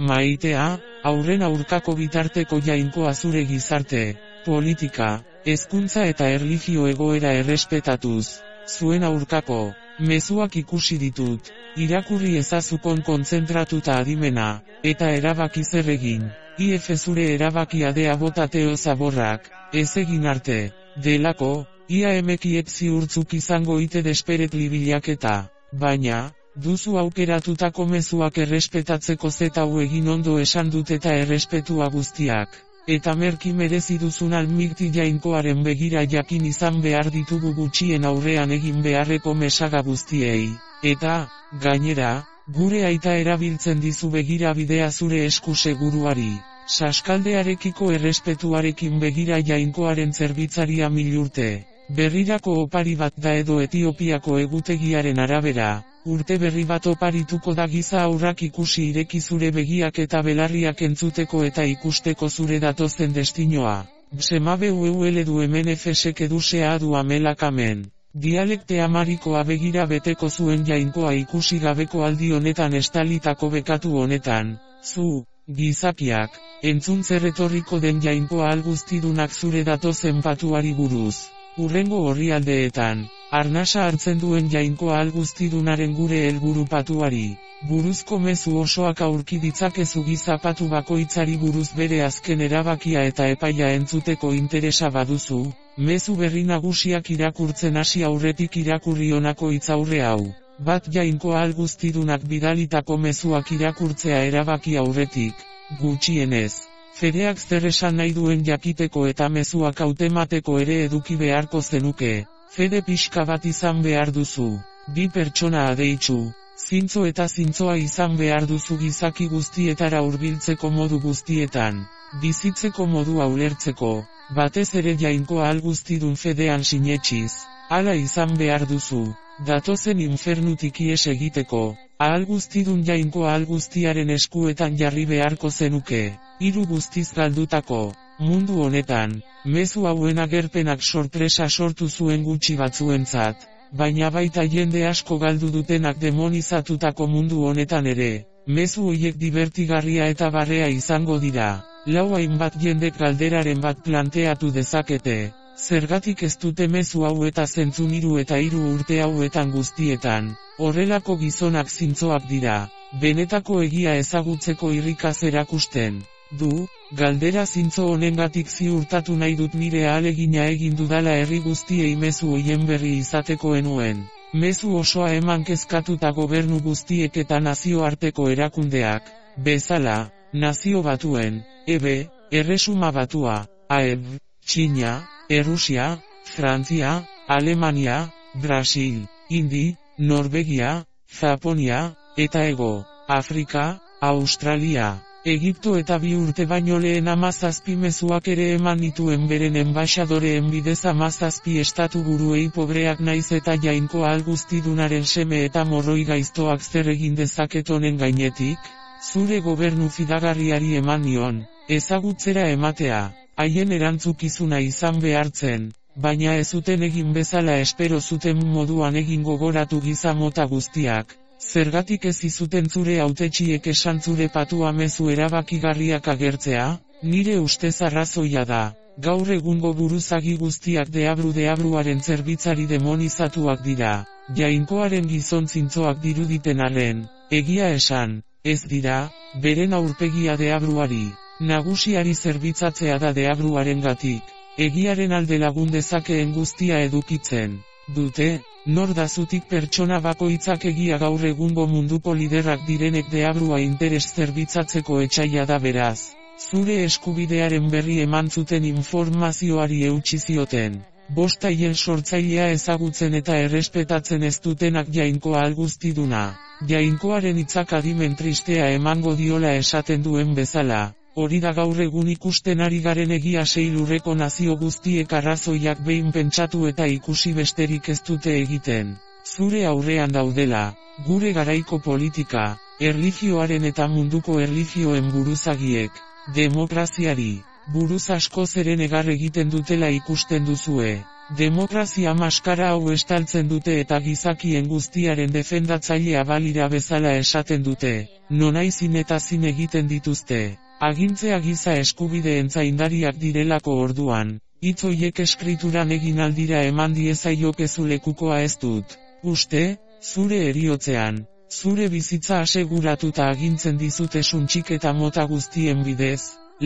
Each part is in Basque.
maitea, haurren aurkako bitarteko jainkoa zure gizarte, politika, hezkuntza eta erlijio egoera errespetatuz, zuen aurkako, mezuak ikusi ditut, irakurri ezazukon kontzentratuta adimena, eta erabaki zer egin, IF zure erabakia dea botateo zaborrak, ez egin arte, delako, ia emekiek ziurtzuk izango ite desperet libilaketa, baina, duzu aukeratutako mezuak errespetatzeko zetau egin ondo esan dut eta errespetua guztiak. Eta merki merezi duzun almikti jainkoaren begira jakin izan behar ditugu gutxien aurrean egin beharreko mesaga guztiei. Eta, gainera, gure aita erabiltzen dizu begira bidea zure esku seguruari. Saskaldearekiko errespetuarekin begira jainkoaren zerbitzaria 1000 urte. Berrirako opari bat da edo Etiopiako egutegiaren arabera. Urte berri bat oparituko da giza aurrak ikusi ireki zure begiak eta belarriak entzuteko eta ikusteko zure datozen destinoa. Semabe ueule du hemen efesek edusea du amelakamen. Dialekte amarikoa begira beteko zuen jainkoa ikusi gabeko aldi honetan estalitako bekatu honetan. Zu, gizakiak, entzun zer etorriko den jainkoa alguztidunak zure datozen patuari buruz. Hurrengo orrialdeetan, arnasa hartzen duen jainkoa alguztidunaren gure helburu patuari, buruzko mezu osoak aurki ditzakezu gizapatu bakoitzari buruz bere azken erabakia eta epaia entzuteko interesa baduzu, mezu berri nagusiak irakurtzen hasi aurretik irakurri honako hitzaurre hau. Bat jainkoa alguztidunak bidalitako mezuak irakurtzea erabaki aurretik, gutxienez. Fedeak zer esan nahi duen jakiteko eta mezuak hautemateko ere eduki beharko zenuke, fede pixka bat izan behar duzu, bi pertsona adeitsu, zintzo eta zintzoa izan behar duzu gizaki guztietara hurbiltzeko modu guztietan, bizitzeko modu ulertzeko, batez ere jainkoa alguztidun fedean sinetsiz, hala izan behar duzu, datozen infernutik ihes egiteko, alguztidun jainkoa alguztiaren eskuetan jarri beharko zenuke. Hiru guztiz galdutako, mundu honetan, mezu hauen agerpenak sorpresa sortu zuen gutxi batzuentzat, baina baita jende asko galdu dutenak demonizatutako mundu honetan ere, mezu hoiek divertigarria eta barrea izango dira, lau hainbat jendek galderaren bat planteatu dezakete, zergatik ez dute mezu hau eta zentzun 3 eta 3 urte hauetan guztietan, horrelako gizonak zintzoak dira, benetako egia ezagutzeko irrikaz erakusten. Du, galdera zintzo honengatik ziurtatu nahi dut nire ahalegina egin dudala herri guztiei mezu hoien berri izateko enuen. Mezu osoa eman kezkatuta gobernu guztiek eta nazioarteko erakundeak, bezala, Nazio Batuen, EB, Erresuma Batua, AEB, Txina, Errusia, Frantzia, Alemania, Brasil, Indi, Norvegia, Japonia, eta Hego Afrika, Australia. Egipto eta 2 urte baino lehen 17 mezuak ere eman nituen beren enbaxadoreen bidez 17 estatu buruei pobreak naiz eta jainkoa alguztidunaren seme eta morroi gaiztoak zer egin dezaket honen gainetik, zure gobernu fidagarriari eman nion, ezagutzera ematea, haien erantzukizuna izan behartzen, baina ez zuten egin bezala espero zuten moduan egin gogoratu giza mota guztiak. Zergatik ez izuten zure hautetsiek esan zure patua mezu erabakigarriak agertzea, nire ustez arrazoia da, gaur egungo buruzagi guztiak deabruaren zerbitzari demonizatuak dira, jainkoaren gizon zintzoak diruditen arren, egia esan, ez dira, beren aurpegia deabruari, nagusiari zerbitzatzea da deabruaren gatik, egiaren alde lagun dezakeen guztia edukitzen, dute. Nor dazutik pertsona bakoitzak egia gaur egungo munduko liderrak direnek deabrua interes zerbitzatzeko etsaia da beraz. Zure eskubidearen berri eman zuten informazioari eutsi zioten. 5 haien sortzailea ezagutzen eta errespetatzen ez dutenak jainkoa alguztiduna. Jainkoaren hitzak adimen tristea emango diola esaten duen bezala. Hori da gaur egun ikusten ari garen egia 6 lurreko nazio guztiek arrazoiak behin pentsatu eta ikusi besterik ez dute egiten. Zure aurrean daudela, gure garaiko politika, erlijioaren eta munduko erlijioen buruzagiek, demokraziari, buruz asko zeren egar egiten dutela ikusten duzue. Demokrazia maskara hau estaltzen dute eta gizakien guztiaren defendatzailea balira bezala esaten dute, nonaizin eta zin egiten dituzte. Agintzea giza eskubideen zaindariak direlako orduan, hitz hoiek eskrituran egin aldira eman diezaiokezu lekukoa ez dut. Uste, zure heriotzean, zure bizitza aseguratuta agintzen dizute suntxik eta mota guztien bidez,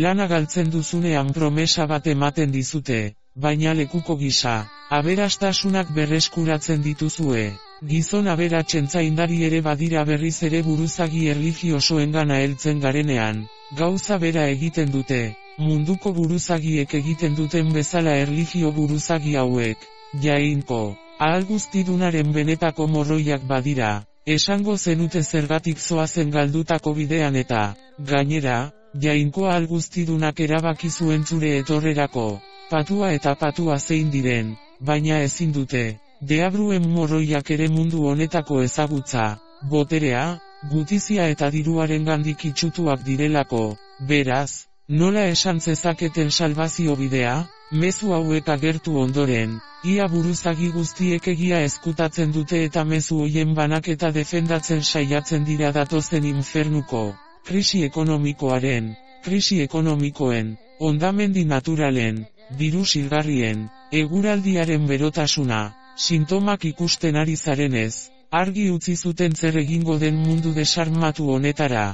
lana galtzen duzunean promesa bat ematen dizute, baina lekuko gisa, aberastasunak berreskuratzen dituzue. Gizon aberatsen zaindari ere badira berriz ere buruzagi erlijiosoengana heltzen garenean, gauza bera egiten dute, munduko buruzagiek egiten duten bezala erlijio buruzagi hauek, jainko, ahal guztidunaren benetako morroiak badira, esango zenute zergatik zoazen galdutako bidean eta, gainera, jainko ahal guztidunak erabaki zuen zure etorrerako, patua eta patua zein diren, baina ezin dute. Deabruen morroiak ere mundu honetako ezagutza, boterea, gutizia eta diruaren gandik itxutuak direlako, beraz, nola esan zezaketen salbazio bidea, mezu hauek agertu ondoren, ia buruzagi guztiek egia ezkutatzen dute eta mezu hoien banaketa defendatzen saiatzen dira datozen infernuko, krisi ekonomikoaren, krisi ekonomikoen, hondamendi naturalen, diru silgarrien, eguraldiaren berotasuna, sintomak ikusten ari zarenez, argi utzi zuten zer egingo den mundu desarmatu honetara,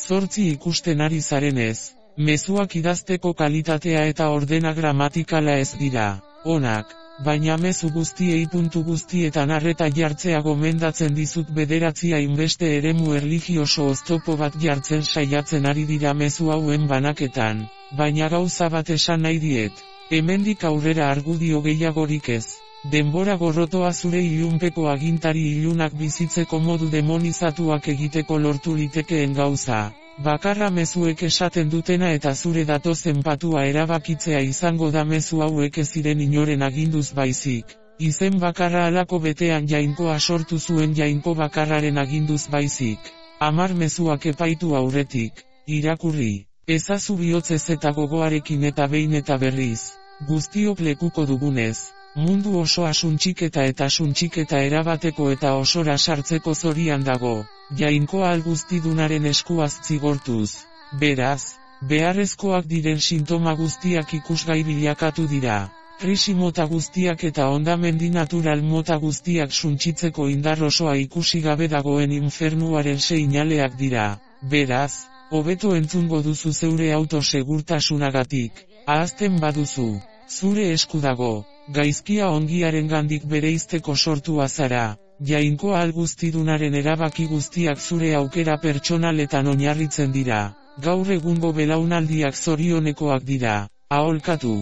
8 ikusten ari zarenez, mezuak idazteko kalitatea eta ordena gramatikala ez dira, onak, baina mezu guztiei puntu guztietan arreta jartzea gomendatzen dizut 9 hainbeste eremu erlijioso oztopo bat jartzen saiatzen ari dira mezu hauen banaketan, baina gauza bat esan nahi diet, hemendik aurrera argudio gehiagorik ez. Denbora gorrotoa zure ilunpeko agintari ilunak bizitzeko modu demonizatuak egiteko lortu litekeen gauza. Bakarra mezuek esaten dutena eta zure datozen patua erabakitzea izango da mezu hauek ez ziren inoren aginduz baizik. Izen bakarra halako betean jainkoa sortu zuen jainko bakarraren aginduz baizik. 10 mezuak epaitu aurretik, irakurri. Ezazu bihotzez eta gogoarekin eta behin eta berriz. Guztiok lekuko dugunez. Mundu osoa suntxiketa erabateko eta osora sartzeko zorian dago, jainkoa guztidunaren eskuaz zigortuz. Beraz, beharrezkoak diren sintoma guztiak ikusgai bilakatu dira. Krisi mota guztiak eta hondamendi natural mota guztiak suntsitzeko indar osoa ikusi gabe dagoen infernuaren seinaleak dira. Beraz, hobeto entzungo duzu zeure autosegurtasunagatik, ahazten baduzu, zure esku dago. Gaizkia ongiaren gandik bereizteko sortua zara, jainkoa guztidunaren erabaki guztiak zure aukera pertsonaletan oinarritzen dira, gaur egungo belaunaldiak zorionekoak dira, aholkatu,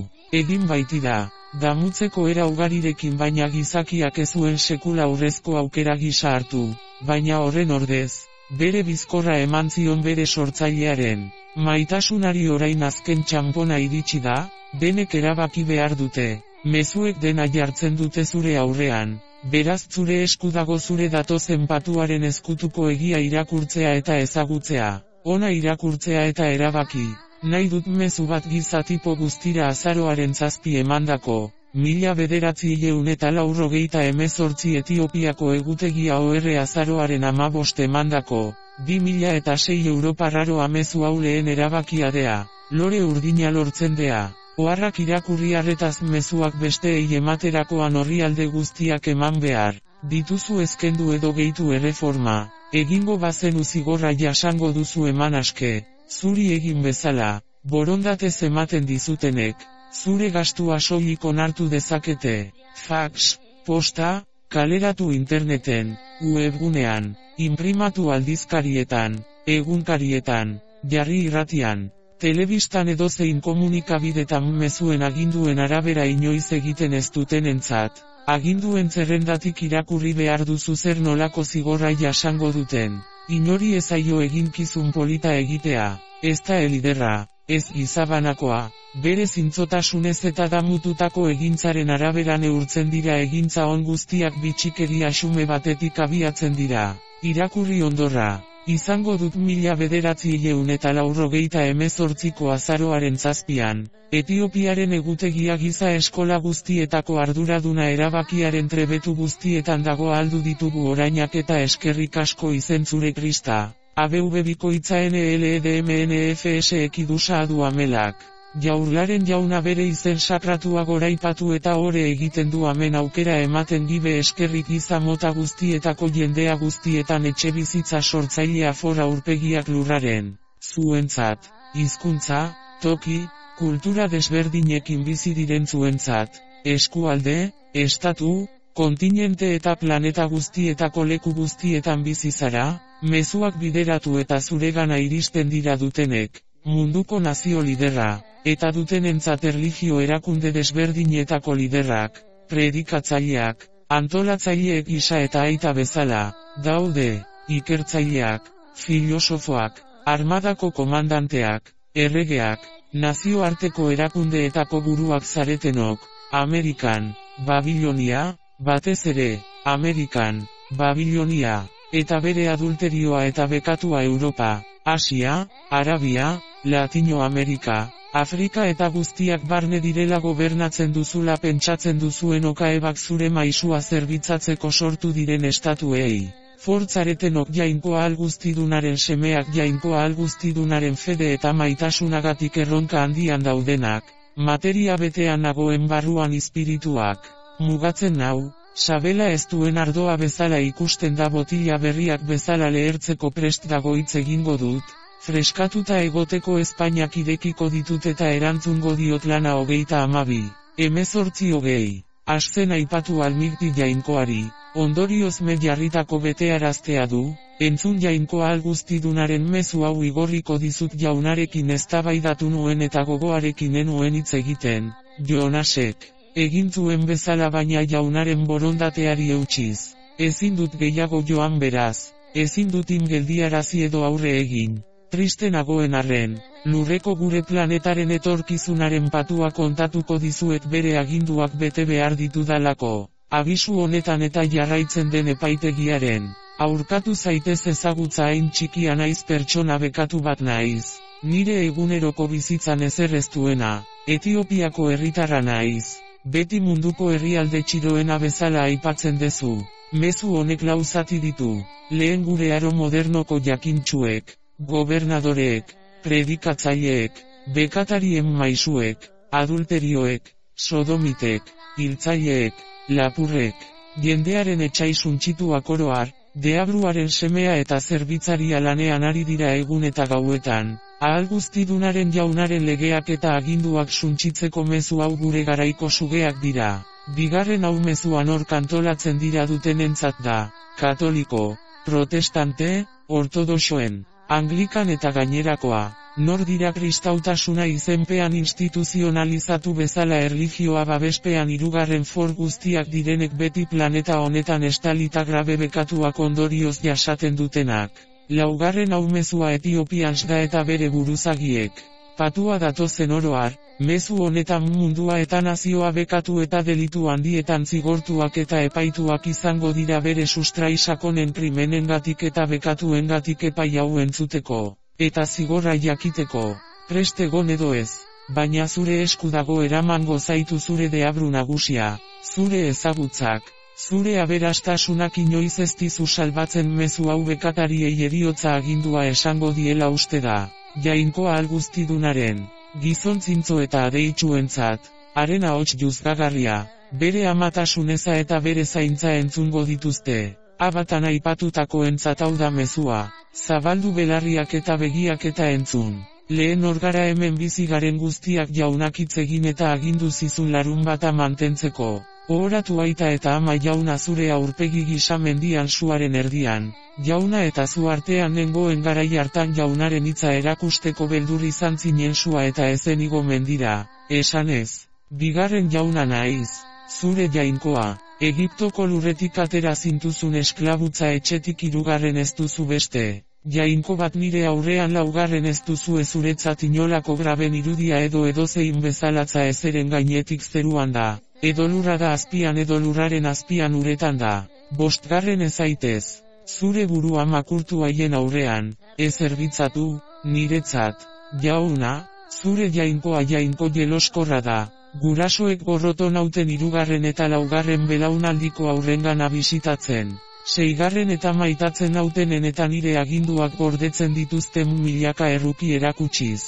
egin baitira, damutzeko era ugarirekin baina gizakiak ez zuen sekula aurrezko aukera gisa hartu, baina horren ordez, bere bizkorra eman zion bere sortzailearen, maitasunari orain azken txanpona iritsi da, denek erabaki behar dute. Mezuek dena jartzen dute zure aurrean, beraz zure esku dago zure datozen patuaren ezkutuko egia irakurtzea eta ezagutzea, ona irakurtzea eta erabaki, nahi dut mezu bat gizatipo guztira azaroaren 7 emandako, 1998 Etiopiako egutegia OR azaroaren 15 emandako, 2006 Europarraro amezu hau lehen erabakiadea, lore urdina lortzen dea. Oharrak irakurri arretaz mezuak besteei ematerakoan orrialde guztiak eman behar, dituzu ezkendu edo gehitu erreforma, egingo bazenu zigorra jasango duzu eman aske, zuri egin bezala, borondatez ematen dizutenek, zure gastua soilik onartu dezakete, fax, posta, kaleratu interneten, webgunean, inprimatu aldizkarietan, egunkarietan, jarri irratian. Telebistan edozein komunikabidetan mezuen aginduen arabera inoiz egiten ez dutenentzat, aginduen zerrendatik irakurri behar duzu zer nolako zigorra jasango duten. Inori ez zaio eginkizun polita egitea, ez da eliderra, ez gizabanakoa, bere zintzotasunez eta damututako egintzaren arabera neurtzen dira egintza on guztiak bitxikeria xume batetik abiatzen dira. Irakurri ondorra, Izango dut 1998ko azaroaren 7an, Etiopiaren egutegia giza eskola guztietako arduraduna erabakiaren trebetu guztietan dago aldu ditugu orainak eta eskerrik asko izentzure Krista. ABV bikoitza NLEDMNFS ekidusa adu amelak. Jaurlaren jauna bere izen sakratua goraipatu eta ore egiten du amen aukera ematen gibe eskerrik giza mota guztietako jendea guztietan etxebizitza sortzailea for aurpegiak lurraren. Zuentzat, hizkuntza, toki, kultura desberdinekin bizi diren zuentzat, eskualde, estatu, kontinente eta planeta guztietako leku guztietan bizi zara, mezuak bideratu eta zuregana iristen dira dutenek, munduko nazio liderra, eta dutenentzat erlijio erakunde desberdinetako liderrak, predikatzaileak, antolatzaileek gisa eta aita bezala, daude, ikertzaileak, filosofoak, armadako komandanteak, erregeak, nazioarteko erakundeetako buruak zaretenok, Amerikan, Babilonia, batez ere, Amerikan, Babilonia, eta bere adulterioa eta bekatua Europa, Asia, Arabia, Latinoamerika, Afrika eta guztiak barne direla gobernatzen duzula pentsatzen duzuen okaebak zure maisua zerbitzatzeko sortu diren estatuei. Fortzaretenok jainko ahal guztidunaren semeak jainko ahal guztidunaren fede eta maitasunagatik erronka handian daudenak, materia betean nagoen barruan espirituak. Mugatzen nau, sabela ez duen ardoa bezala ikusten da botila berriak bezala lehertzeko prest dago hitz egingo dut, freskatuta egoteko Espainiak irekiko ditut eta erantzungo diot lana 32, 18:20. Asten aipatu almigti jainkoari, ondorioz me jarritako betearaztea du, entzun jainko ahal guztidunaren mezu hau igorriko dizut jaunarekin eztabaidatu nuen eta gogoarekin enuen hitz egiten, Jonasek. Egin zuen bezala baina jaunaren borondateari eutsiz. Ezin dut gehiago joan beraz, ezin dut geldiarazi edo aurre egin. Triste nagoen arren, lurreko gure planetaren etorkizunaren patua kontatuko dizuet bere aginduak bete behar ditudalako. Abisu honetan eta jarraitzen den epaitegiaren. Aurkatu zaitez ezagutza hain txikia naiz pertsona bekatu bat naiz. Nire eguneroko bizitzan ezer ez duena, Etiopiako herritarra naiz. Beti munduko herrialde txiroena bezala aipatzen dezu. Mezu honek lau zati ditu. Lehen gure aro modernoko jakintsuek, gobernadoreek, predikatzaileek, bekatarien maisuek, adulterioek, sodomitek, hiltzaileek, lapurrek, jendearen etsai suntsituak oroar, deabruaren semea eta zerbitzaria lanean ari dira egun eta gauetan. Ahal guztidunaren jaunaren legeak eta aginduak suntsitzeko mezu hau gure garaiko sugeak dira. Bigarren hau mezuan hor kantolatzen dira dutenentzat da, katoliko, protestante, ortodoxoen, anglikan eta gainerakoa. Nor dira kristautasuna izenpean instituzionalizatu bezala erlijioa babespean hirugarren for guztiak direnek beti planeta honetan estalita grabe bekatuak ondorioz jasaten dutenak. Laugarren hau mezua Etiopians da eta bere buruzagiek. Patua datozen oroar, mezu honetan mundua eta nazioa bekatu eta delitu handietan zigortuak eta epaituak izango dira bere sustrai sakonen krimenengatik eta bekatuengatik epai hau entzuteko, eta zigorra jakiteko. Prest egon edo ez, baina zure esku dago eramango zaitu zure deabru nagusia, zure ezagutzak. Zure aberastasunak inoiz ez dizu salbatzen mezu hau bekatariei heriotza agindua esango diela uste da. Jainko ahal guztidunaren, gizontzinzo eta adeitsuentzat, haren ahots juzgagarria, bere amatasuneza eta bere zaintza entzungo dituzte. Abatan aipatutakoentzat hau da mezua, zabaldu belarriak eta begiak eta entzun. Lehen orgara hemen bizi garen guztiak jaunak hitz egin eta agindu zizun larun bata mantentzeko. Ohoratu aita eta ama jauna zure aurpegi gisa mendian suaren erdian, jauna eta zu artean nengoen garai hartan jaunaren hitza erakusteko beldur izan zinen sua eta ezen igo mendira, esanez, bigarren jauna naiz, zure jainkoa, Egiptoko lurretik atera zintuzun esklabutza etxetik hirugarren ez duzu beste. Jainko bat nire aurrean laugarren ez duzu zuretzat inolako graben irudia edo edozein bezalatza ezeren gainetik zeruan da. Edo lurra da azpian edo lurraren azpian uretan da. Bostgarren ez zaitez. zure burua makurtu haien aurrean, ez erbitzatu, niretzat, jauna, zure jainkoa jainko jeloskorra da. Gurasoek gorroto nauten 3. eta 4. belaunaldiko aurrengana bisitatzen. 6. eta maitatzen nautenen eta nire aginduak gordetzen dituzten milaka erruki erakutsiz.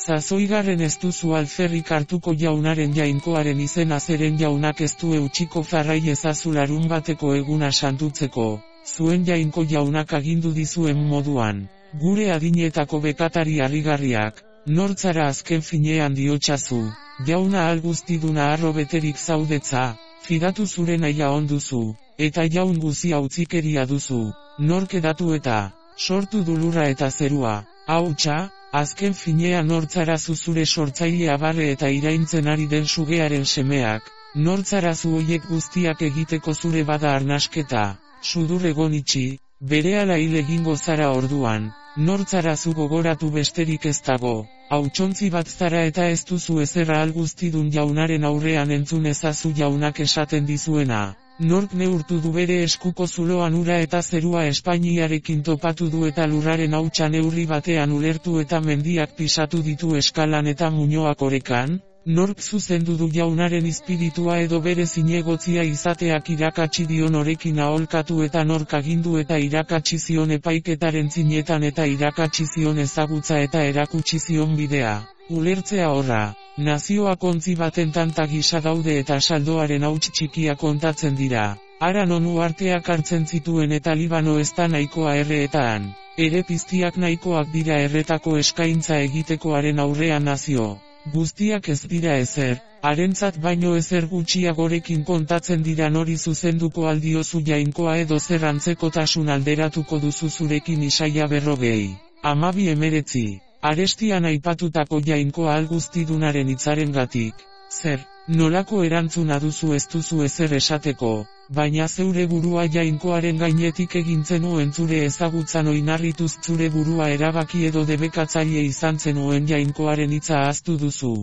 6. ez duzu alferrik hartuko jaunaren jainkoaren izena zeren jaunak ez du eutxiko farrai ezazu larunbateko eguna santutzeko, zuen jainko jaunak agindu dizuen moduan. Gure adinetako bekatari harrigarriak, nortzara azken finean diotsazu. Jauna alguztiduna harro beterik zaudetza, fidatu zure naia onduzu, eta jaun guzia utzikeria duzu, nork edatu eta, sortu dulurra eta zerua, hautsa, azken finean nortzara zure sortzailea barre eta iraintzen ari den sugearen semeak, nortzara zu hoiek guztiak egiteko zure bada arnasketa, sudur egon itxi, berehala hil egingo zara orduan, nortzara zu gogoratu besterik ez dago. Hautsontzi bat zara eta ez duzu ezerra alguztidun jaunaren aurrean entzun ezazu jaunak esaten dizuena. Nork neurtu du bere eskuko zuloan ura eta zerua Espainiarekin topatu du eta lurraren hautsa neurri batean ulertu eta mendiak pisatu ditu eskalan eta muinoak orekan? Nork zuzendu du jaunaren izpiritua edo bere zinegotzia izateak irakatsi dion horekin aholkatu eta nork agindu eta irakatsi zion epaiketaren zinetan eta irakatsi zion ezagutza eta erakutsi zion bidea. Ulertzea horra, nazioak ontzi baten tanta gisa daude eta saldoaren hauts txikia kontatzen dira. Hara nonu arteak hartzen zituen eta Libano ez da nahikoa erreetan. Ere piztiak nahikoak dira erretako eskaintza egitekoaren aurrean nazio. Guztiak ez dira ezer, harentzat baino ezer gutxiagorekin kontatzen dira nori zuzenduko aldiozu jainkoa edo zer antzekotasun alderatuko duzu zurekin Isaia 40. 12:19. Arestian aipatutako jainkoa alguztidunaren hitzarengatik. Zer, nolako erantzuna duzu ez duzu ezer esateko, baina zeure burua jainkoaren gainetik egintzen zenuen zure ezagutzan oinarrituz zure burua erabaki edo debekatzaile izan zenuen jainkoaren hitza ahaztu duzu.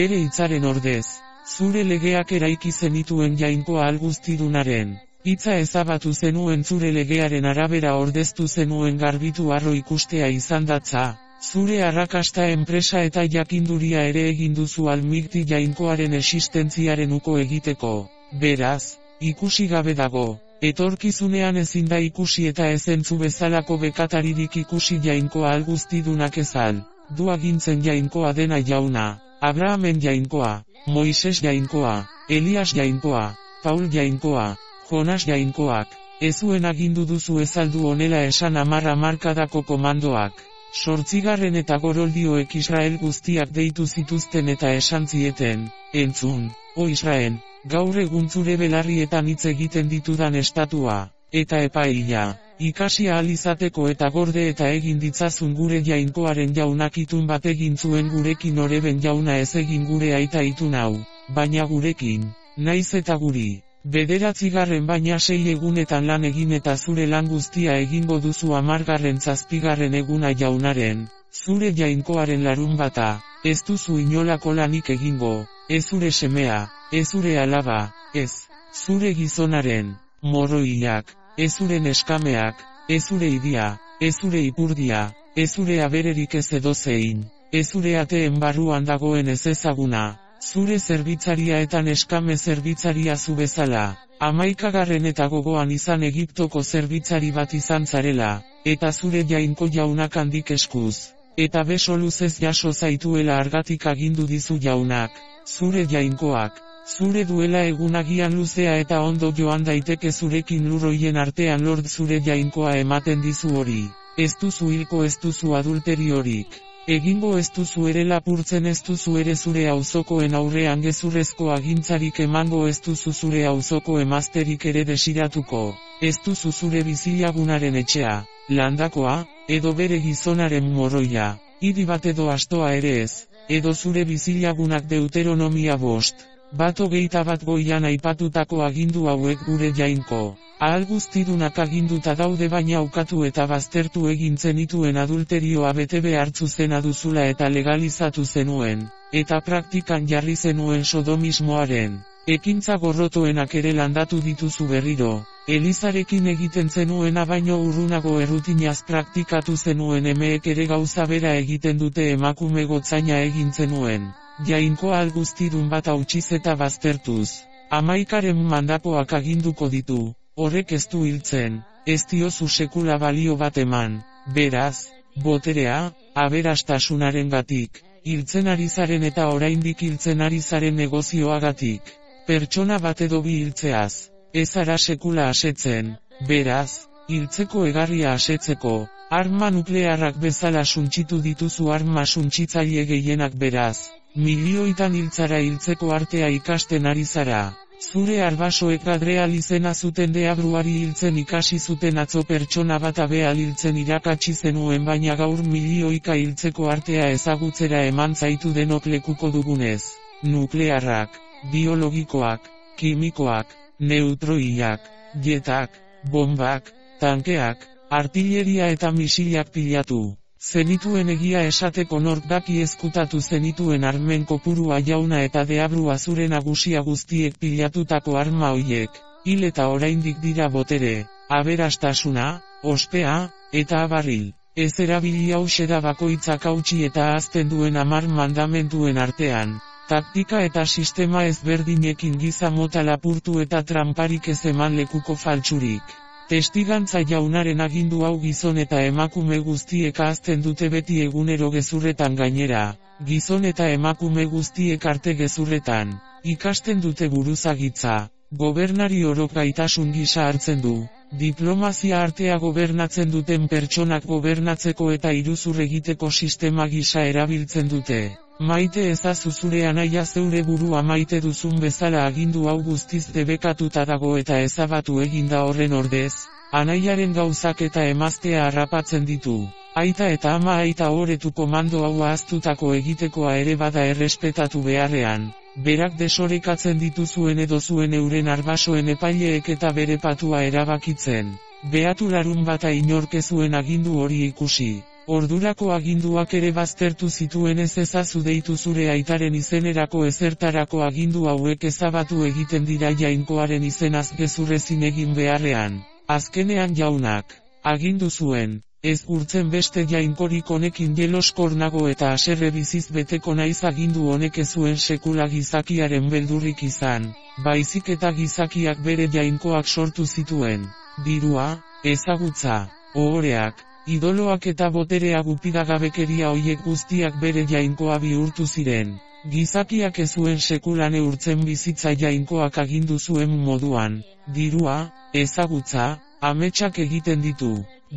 Bere hitzaren ordez, zure legeak eraiki zenituen jainkoa alguztidunaren hitza ezabatu zenuen zure legearen arabera ordeztu zenuen garbitu harro ikustea izan datza. Zure arrakasta enpresa eta jakinduria ere egin duzu almigti jainkoaren existentziaren uko egiteko. Beraz, ikusi gabe dago, etorkizunean ezin da ikusi eta ezentzu bezalako bekataririk ikusi jainkoa alguztidunak ezal. Du agintzen jainkoa dena jauna, Abrahamen jainkoa, Moises jainkoa, Elias jainkoa, Paul jainkoa, Jonas jainkoak, ezuen agindu duzu ezaldu honela esan 10 hamarkadako komandoak. 8. eta goroldioek Israel guztiak deitu zituzten eta esan zieten, entzun, o Israel, gaur egun zure belarrietan hitz egiten ditudan estatua, eta epaia, ikasi ahal izateko eta gorde eta egin ditzazun gure jainkoaren jaunak itun bat egin zuen gurekin oreben jauna ez egin gure aita itun hau, baina gurekin, naiz eta guri. 9. baina 6 egunetan lan egin eta zure lan guztia egingo duzu 10. eguna jaunaren, zure jainkoaren larunbata, ez duzu inolako lanik egingo, ez zure semea, ez zure alaba, ez, zure gizonaren, moroiak, ez zure neskameak, ez zure idia, ez zure ipurdia, ez zure abererik ez edozein, ez zure ateen barruan dagoen ez ezaguna. Zure zerbitzaria eta neskame zerbitzaria zu bezala, 11. eta gogoan izan Egiptoko zerbitzari bat izan zarela, eta zure jainko jaunak handik eskuz, eta beso luzez jaso zaituela argatik agindu dizu jaunak, zure jainkoak, zure duela egunagian luzea eta ondo joan daiteke zurekin lurroien artean lord zure jainkoa ematen dizu hori, ez duzu hilko ez duzu adulteriorik. Egingo ez duzu ere lapurtzen ez duzu ere zure auzokoen aurrean gezurrezko agintzarik emango ez duzu zure auzoko emazterik ere desiratuko, ez duzu zure bizilagunaren etxea, landakoa, edo bere gizonaren moroia, hiri bat edo astoa ere ez, edo zure bizilagunak Deuteronomia 5:21 goian aipatutako agindu hauek gure jainko. Ahal guztidunak aginduta daude baina ukatu eta baztertu egin zenituen adulterioa bete behartzu zena duzula eta legalizatu zenuen, eta praktikan jarri zenuen sodomismoaren, Ekintza gorrotoenak ere landatu dituzu berriro. Elizarekin egiten zenuena baino urrunago errutinaz praktikatu zenuen, emeek ere gauza bera egiten dute, emakume gotzaina egin zenuen. Jainkoa alguztidun bat hautsiz eta baztertuz. 11 mandapoak aginduko ditu. Horrek ez du hiltzen, ez diozu sekula balio bat eman. Beraz, boterea, aberastasunarengatik, hiltzen ari zaren eta oraindik hiltzen ari zaren negozioagatik. Pertsona bat edo bi hiltzeaz, ez ara sekula asetzen. Beraz, hiltzeko egarria asetzeko, arma nuklearrak bezala suntsitu dituzu arma suntsitzaile gehienak, beraz, milioitan hiltzara hiltzeko artea ikasten ari zara. Zure arbasoek Adreal izena zuten deabruari hiltzen ikasi zuten atzo, pertsona bat abeal hiltzen irakatsi zenuen, baina gaur milioika hiltzeko artea ezagutzera eman zaitu denok lekuko dugunez. Nuklearrak, biologikoak, kimikoak, neutroiak, jetak, bombak, tankeak, artilleria eta misilak pilatu. Zenituen, egia esateko nork daki ezkutatu zenituen armen kopurua jauna, eta deabrua zure nagusia guztiek pilatutako arma hoiek. Hil eta oraindik dira botere, aberastasuna, ospea, eta abarril. Ez erabili hauxe da bakoitzak hautsi eta ahazten duen 10 mandamentuen artean. Taktika eta sistema ezberdinekin giza mota lapurtu eta tramparik ez eman lekuko faltsurik. Testigantza jaunaren agindu hau gizon eta emakume guztiek ahazten dute beti egunero gezurretan, gainera. Gizon eta emakume guztiek arte gezurretan. Ikasten dute buruzagitza. Gobernari orok gaitasun gisa hartzen du. Diplomazia artea gobernatzen duten pertsonak gobernatzeko eta iruzur egiteko sistema gisa erabiltzen dute. Maite ezazu zure anaia zeure burua maite duzun bezala, agindu hau guztiz debekatuta dago eta ezabatu eginda horren ordez, anaiaren gauzak eta emaztea harrapatzen ditu. Aita eta ama aita oretu komando hau ahaztutako egitekoa ere bada errespetatu beharrean. Berak desorekatzen dituzuen edo zuen euren arbasoen epaileek eta bere patua erabakitzen. Beatu larun bata inork ez zuen agindu hori ikusi. Ordurako aginduak ere baztertu zituen, ez ezazu deitu zure aitaren izenerako ezertarako agindu hauek ezabatu egiten dira jainkoaren izenaz gezurrezin egin beharrean. Azkenean jaunak agindu zuen, ez gurtzen beste jainkorik honekin jeloskor nago eta haserre biziz beteko naiz. Agindu honek ez zuen sekula gizakiaren beldurrik izan, baizik eta gizakiak bere jainkoak sortu zituen. Dirua, ezagutza, ohoreak, idoloak eta boterea, gupidagabekeria hoiek guztiak bere jainkoa bihurtu ziren. Gizakiak ez zuen sekula neurtzen bizitza jainkoak agindu zuen moduan. Dirua, ezagutza, ametsak egiten ditu.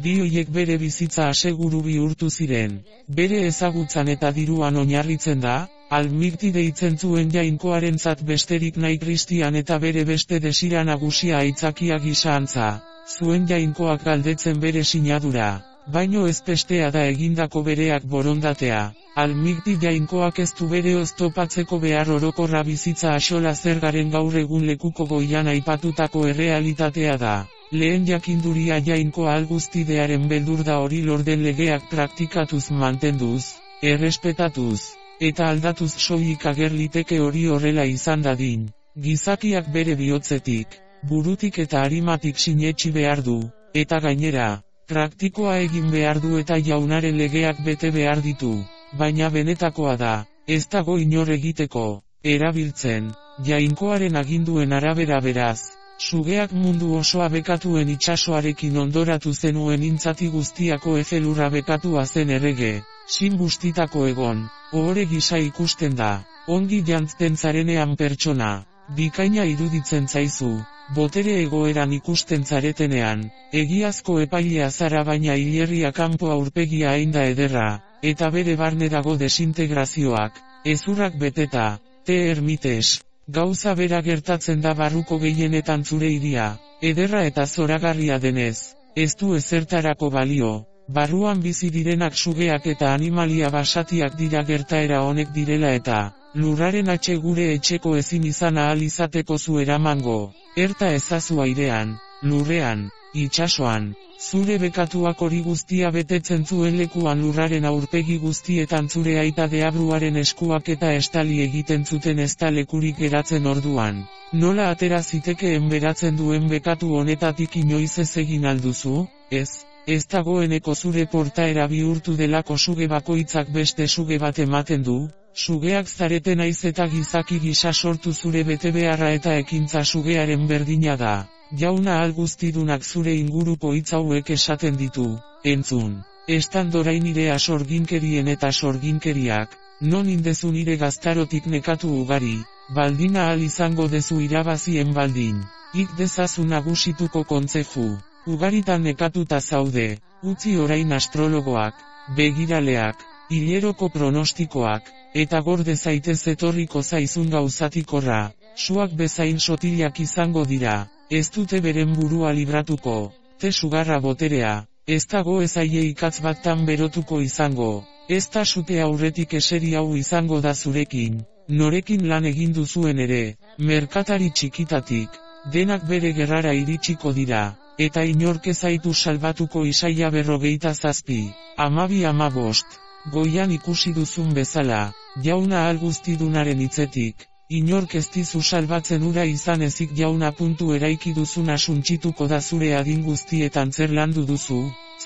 Bi hoiek bere bizitza aseguru bihurtu ziren. Bere ezagutzan eta diruan oinarritzen da, Almirti deitzen zuen jainkoarentzat besterik nahi Kristian eta bere beste desira nagusia aitzakia gisa antza. Zuen jainkoak galdetzen bere sinadura. Baino ez bestea da egindako bereak borondatea. Almirti jainkoak ez du bere oztopatzeko behar, orokorra bizitza axola zergaren gaur egun lekuko goian aipatutako errealitatea da. Lehen jakinduria jainkoa alguztidearen beldur da, hori lorden legeak praktikatuz mantenduz, errespetatuz, eta aldatuz soilik ager liteke hori horrela izan dadin. Gizakiak bere bihotzetik, burutik eta arimatik sinetsi behar du, eta gainera, praktikoa egin behar du eta jaunaren legeak bete behar ditu. Baina benetakoa da, ez dago inor egiteko, erabiltzen, jainkoaren aginduen arabera. Beraz, sugeak mundu osoa bekatuen itsasoarekin ondoratu zenuen intzati guztiako ezelurra bekatua zen errege, sin bustitako egon, ohore gisa ikusten da, ongi jantzten zarenean pertsona, bikaina iruditzen zaizu, botere egoeran ikusten zaretenean, egiazko epailea zara baina hilerria kanpo aurpegia ainda ederra, eta bere barne dago desintegrazioak, ezurrak beteta, te ermites. Gauza bera gertatzen da barruko gehienetan zure hiria, ederra eta zoragarria denez, ez du ezertarako balio. Barruan bizi direnak sugeak eta animalia basatiak dira gertaera honek direla eta, lurraren atxe gure etxeko ezin izan ahal izateko zu eramango. Erta ezazu airean, lurrean, itsasoan, zure bekatuak hori guztia betetzen zuen lekuan lurraren aurpegi guztietan zure aita deabruaren eskuak eta estali egiten zuten ez da lekurik geratzen orduan. Nola atera zitekeen beratzen duen bekatu honetatik inoiz ez egin alduzu, ez dagoeneko zure portaera bihurtu delako suge bakoitzak beste suge bat ematen du, sugeak zareten naiz eta gizaki gisa sortu zure betebeharra eta ekintza sugearen berdina da. Jauna guztidunak zure inguruko hitz hauek esaten ditu, entzun. Estan orain nire sorginkerien eta sorginkeriak, non indezu nire gaztarotik nekatu ugari, baldin ahal izango dezu irabazien baldin, ik dezazu nagusituko kontzeju, ugaritan nekatuta zaude, utzi orain astrologoak, begiraleak, hileroko pronostikoak, eta gorde zaitez etorriko zaizun gauzatikorra, suak bezain sotilak izango dira. Ez dute beren burua libratuko, te sugarra boterea, ez dago ez aie ikatz batan berotuko izango, ez da sute aurretik eseri hau izango da zurekin, norekin lan egin duzuen ere, merkatari txikitatik, denak bere gerrara iritsiko dira, eta inork ez zaitu salbatuko Isaia 47, 12-15, goian ikusi duzun bezala, jauna guztidunaren hitzetik. Inork ez dizu salbatzen ura izan ezik jauna puntu eraiki duzuna suntsituko da zure adin guztietan zer landu duzu,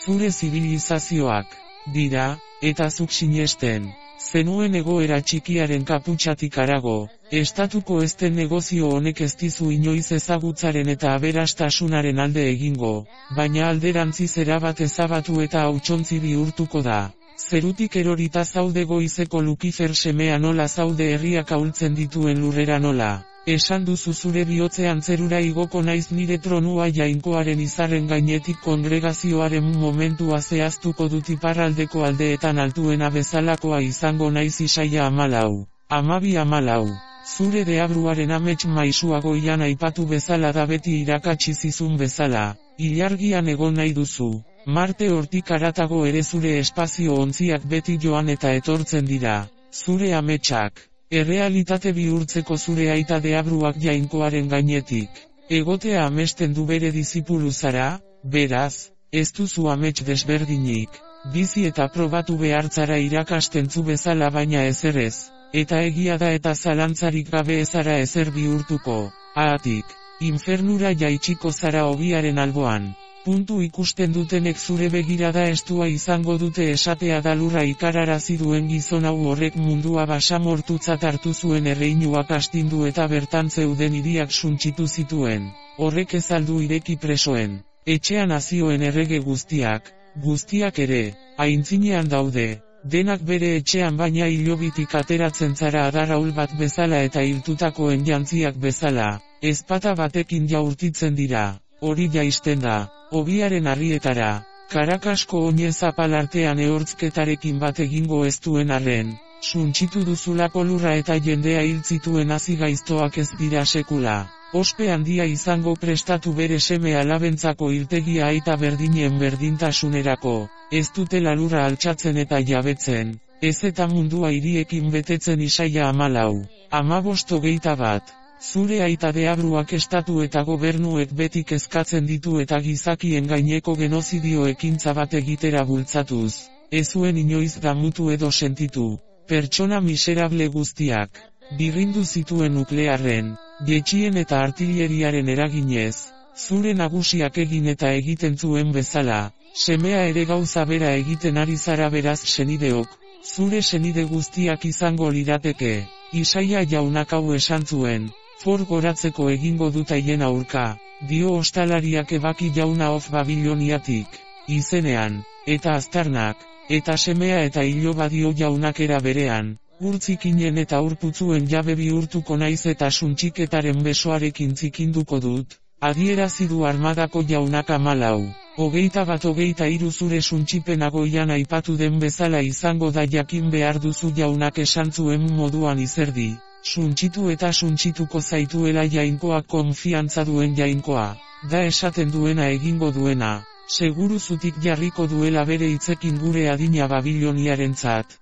zure zibilizazioak, dira, eta zuk sinesten, zenuen egoera txikiaren kaputxatik harago, estatuko ezten negozio honek ez dizu inoiz ezagutzaren eta aberastasunaren alde egingo, baina alderantziz erabat ezabatu eta hautsontzi bihurtuko da. Zerutik erorita zaude goizeko Lukifer semea nola zaude herriak ahultzen dituen lurrera nola. Esan duzu zure bihotzean zerura igoko naiz nire tronua jainkoaren izarren gainetik kongregazioaren momentua zehaztuko dut iparraldeko aldeetan altuena bezalakoa izango naiz Isaia 14, 12. Zure deabruaren amets maisua goian aipatu bezala da beti irakatsi zizun bezala, ilargian egon nahi duzu. Marte hortik haratago ere zure espazio ontziak beti joan eta etortzen dira, zure ametsak, errealitate bihurtzeko zure aita deabruak jainkoaren gainetik, egotea amesten du bere dizipulu zara, beraz, ez duzu amets desberdinik, bizi eta probatu behartzara irakasten zu bezala baina ezerrez, eta egia da eta zalantzarik gabe ezara ezer bihurtuko, haatik, infernura jaitsiko zara ogiaren alboan. Puntu ikusten dutenek zure begirada estua izango dute esatea da lurra ikararazi duen gizon hau horrek mundua basamortutzat hartu zuen erreinuak astindu eta bertan zeuden hiriak suntsitu zituen. Horrek ez aldu ireki presoen, etxean hazioen errege guztiak ere, aintzinean daude, denak bere etxean baina hilobitik ateratzen zara adarraul bat bezala eta hiltutakoen jantziak bezala, ezpata batekin jaurtitzen dira, hori jaisten da. Obiaren harrietara, Karakasko oinez apalartean ehortzketarekin bat egingo ez duen arren, suntsitu duzulako lurra eta jendea hiltzituen hazi gaiztoak ez dira sekula. Ospe handia izango prestatu bere seme alabentzako hiltegia aita berdinen berdintasunerako, ez dutela lurra altxatzen eta jabetzen, ez eta mundua hiriekin betetzen Isaia 14, 15-21. Zure aita deabruak estatu eta gobernuek beti kezkatzen ditu eta gizakien gaineko genozidio ekintza bat egitera bultzatuz, ez zuen inoiz damutu edo sentitu, pertsona miserable guztiak, birrindu zituen nuklearren, jetxien eta artilleriaren eraginez, zure nagusiak egin eta egiten zuen bezala, semea ere gauza bera egiten ari zara beraz senideok, zure senide guztiak izango lirateke, Isaia jaunak hau esan zuen. Goratzeko egingo dut haien aurka, dio ostalariak ebaki jauna of Babiloniatik, izenean, eta aztarnak, eta semea eta iloba dio jaunak era berean, urtzikinen eta urputzuen jabe bihurtuko naiz eta suntxiketaren besoarekin zikinduko dut, adierazi du armadako jaunak 14, 21-23 zure suntxipena goian aipatu den bezala izango da jakin behar duzu jaunak esan zuen moduan izerdi. Suntsitu eta suntsituko zaituela jainkoa konfiantza duen jainkoa, da esaten duena egingo duena, seguru zutik jarriko duela bere hitzekin gure adina Babiloniarentzat,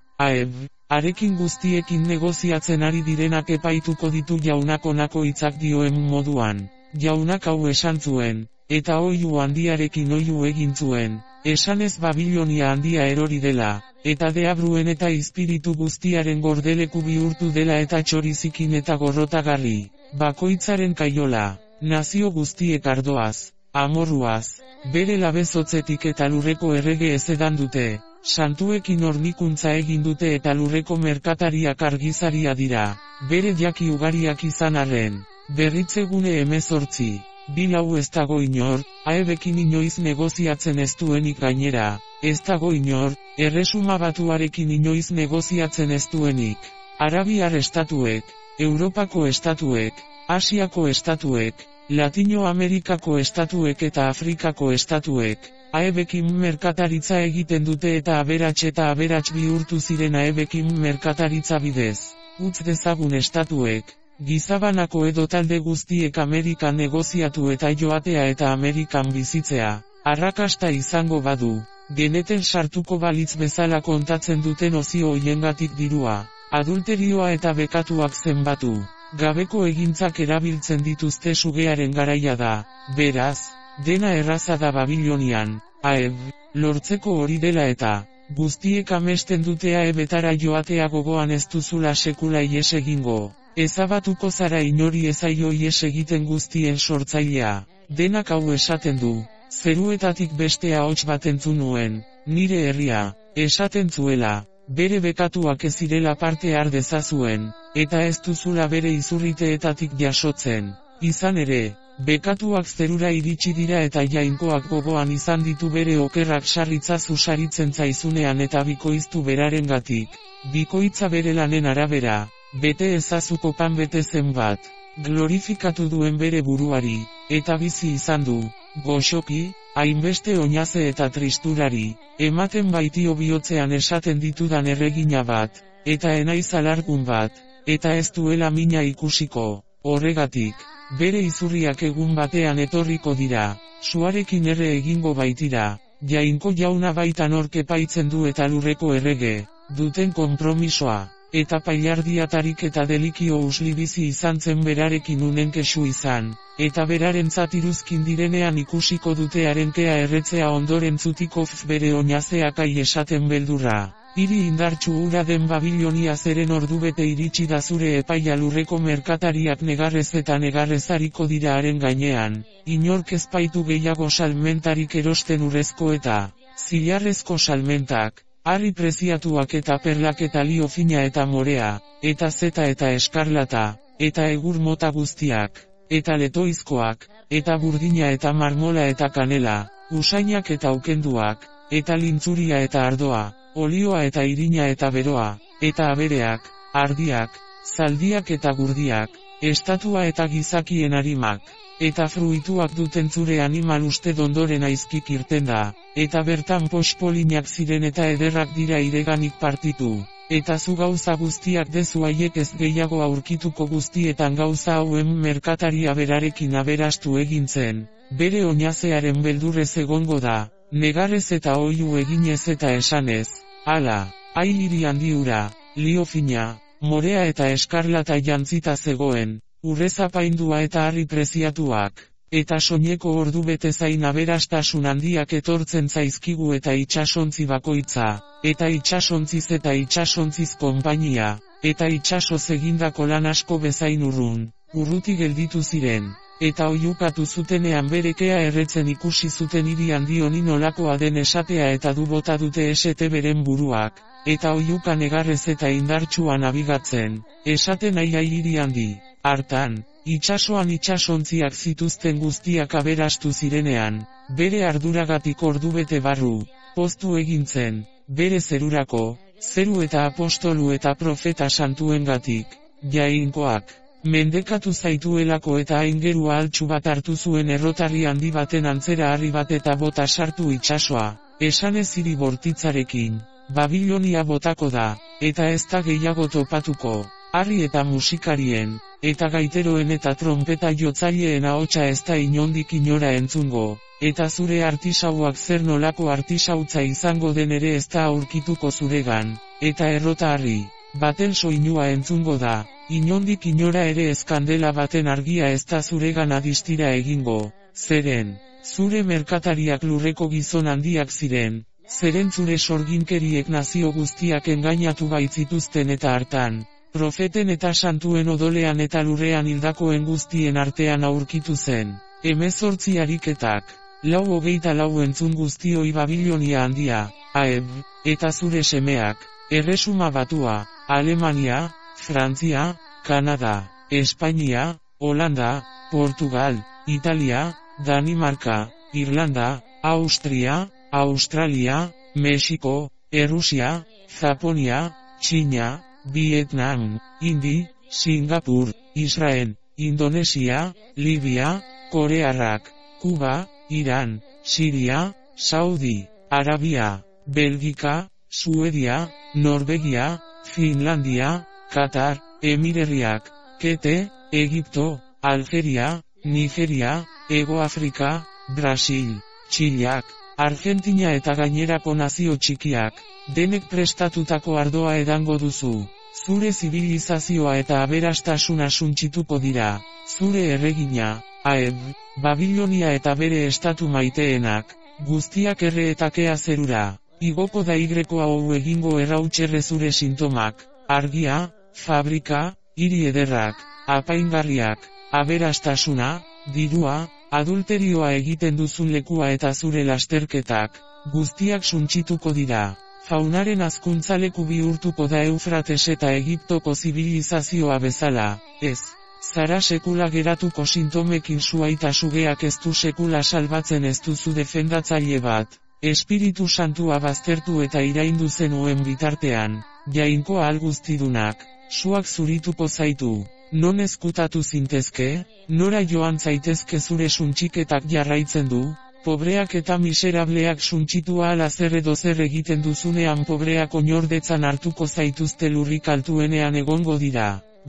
arekin guztiekin negoziatzen ari direnak epaituko ditu jaunak honako hitzak dioen moduan, Jaunak hau esan zuen, eta oihu handiarekin oihu egin zuen, esanez Babilonia handia erori dela, eta deabruen eta izpiritu guztiaren gordeleku bihurtu dela eta txorizikin eta gorrotagarri, bakoitzaren kaiola, nazio guztiek ardoaz, amorruaz, bere labezotzetik eta lurreko errege ezedan dute, santuekin hornikuntza egin dute eta lurreko merkatariak argizaria dira, bere jaki ugariak izan arren, berritzegune 18. Bilau ez dago inor, Aebekin inoiz negoziatzen ez duenik gainera, ez dago inor, Erresuma Batuarekin inoiz negoziatzen ez duenik, Arabiar estatuek, Europako estatuek, Asiako estatuek, Latinoamerikako estatuek eta Afrikako estatuek, Aebekin merkataritza egiten dute eta aberats bihurtu ziren Aebekin merkataritza bidez, utz dezagun estatuek, gizabanako edo talde guztiek Amerikan negoziatu eta joatea eta Amerikan bizitzea, arrakasta izango badu, geneten sartuko balitz bezala kontatzen duten ozio hoiengatik dirua, adulterioa eta bekatuak zenbatu, gabeko egintzak erabiltzen dituzte sugearen garaia da, beraz, dena erraza da Babilonian, Aeb, lortzeko hori dela eta, guztiek amesten dute Aebetara joatea gogoan ez duzula sekula ies egingo. Ezabatuko zara inori ezaio ies egiten guztien sortzailea, denak hau esaten du, zeruetatik beste ahots bat entzun nuen, nire herria, esaten zuela, bere bekatuak ez zirela parte har dezazuen, eta ez duzula bere izurriteetatik jasotzen, izan ere, bekatuak zerura iritsi dira eta jainkoak gogoan izan ditu bere okerrak sarritzazu saritzen zaizunean eta bikoiztu berarengatik, bikoitza bere lanen arabera. Bete ezazuko pan bete zenbat, glorifikatu duen bere buruari, eta bizi izan du, goxoki, hainbeste oinaze eta tristurari, ematen baitio bihotzean esaten ditudan erregina bat, eta enaiz alargun bat, eta ez duela mina ikusiko, horregatik, bere izurriak egun batean etorriko dira, suarekin erre egingo baitira, jainko jauna baitan orke paitzen du eta lurreko errege, duten konpromisoa. Eta pailardiatarik eta delikio usli bizi izan zen berarekin unen kexu izan, eta beraren zatiruzkin direnean ikusiko dute harenkea erretzea ondoren zutiko bere oinazeakai esaten beldurra. Hiri indartsu hura den Babilonia zeren ordubete iritsi da zure epaia lurreko merkatariak negarrez eta negarrezariko dira haren gainean, inork ezpaitu gehiago salmentarik erosten urrezko eta zilarrezko salmentak. Harri preziatuak eta perlak eta lio fina eta morea, eta zeta eta eskarlata, eta egur mota guztiak, eta letoizkoak, eta burdina eta marmola eta kanela, usainak eta ukenduak, eta lintzuria eta ardoa, olioa eta irina eta beroa, eta abereak, ardiak, zaldiak eta gurdiak, estatua eta gizakien harimak. Eta fruituak duten zure animal uste dondoren aizkik irten da, eta bertan pospolinak ziren eta ederrak dira ireganik partitu, eta zu gauza guztiak dezu haiek ez gehiago aurkituko guztietan gauza hauen merkataria berarekin aberastu egintzen, bere oinazearen beldurrez egongo da, negarrez eta oihu eginez eta esanez, hala, hiri handi hura, lio fina, morea eta eskarlata jantzita zegoen, urrezapaindua eta harri preziatuak, eta soineko ordu bete zain aberastasun handiak etortzen zaizkigu eta itsasontzi bakoitza, eta itsasontziz eta itsasontziz konpainia, eta itsasoz egindako lan asko bezain urruti gelditu ziren, eta oihukatu zutenean berekea erretzen ikusi zuten hiri handi honi nolakoa den esatea eta du bota dute esete beren buruak, eta oihuka negarrez eta indartsuan abigatzen, esaten nahi hiri handi. Hartan, itsasoan itsasontziak zituzten guztiak aberastu zirenean, bere arduragatik ordubete barru, poztu egintzen, bere zerurako, zeru eta apostolu eta profeta santuengatik, jainkoak, mendekatu zaituelako eta aingerua altxu bat hartu zuen errotarri handi baten antzera harri bat eta bota sartu itsasoa, esanez hiri bortitzarekin, Babilonia botako da, eta ez da gehiago topatuko, harri eta musikarien, eta gaiteroen eta trompeta jotzaileen ahotsa ez da inondik inora entzungo, eta zure artisauak zer nolako artisautza izango den ere ez da aurkituko zuregan, eta errota harri baten soinua entzungo da, inondik inora ere ez kandela baten argia ez da zuregana distira egingo, zeren, zure merkatariak lurreko gizon handiak ziren, zeren zure sorginkeriek nazio guztiak engainatu baitzituzten eta hartan, profeten eta santuen odolean eta lurrean hildakoen guztien artean aurkitu zen, 18 ariketak, 4:24 entzun guztioi Babilonia handia, Aeb, eta zure semeak, Erresuma Batua, Alemania, Frantzia, Kanada, Espainia, Holanda, Portugal, Italia, Danimarka, Irlanda, Austria, Australia, Mexiko, Errusia, Japonia, Txina, Vietnam, Indi, Singapur, Israel, Indonesia, Libia, Korearrak, Kuba, Iran, Siria, Saudi, Arabia, Belgika, Suedia, Norvegia, Finlandia, Qatar, Emirerriak, Kete, Egipto, Algeria, Nigeria, Hego Afrika, Brasil, Txileak, Argentina eta gainerako nazio txikiak, denek prestatutako ardoa edango duzu. Zure zibilizazioa eta aberastasuna suntsituko dira, zure erregina, Aeb, Babilonia eta bere estatu maiteenak, guztiak erre eta kea zerura, igoko da hau egingo errautxerre zure sintomak, argia, fabrika, hiri ederrak, apaingarriak, aberastasuna, dirua, adulterioa egiten duzun lekua eta zure lasterketak, guztiak suntsituko dira. Faunaren hazkuntzaleku bihurtuko da Eufrates eta Egiptoko zibilizazioa bezala, ez. Zara sekula geratuko sintomekin suaita sugeak ez du sekula salbatzen ez duzu defendatzaile bat. Espiritu Santua baztertu eta iraindu zenuen bitartean, jainko ahal guztidunak, suak zurituko zaitu. Non ezkutatu zintezke, nora joan zaitezke zure suntsiketak jarraitzen du, pobreak eta miserableak suntsitu ahala zer edo zer egiten duzunean pobreak oinordetzan hartuko zaituzte lurrik altuenean egongo dira,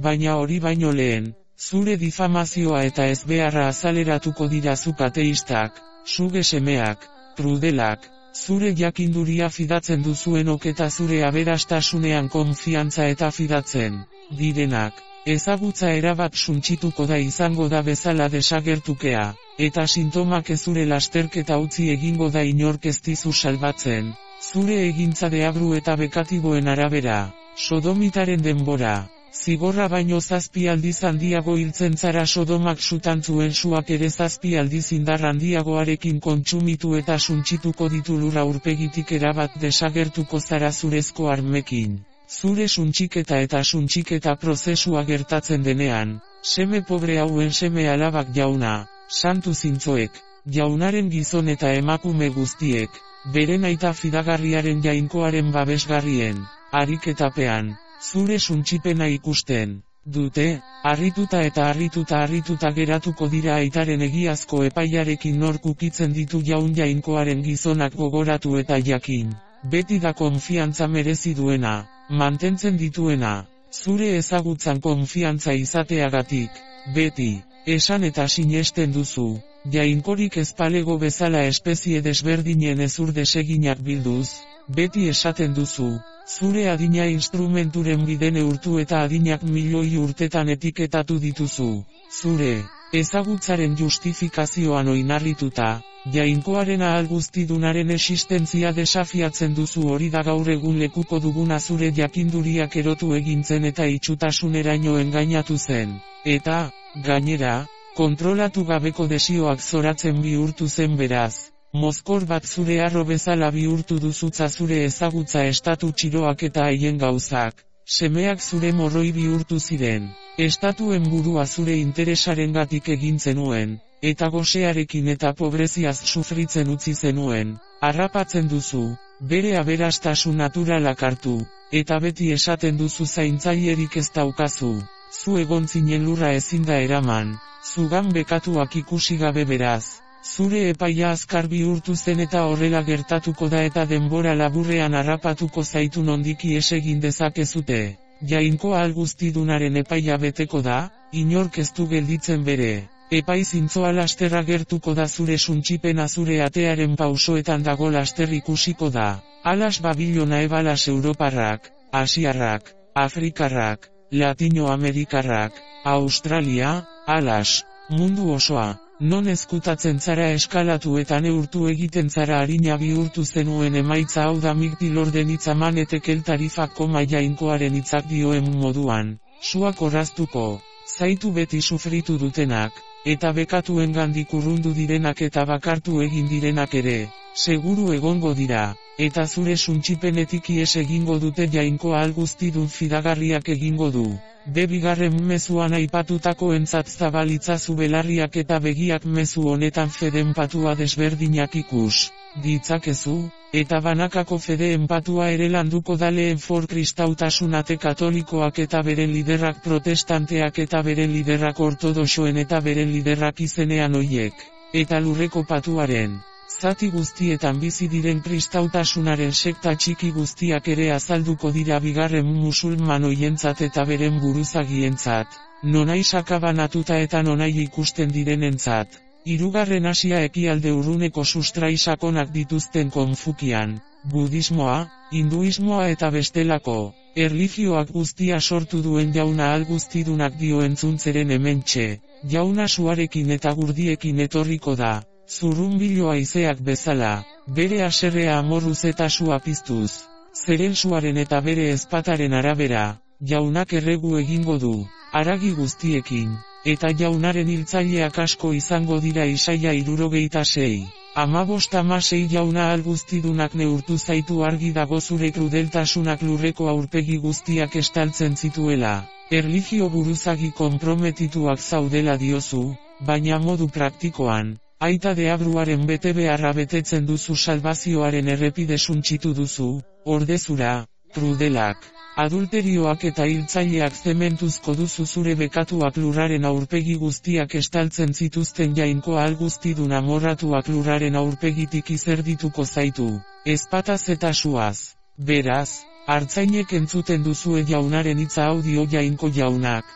baina hori baino lehen, zure difamazioa eta ezbeharra azaleratuko dira zuk ateistak, suge semeak, krudelak, zure jakinduria fidatzen duzuenok eta zure aberastasunean konfiantza eta fidatzen direnak. Ezagutza erabat suntsituko da izango da bezala desagertukea, eta sintomak ezure lasterketa utzi egingo da inork ez dizu salbatzen, zure egintza deabru eta bekatiboen arabera, sodomitaren denbora, zigorra baino 7 aldiz handiago hiltzen zara sodomak sutan zuen suak ere 7 aldiz indar handiagoarekin kontsumitu eta suntsituko ditu lurra aurpegitik erabat desagertuko zara zurezko armekin. Zure suntxiketa eta suntxiketa prozesua gertatzen denean, seme pobre hauen seme alabak jauna, santu zintzoek, jaunaren gizon eta emakume guztiek, beren aita fidagarriaren jainkoaren babesgarrien, ariketapean, zure suntxipena ikusten dute, harrituta geratuko dira aitaren egiazko epaiarekin nork ukitzen ditu jainkoaren gizonak gogoratu eta jakin, beti da konfiantza merezi duena. Mantentzen dituena, zure ezagutzan konfiantza izateagatik, beti, esan eta sinesten duzu, jainkorik ezpalego bezala espezie desberdinen ezur deseginak bilduz, beti esaten duzu, zure adina instrumenturen bidene urtu eta adinak milioi urtetan etiketatu dituzu, zure ezagutzaren justifikazioan oinarrituta, jainkoaren ahal guztidunaren existentzia desafiatzen duzu hori da gaur egun lekuko duguna zure jakinduriak erotu egintzen eta itxutasuneraino engainatu zen, eta, gainera, kontrolatu gabeko desioak zoratzen bihurtu zen beraz. Mozkor bat zure arro bezala bihurtu duzutza zure ezagutza estatu txiroak eta haien gauzak, semeak zure morroi bihurtu ziren, estatuen burua zure interesarengatik egin zenuen, eta gosearekin eta pobreziaz sufritzen utzi zenuen, harrapatzen duzu, bere aberastasun naturalak hartu, eta beti esaten duzu zaintzailerik ez daukazu, zu egon zinen lurra ezin da eraman, zugan bekatuak ikusi gabe beraz. Zure epaia azkar bihurtu zen eta horrela gertatuko da eta denbora laburrean harrapatuko zaitu nondiki esegin dezakezute. Jainko ahal guztidunaren epaia beteko da, inork ez du gelditzen bere. Epai zintzoa lasterra gertuko da zure suntxipena zure atearen pausoetan dago laster ikusiko da. Alas Babilona ebalas Europarrak, Asiarrak, Afrikarrak, Latinoamerikarrak, Australia, alas, mundu osoa, non ezkutatzen zara eskalatu eta neurtu egiten zara harina bihurtu zenuen emaitza hau da migdilorden hitzaman etekel tarifako jainkoaren hitzak dioen moduan, suak orraztuko, zaitu beti sufritu dutenak, eta bekatuen gandik urrundu direnak eta bakartu egin direnak ere, seguru egongo dira, eta zure suntsipenetik ihes egingo dute jainkoa alguztidun fidagarriak egingo du. Bigarren mezuan aipatutako entzat zabalitzazu belarriak eta begiak mezu honetan fede enpatua desberdinak ikus ditzakezu, eta banakako fede enpatua ere landuko daleen for kristautasunate katolikoak eta beren liderrak protestanteak eta beren liderrak ortodoxoen eta beren liderrak izenean hoiek, eta lurreko patuaren zati guztietan bizi diren kristautasunaren sekta txiki guztiak ere azalduko dira bigarren musulman hoientzat eta beren buruzagientzat, nonai sakabanatuta eta nonai ikusten direnentzat. Hirugarren Asia ekialde urruneko sustrai sakonak dituzten Konfukian, budismoa, hinduismoa eta bestelako erlijioak guztia sortu duen jauna alguztidunak dio entzuntzeren hementxe, jauna suarekin eta gurdiekin etorriko da. Zurrunbilo haizeak bezala, bere haserrea amorruz eta sua piztuz, zeren suaren eta bere ezpataren arabera, jaunak erregu egingo du, haragi guztiekin, eta jaunaren hiltzaileak asko izango dira Isaia 66. 15:6 jauna alguztidunak neurtu zaitu argi dago zure krudeltasunak lurreko aurpegi guztiak estaltzen zituela, erlijio buruzagi konprometituak zaudela diozu, baina modu praktikoan. Aita deabruaren bete beharra betetzen duzu salbazioaren errepide suntsitu duzu, ordezura, krudelak, adulterioak eta hiltzaileak zementuzko duzu zure bekatuak lurraren aurpegi guztiak estaltzen zituzten jainkoa alguztidun amorratuak lurraren aurpegitik izerdituko zaitu, ezpataz eta suaz. Beraz, hartzainek entzuten duzue jaunaren hitza audio jainko jaunak,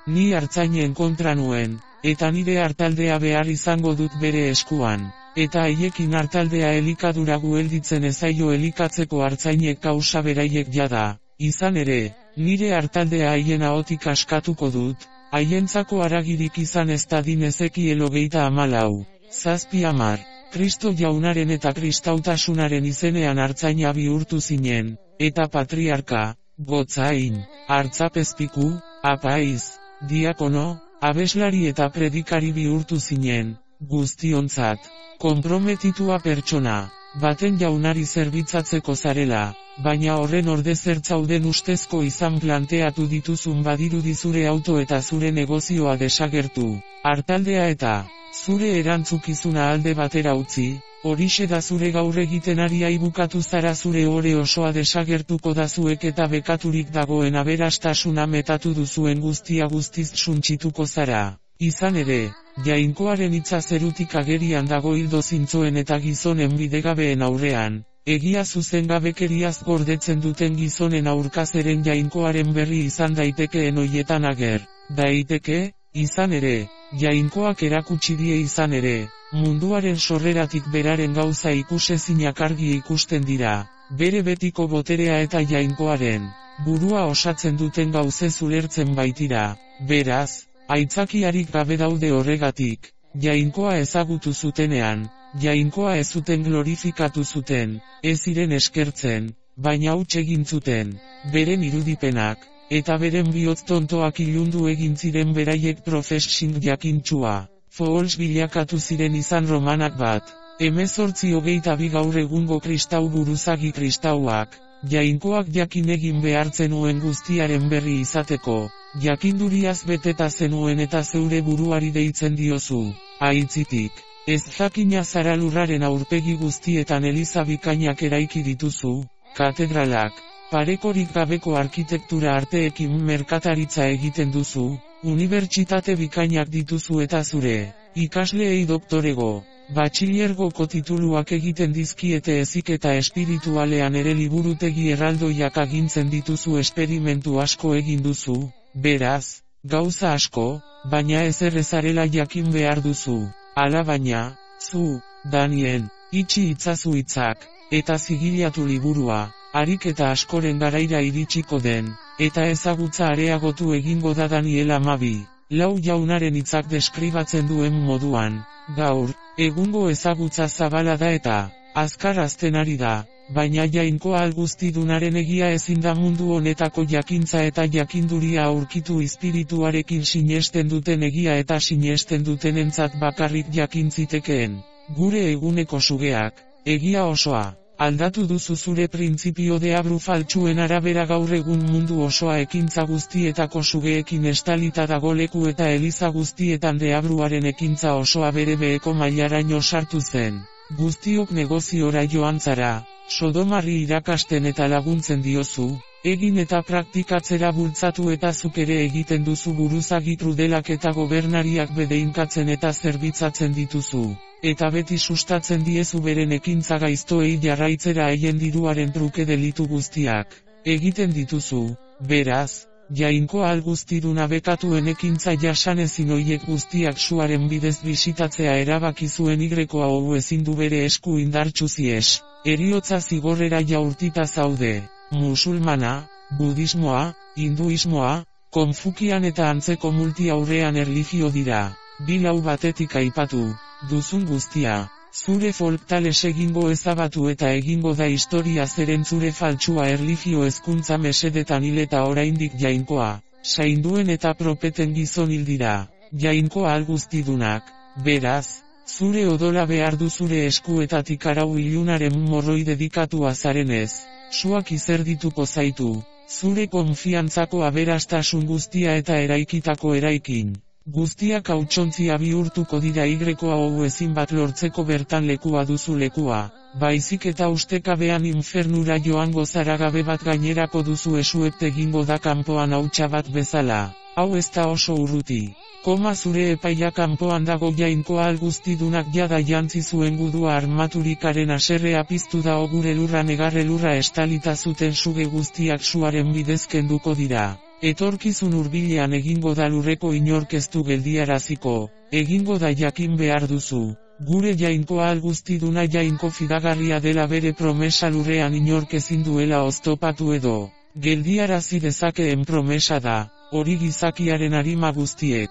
ni hartzainen kontra nuen. Eta nire hartaldea behar izango dut bere eskuan, eta haiekin hartaldea elikadura guelditzen ezaio elikatzeko hartzainek kausa beraiek jada, izan ere, nire hartaldea haien ahotik askatuko dut, haientzako haragirik izan ez dadin Ezekiel 34. 7:10, Kristo jaunaren eta kristautasunaren izenean hartzaina bihurtu zinen, eta patriarka, gotzain, hartzapezpiku, apaiz, diakono, abeslari eta predikari bihurtu zinen, guztiontzat, konprometitua pertsona, baten jaunari zerbitzatzeko zarela, baina horren orde zertzauden ustezko izan planteatu dituzun badirudi zure auto eta zure negozioa desagertu, hartaldea eta zure erantzukizuna alde batera utzi, horixe da zure gaur egiten ari bukatu zara zure ore osoa desagertuko da zuek eta bekaturik dagoen aberastasuna metatu duzuen guztia guztiz suntsituko zara. Izan ere, jainkoaren hitza zerutik agerian dago hildo zintzoen eta gizonen bidegabeen aurrean, egia zuzengabekeriaz gordetzen duten gizonen aurkazeren jainkoaren berri izan daitekeen hoietan ager. Daiteke, izan ere, jainkoak erakutsi die izan ere, munduaren sorreratik beraren gauza ikusezinak argi ikusten dira, bere betiko boterea eta jainkoaren burua osatzen duten gauzez ulertzen baitira, beraz, aitzakiarik gabe daude horregatik, jainkoa ezagutu zutenean, jainkoa ez zuten glorifikatu zuten, ez ziren eskertzen, baina huts egin zuten, beren irudipenak, eta beren bihotz tontoak ilundu egin ziren beraiek profesing jakintsua. Fohols bilakatu ziren izan romanak bat. 18:22 gaur egungo kristau buruzagi kristauak, jainkoak jakin egin behartzen uen guztiaren berri izateko, jakinduriaz beteta zenuen eta zeure buruari deitzen diozu, aitzitik, ez jakina zara lurraren aurpegi guztietan eliza bikainak eraiki dituzu, katedralak, parekorik gabeko arkitektura arteekin merkataritza egiten duzu, unibertsitate bikainak dituzu eta zure ikasleei doktorego, batxilergoko tituluak egiten dizkiete heziketa espiritualean ere liburutegi erraldoiak agintzen dituzu esperimentu asko egin duzu, beraz, gauza asko, baina ezer ezarela jakin behar duzu. Alabaina, zu, Danien, itxi itzazu hitzak, eta zigilatu liburua, harik eta askoren garaira iritsiko den, eta ezagutza areagotu egingo da Daniel 12. Lau jaunaren hitzak deskribatzen duen moduan, gaur, egungo ezagutza zabala da eta azkar hazten ari da, baina jainkoa alguztidunaren egia ezin da mundu honetako jakintza eta jakinduria aurkitu espirituarekin sinesten duten egia eta sinesten dutenentzat bakarrik jakin zitekeen. Gure eguneko sugeak, egia osoa, aldatu duzu zure printzipio deabru faltsuen arabera gaur egun mundu osoa ekintza guztietako sugeekin estalita dago leku eta eliza guztietan deabruaren ekintza osoa bere beheko mailaraino sartu zen. Guztiok negoziora joan zara, Sodomarri irakasten eta laguntzen diozu, egin eta praktikatzera bultzatu eta zuk ere egiten duzu buruzagi krudelak eta gobernariak bedeinkatzen eta zerbitzatzen dituzu. Eta beti sustatzen diezu beren ekintza gaiztoei jarraitzera haien diruaren truke delitu guztiak. Egiten dituzu, beraz, jainkoa alguztiduna bekatuen ekintza jasanezin oiek guztiak suaren bidez bisitatzea erabaki zuen hau ezin du bere esku indartsuzi es. Heriotza zigorrera jaurtita zaude, musulmana, budismoa, hinduismoa, konfukian eta antzeko multi-aurrean erlijio dira. Bilau batetik aipatu, duzun guztia, zure folktales egingo ezabatu eta egingo da historia zeren zure faltsua erlijio hezkuntza mesedetan hil eta oraindik jainkoa, sainduen eta propeten gizon hil dira, jainkoa alguztidunak, beraz, zure odola behar du zure eskuetatik arau ilunaren morroi dedikatu azarenez, suak izerdituko zaitu, zure konfiantzako aberastasun guztia eta eraikitako eraikin. Guztiak hautsuntzia bihurtuko dira hau ezin bat lortzeko bertan lekua duzu lekua, baizik eta ustekabean infernura joango zaragabe bat gainerako duzu esuept egingo da kanpoan hautsa bat bezala, hau ez da oso urruti. Zure epaia kanpoan dago jainkoa alguztidunak jada jantzi zuen gudua armaturikaren aserrea piztu da gure lurra negarre lurra estalita zuten suge guztiak suaren bidez kenduko dira. Etorkizun hurbilean egingo da lurreko inork ez du geldiaraziko, egingo da jakin behar duzu. Gure jainkoa alguztiduna jainko fidagarria dela bere promesa lurrean inork ezin duela oztopatu edo. Geldiarazi dezakeen promesa da, hori gizakiaren arima guztiek.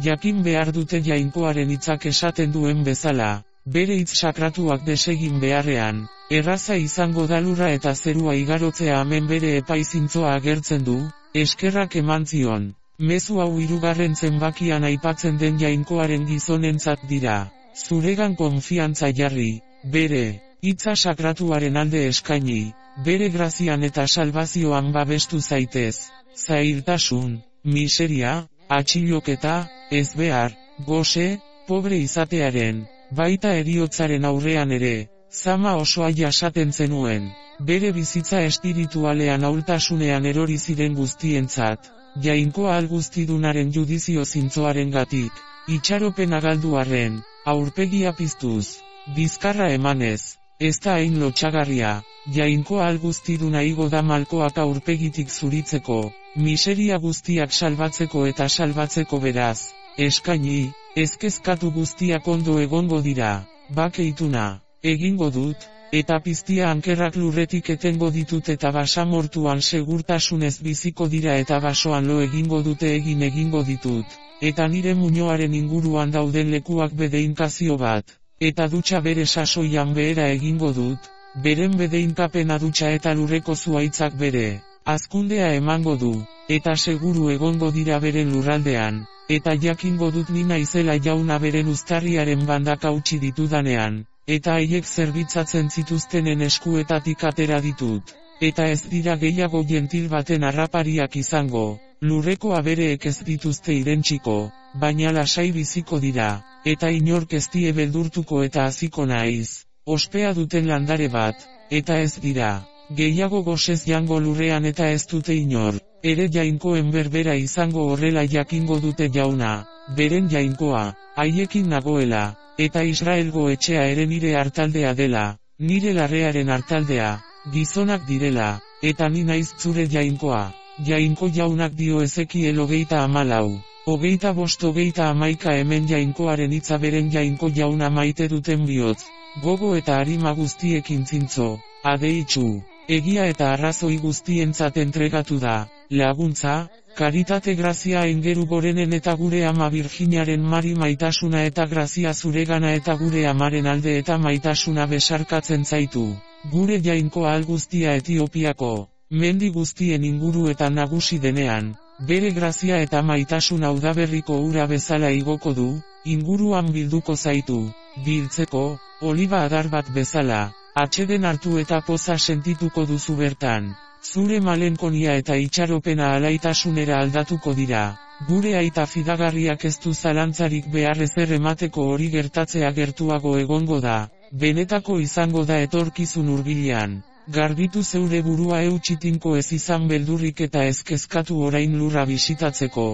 Jakin behar dute jainkoaren hitzak esaten duen bezala, bere hitz sakratuak desegin beharrean, erraza izango da lurra eta zerua igarotzea hemen bere epaizintzoa agertzen du, eskerrak eman zion. Mezu hau 3. zenbakian aipatzen den jainkoaren gizonentzat dira. Zuregan konfiantza jarri, bere hitza sakratuaren alde eskaini, bere grazian eta salbazioan babestu zaitez. Zailtasun, miseria, atxiloketa, ezbehar, gose, pobre izatearen, baita heriotzaren aurrean ere, zama osoa jasaten zenuen, bere bizitza espiritualean ahultasunean erori ziren guztientzat, jainkoa alguztidunaren judizio zintzoaren gatik, itxaropen agaldu arren, aurpegia piztuz, bizkarra emanez, ez da hain lotxagarria, jainkoa alguztiduna igo da malkoak aurpegitik zuritzeko, miseria guztiak salbatzeko eta salbatzeko beraz, eskaini, ezkezkatu guztiak ondo egongo dira, bakeituna, egingo dut, eta piztia ankerrak lurretik etengo ditut eta basamortuan segurtasunez biziko dira eta basoan lo egingo dute egingo ditut, eta nire muñoaren inguruan dauden lekuak bedeinkazio bat, eta dutxa bere sasoian behera egingo dut, beren bedeinkapena dutxa eta lurreko zuaitzak bere. Azkundea emango du, eta seguru egongo dira beren lurraldean, eta jakingo dut ni naizela jauna beren uztarriaren bandak hautsi ditudanean, eta haiek zerbitzatzen zituztenen eskuetatik atera ditut, eta ez dira gehiago gentil baten harrapariak izango, lurreko abereek ez dituzte irentsiko, baina lasai biziko dira, eta inork ez die beldurtuko eta hasiko naiz, ospea duten landare bat, eta ez dira. Gehiago gosez jango lurrean eta ez dute inor, ere jainkoen berbera izango horrela jakingo dute jauna, beren jainkoa, haiekin nagoela, eta Israelgo etxea ere nire hartaldea dela, nire larrearen hartaldea, gizonak direla, eta ni naiz zure jainkoa, jainko jaunak dio Ezekiel 34, 25-31 hemen jainkoaren hitza beren jainko jauna maite duten bihotz, gogo eta arima guztiekin zintzo, adeitzu. egia eta arrazoi guztientzat entregatu da, laguntza, karitate grazia aingeru gorenen eta gure ama Virginaren Mari maitasuna eta grazia zuregana eta gure amaren alde eta maitasuna besarkatzen zaitu. Gure jainko ahal guztia Etiopiako, mendi guztien inguruetan nagusi denean, bere grazia eta maitasun udaberriko ura bezala igoko du, inguruan bilduko zaitu, biltzeko, oliba adar bat bezala, atseden hartu eta poza sentituko duzu bertan. Zure malenkonia eta itxaropena alaitasunera aldatuko dira. Gure aita fidagarriak ez du zalantzarik behar ezer emateko hori gertatzea gertuago egongo da, benetako izango da etorkizun hurbilean. Garbitu zeure burua eutxitinko ez izan beldurrik eta ez kezkatu orain lurra bisitatzeko,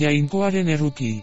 jainkoaren erruki,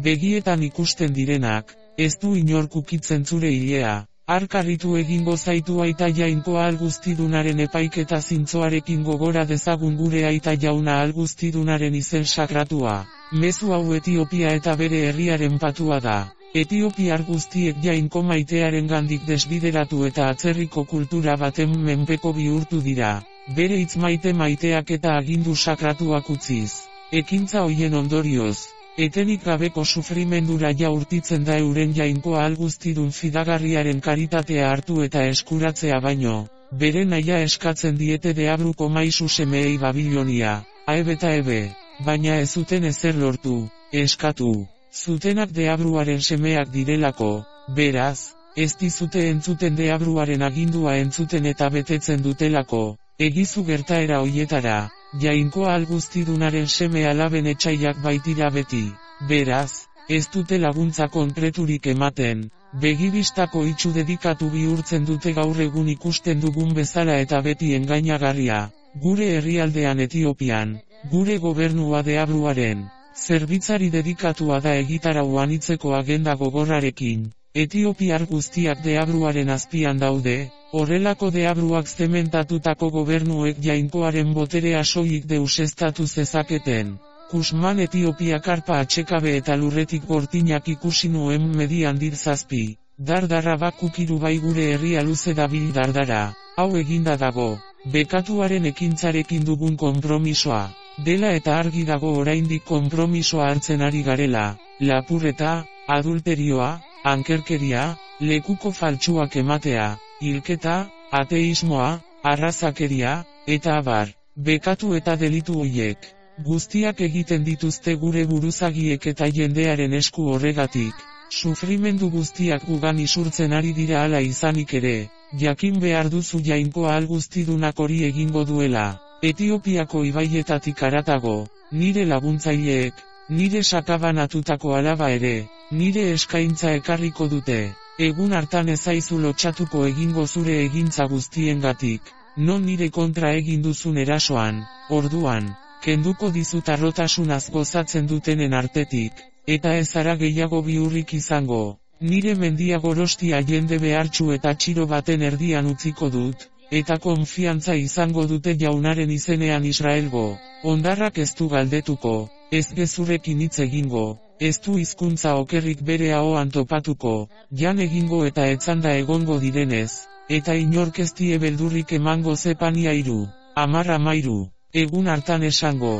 begietan ikusten direnak, ez du inork ukitzen zure ilea. Arkarritu egingo zaitu aita jainko ahal guztidunaren epaiketa zintzoarekin gogora dezagun gure aita jauna ahal guztidunaren izen sakratua. Mezu hau Etiopia eta bere herriaren patua da. Etiopiar guztiek jainko maitearen gandik desbideratu eta atzerriko kultura baten menpeko bihurtu dira. Bere hitz maiteak eta agindu sakratuak utziz. Ekintza hoien ondorioz. Etenik gabeko sufrimendura jaurtitzen da euren jainko ahal guztidun fidagarriaren karitatea hartu eta eskuratzea baino, bere naia eskatzen diete Deabruko maisu semeei Babilonia, aebeta ebe, baina ez zuten ezer lortu, eskatu, zutenak Deabruaren semeak direlako, beraz, ez dizute entzuten Deabruaren agindua entzuten eta betetzen dutelako, egizu gertaera hoietara. Jainko ahal guztidunaren seme alaben etxaiak baitira beti, beraz, ez dute laguntza konkreturik ematen, begibistako itxu dedikatu bihurtzen dute gaur egun ikusten dugun bezala eta beti engainagarria, gure herrialdean Etiopian, gure gobernua Deabruaren, zerbitzari dedikatua da egitarau anitzeko agenda gogorrarekin, Etiopiar guztiak Deabruaren azpian daude, horrelako Deabruak zementatutako gobernuek jainkoaren boterea soilik deuseztatu zezaketen. Kusman Etiopia karpa atxekabe eta lurretik gortinak ikusi nuen median dirzazpi, dardarra bakukiru bai gure herria luze dabil dardara, hau eginda dago, bekatuaren ekintzarekin dugun konpromisoa, dela eta argi dago oraindik konpromisoa hartzen ari garela, lapurreta, adulterioa, ankerkeria, lekuko faltsuak ematea, hilketa, ateismoa, arrazakeria, eta abar, bekatu eta delitu hoiek, guztiak egiten dituzte gure buruzagiek eta jendearen esku horregatik, sufrimendu guztiak gugan isurtzen ari dira hala izanik ere, jakin behar duzu jainko ahal guztidunak hori egingo duela, Etiopiako ibaietatik haratago, nire laguntzaileek, nire sakabanatutako alaba ere, nire eskaintza ekarriko dute. Egun hartan ezaizu lotxatuko egingo zure egintza guztiengatik, non nire kontra egin duzun erasoan, orduan, kenduko dizut arrotasunaz gozatzen dutenen artetik, eta ez zara gehiago bihurrik izango, nire mendia gorostia jende behartsu eta txiro baten erdian utziko dut, eta konfiantza izango dute jaunaren izenean Israelgo, ondarrak ez du galdetuko, ez gezurekin hitz egingo. Ez du hizkuntza okerrik bere ahoan topatuko, jan egingo eta etzanda egongo direnez, eta inork ez die beldurrik emango Zefania 10:13, egun hartan esango,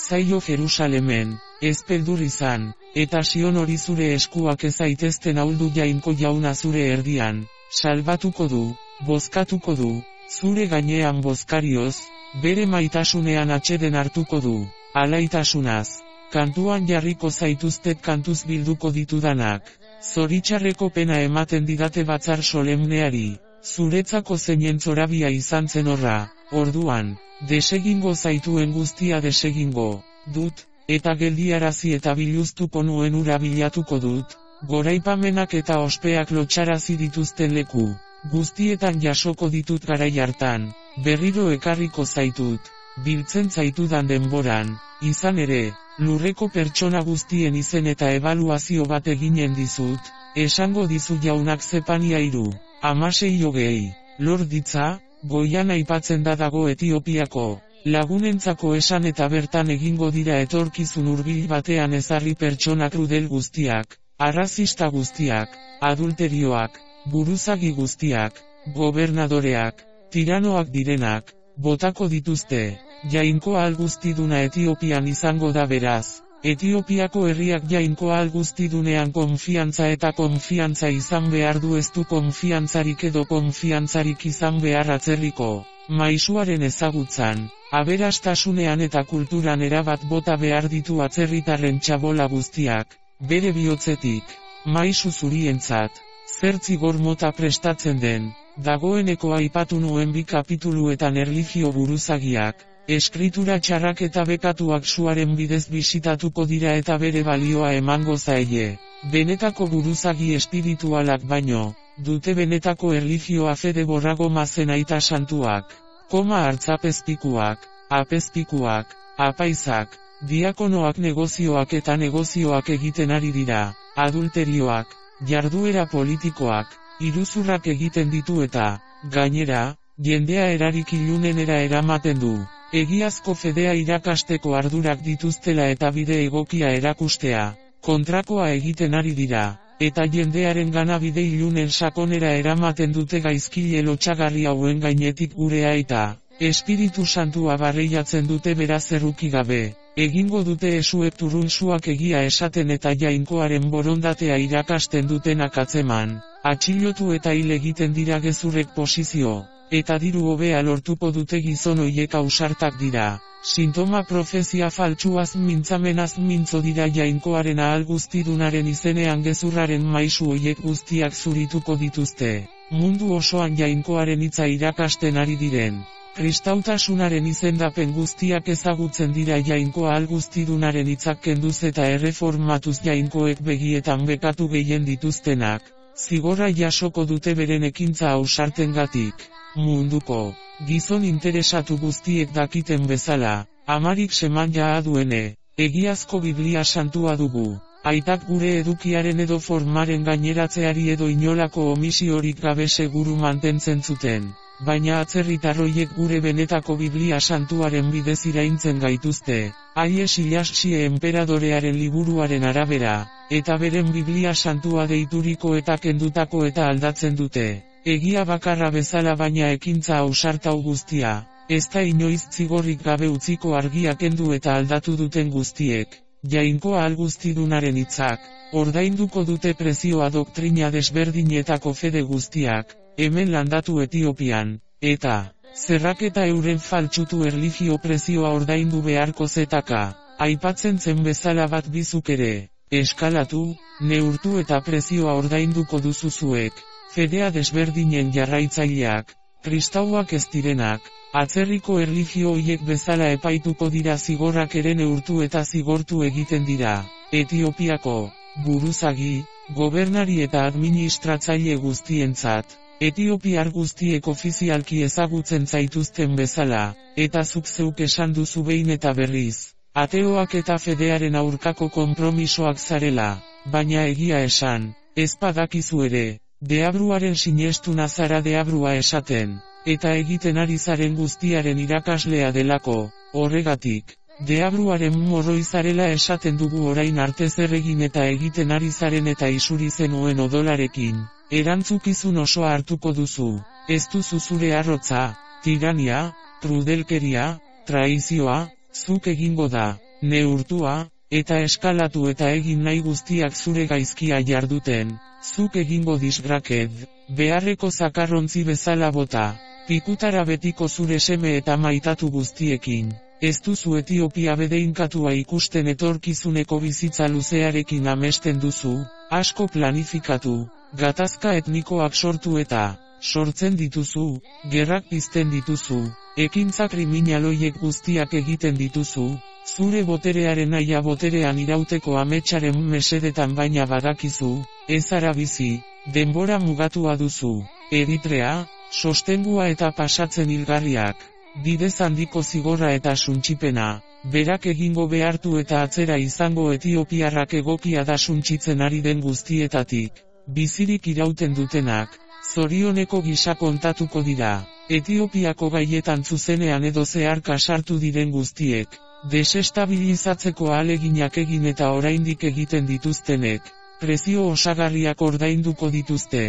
zaio Jerusalemen, ez beldur izan, eta Sion hori zure eskuak ez aitezten ahuldu jainko jauna zure erdian, salbatuko du, bozkatuko du, zure gainean bozkarioz, bere maitasunean atseden hartuko du, alaitasunaz. Kantuan jarriko zaituztet kantuz bilduko ditudanak, zoritxarreko pena ematen didate batzar solemneari, zuretzako zeinen zorabia izan zen horra, orduan, desegingo zaituen guztia desegingo, dut, eta geldiarazi eta biluztuko nuen ura bilatuko dut, goraipamenak eta ospeak lotxarazi dituzten leku, guztietan jasoko ditut garai hartan, berriro ekarriko zaitut, biltzen zaitudan denboran, izan ere, lurreko pertsona guztien izen eta ebaluazio bat eginen dizut, esango dizu jaunak Zefania 3:16, lor ditza, goian aipatzen da dago Etiopiako, lagunentzako esan eta bertan egingo dira etorkizun hurbil batean ezarri pertsona krudel guztiak, arrazista guztiak, adulterioak, buruzagi guztiak, gobernadoreak, tiranoak direnak, botako dituzte. Jainko ahal guztiduna Etiopian izango da beraz. Etiopiako herriak jainko ahal guztidunean konfiantza eta konfiantza izan behar du, ez du konfiantzarik edo konfiantzarik izan behar atzerriko maisuaren ezagutzan, aberastasunean eta kulturan erabat bota behar ditu atzerritarren txabola guztiak, bere bihotzetik. Maisu zurientzat, zer zigor mota prestatzen den, dagoeneko aipatu nuen 2 kapituluetan erlijio buruzagiak, eskritura txarrak eta bekatuak suaren bidez bisitatuko dira eta bere balioa emango zaie. Benetako buruzagi espiritualak baino, dute benetako erlijioa fede borrago mazen aita santuak, hartzapezpikuak, apezpikuak, apaizak, diakonoak negozioak egiten ari dira, adulterioak, jarduera politikoak, iruzurrak egiten ditu eta, gainera, jendea erarik ilunenera eramaten du. Egiazko fedea irakasteko ardurak dituztela eta bide egokia erakustea, kontrakoa egiten ari dira, eta jendearen gana bide ilunen sakonera eramaten dute gaizkile lotsagarri hauen gainetik gure aita, Espiritu Santua barreiatzen dute beraz erruki gabe, egingo dute esuek turunsuak egia esaten eta jainkoaren borondatea irakasten dutenak atzeman, atxilotu eta hil egiten dira gezurrek posizio. Eta diru hobea lortuko dute gizon hoiek ausartak dira. Sintoma profezia faltsuaz mintzamenaz mintzo dira jainkoaren ahal guztidunaren izenean gezurraren maisu hoiek guztiak zurituko dituzte. Mundu osoan jainkoaren hitza irakasten ari diren. Kristautasunaren izendapen guztiak ezagutzen dira jainko ahal guztidunaren hitzak kenduz eta erreformatuz jainkoek begietan bekatu gehien dituztenak. Zigorra jasoko dute beren ekintza ausartengatik. Munduko gizon interesatu guztiek dakiten bezala, amarik seman jaa duene, egiazko Biblia santua dugu. Aitak gure edukiaren edo formaren gaineratzeari edo inolako omisiorik gabe seguru mantentzen zuten, baina atzerritarroiek gure benetako Biblia santuaren bidez iraintzen gaituzte, Haile Selassie enperadorearen liburuaren arabera, eta beren Biblia santua deituriko eta kendutako eta aldatzen dute. Egia bakarra bezala baina ekintza ausartau guztia, ez da inoiz zigorrik gabe utziko argia kendu eta aldatu duten guztiek, jainko ahal guztidunaren hitzak, ordainduko dute prezioa doktrina desberdinetako fede guztiak, hemen landatu Etiopian, eta, zerraketa euren faltsutu erlijio prezioa ordaindu beharko zetaka, aipatzen zen bezala bat bizuk ere, eskalatu, neurtu eta prezioa ordainduko duzuzuek. Fedea desberdinen jarraitzaileak, kristauak ez direnak, atzerriko erlijio hoiek bezala epaituko dira zigorrak ere neurtu eta zigortu egiten dira. Etiopiako buruzagi, gobernari eta administratzaile guztientzat, etiopiar guztiek ofizialki ezagutzen zaituzten bezala, eta zuk zeuk esan duzu behin eta berriz, ateoak eta fedearen aurkako konpromisoak zarela, baina egia esan, ez badakizu ere. Deabruaren sinestuna zara deabrua esaten, eta egiten ari zaren guztiaren irakaslea delako, horregatik, deabruaren morroi zarela esaten dugu orain arte zer egin eta egiten ari zaren eta isuri zenuen odolarekin, erantzukizun osoa hartuko duzu, ez duzu zure arrotza, tirania, krudelkeria, traizioa, zuk egingo da, neurtua, eta eskalatu eta egin nahi guztiak zure gaizkia jarduten. Zuk egingo disgraked, beharreko zakarrontzi bezala bota, pikutara betiko zure seme eta maitatu guztiekin, ez duzu Etiopia bedeinkatua ikusten etorkizuneko bizitza luzearekin amesten duzu, asko planifikatu, gatazka etnikoak sortu eta, sortzen dituzu, gerrak pizten dituzu, ekintza kriminaloiek guztiak egiten dituzu, zure boterearen naia boterean irauteko ametsaren mesedetan baina badakizu, ez zara bizi, denbora mugatua duzu, Eritrea, sostengua eta pasatzen hilgarriak, bidez handiko zigorra eta suntsipena, berak egingo behartu eta atzera izango etiopiarrak egokia da suntsitzen ari den guztietatik, bizirik irauten dutenak, zorioneko gisa kontatuko dira, Etiopiako gaietan zuzenean edo zeharka sartu diren guztiek, desestabilizatzeko ahaleginak egin eta oraindik egiten dituztenek, prezio osagarriak ordainduko dituzte,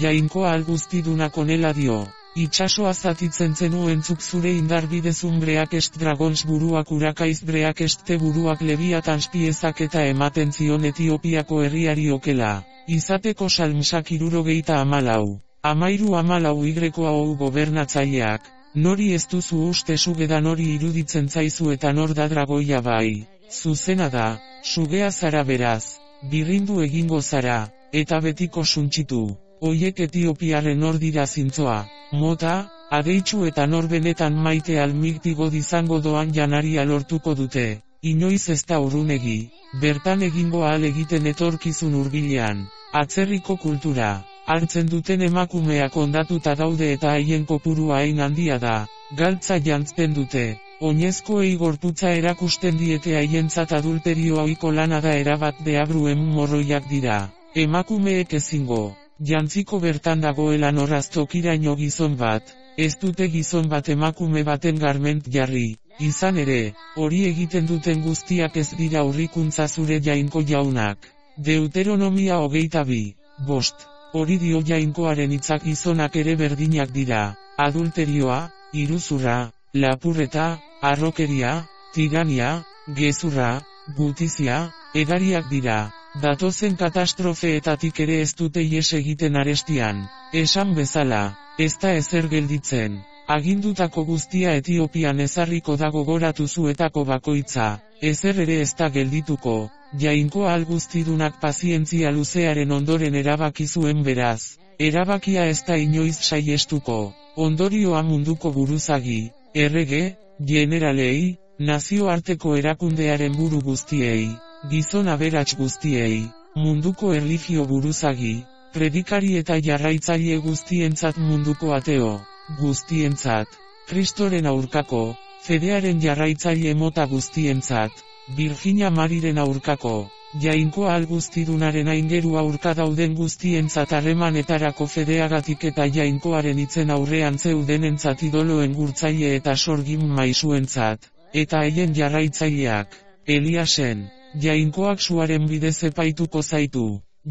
jainko ahal guztidunak honela dio, Itxasoa zatitzen zenuentzuk zure indar bidezun breakest dragons buruak urakaiz breakeste buruak leviatans piezak eta ematen zion Etiopiako herriari okela. Izateko salmsak 74. 13 Y gobernatzaileak, nori ez duzu uste sugeda nori iruditzen zaizu eta nor da dragoia bai. Zuzena da, sugea zara beraz, birrindu egingo zara, eta betiko suntxitu. Oiek Etiopiarren nor dira zintzoa, mota, adeitsu eta nor benetan maite almiktigo dizango doan janaria lortuko dute. Inoiz ez da urrunegi, bertan egingo ahal egiten etorkizun hurbilean. Atzerriko kultura, hartzen duten emakumeak ondatuta daude eta haien kopurua hain handia da, galtza jantzten dute. Oinezkoei gorputza erakusten diete haientzat adulterio ohiko lana da erabat deabruen morroiak dira. Emakumeek ezingo, jantziko bertan dagoela norraztokiraino gizon bat, ez dute gizon bat emakume baten garment jarri. Izan ere, hori egiten duten guztiak ez dira aurrikuntza zure jainko jaunak. Deuteronomia 22:5. Hori dio jainkoaren hitzak gizonak ere berdinak dira. Adulterioa, iruzurra, lapurreta, harrokeria, tirania, gezurra, gutizia, edariak dira. Datozen katastrofeetatik ere ez dute ihes egiten arestian. Esan bezala, ez da ezer gelditzen. Agindutako guztia Etiopian ezarriko da gogoratu zuetako bakoitza. Ezer ere ez da geldituko. Jainko ahal guztidunak pazientzia luzearen ondoren erabaki zuen beraz. Erabakia ez da inoiz saiestuko. Ondorioa munduko buruzagi, errege, generalei, nazioarteko erakundearen buru guztiei, gizon aberats guztiei, munduko erlijio buruzagi, predikari eta jarraitzaile guztientzat munduko ateo, guztientzat, Kristoren aurkako, fedearen jarraitzaile mota guztientzat, Virginia Mariren aurkako, jainko ahal guztidunaren aingeru aurka dauden guztientzat harremanetarako fedeagatik eta jainkoaren itzen aurrean zeudenentzat idoloen gurtzaile eta sorgin maisuentzat, eta haien jarraitzaileak, Eliasen, jainkoak suaren bidez epaituko zaitu.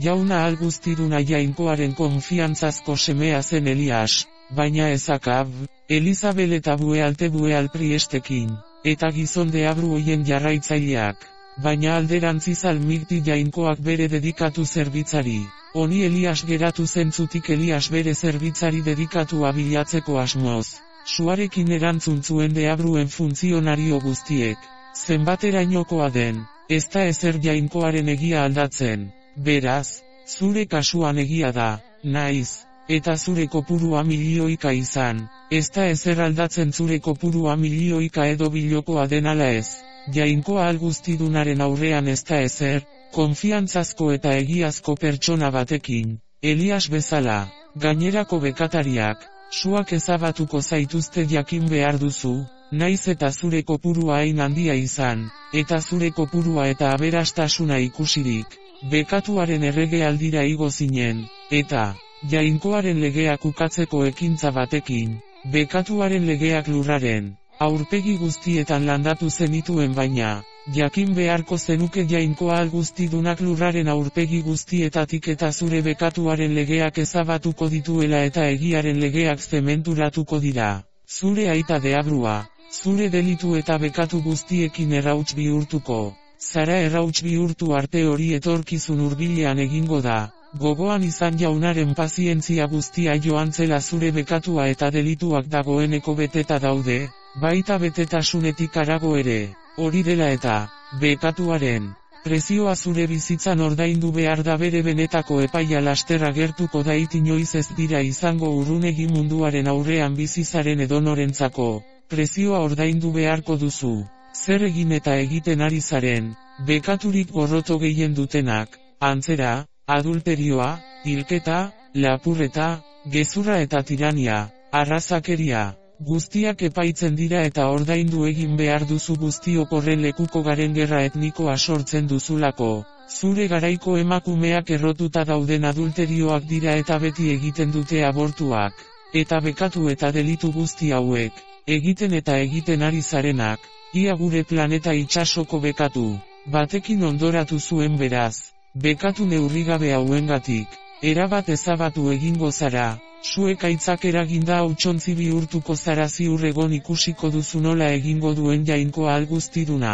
Jauna ahal guztiduna jainkoaren konfiantzazko semea zen Elias, baina ez Akab, Elizabel eta Bueal priestekin, eta gizon deabru hoien jarraitzaileak, baina alderantziz almikti jainkoak bere dedikatu zerbitzari. Honi Elias geratu zentzutik Elias bere zerbitzari dedikatu bilatzeko asmoz. Suarekin erantzun zuen deabruen funtzionario guztiek, zenbaterainokoa den, ez da ezer jainkoaren egia aldatzen. Beraz, zure kasuan egia da, naiz, eta zure kopurua milioika izan, ez da ezer aldatzen zure kopurua milioika edo bilokoa den ala ez. Jainko ahal guztidunaren aurrean ez da ezer, konfiantzazko eta egiazko pertsona batekin, Elias bezala, gainerako bekatariak, suak ezabatuko zaituzte jakin behar duzu, naiz eta zure kopurua hain handia izan, eta zure kopurua eta aberastasuna ikusirik. Bekatuaren errege aldira igo zinen, eta, jainkoaren legeak ukatzeko ekintza batekin, bekatuaren legeak lurraren, aurpegi guztietan landatu zenituen baina, jakin beharko zenuke jainkoa ahal guztidunak lurraren aurpegi guztietatik eta zure bekatuaren legeak ezabatuko dituela eta egiaren legeak zementuratuko dira. Zure aita deabrua, zure delitu eta bekatu guztiekin errauts bihurtuko. Zara errauts bihurtu arte hori etorkizun hurbilean egingo da, gogoan izan jaunaren pazientzia guztia joan zela zure bekatua eta delituak dagoeneko beteta daude, baita betetasunetik harago ere, hori dela eta, bekatuaren, prezioa zure bizitzan ordaindu behar da bere benetako epaia lasterra gertuko dait inoiz ez dira izango urrunegi munduaren aurrean bizizaren edonorentzako, prezioa ordaindu beharko duzu. Zer egin eta egiten ari zaren, bekaturik gorroto gehien dutenak, antzera, adulterioa, hilketa, lapurreta, gezurra eta tirania, arrazakeria, guztiak epaitzen dira eta ordaindu egin behar duzu guztiok horren lekuko garen gerra etnikoa sortzen duzulako. Zure garaiko emakumeak errotuta dauden adulterioak dira eta beti egiten dute abortuak, eta bekatu eta delitu guzti hauek, egiten eta egiten ari zarenak. Ia gure planeta itsasoko bekatu, batekin ondoratu zuen beraz, bekatu neurrigabe hauengatik, erabat ezabatu egingo zara, Zuek aitzak eraginda hautsontzi bihurtuko zara ziur egon ikusiko duzu nola egingo duen Jainkoa Alguztiduna.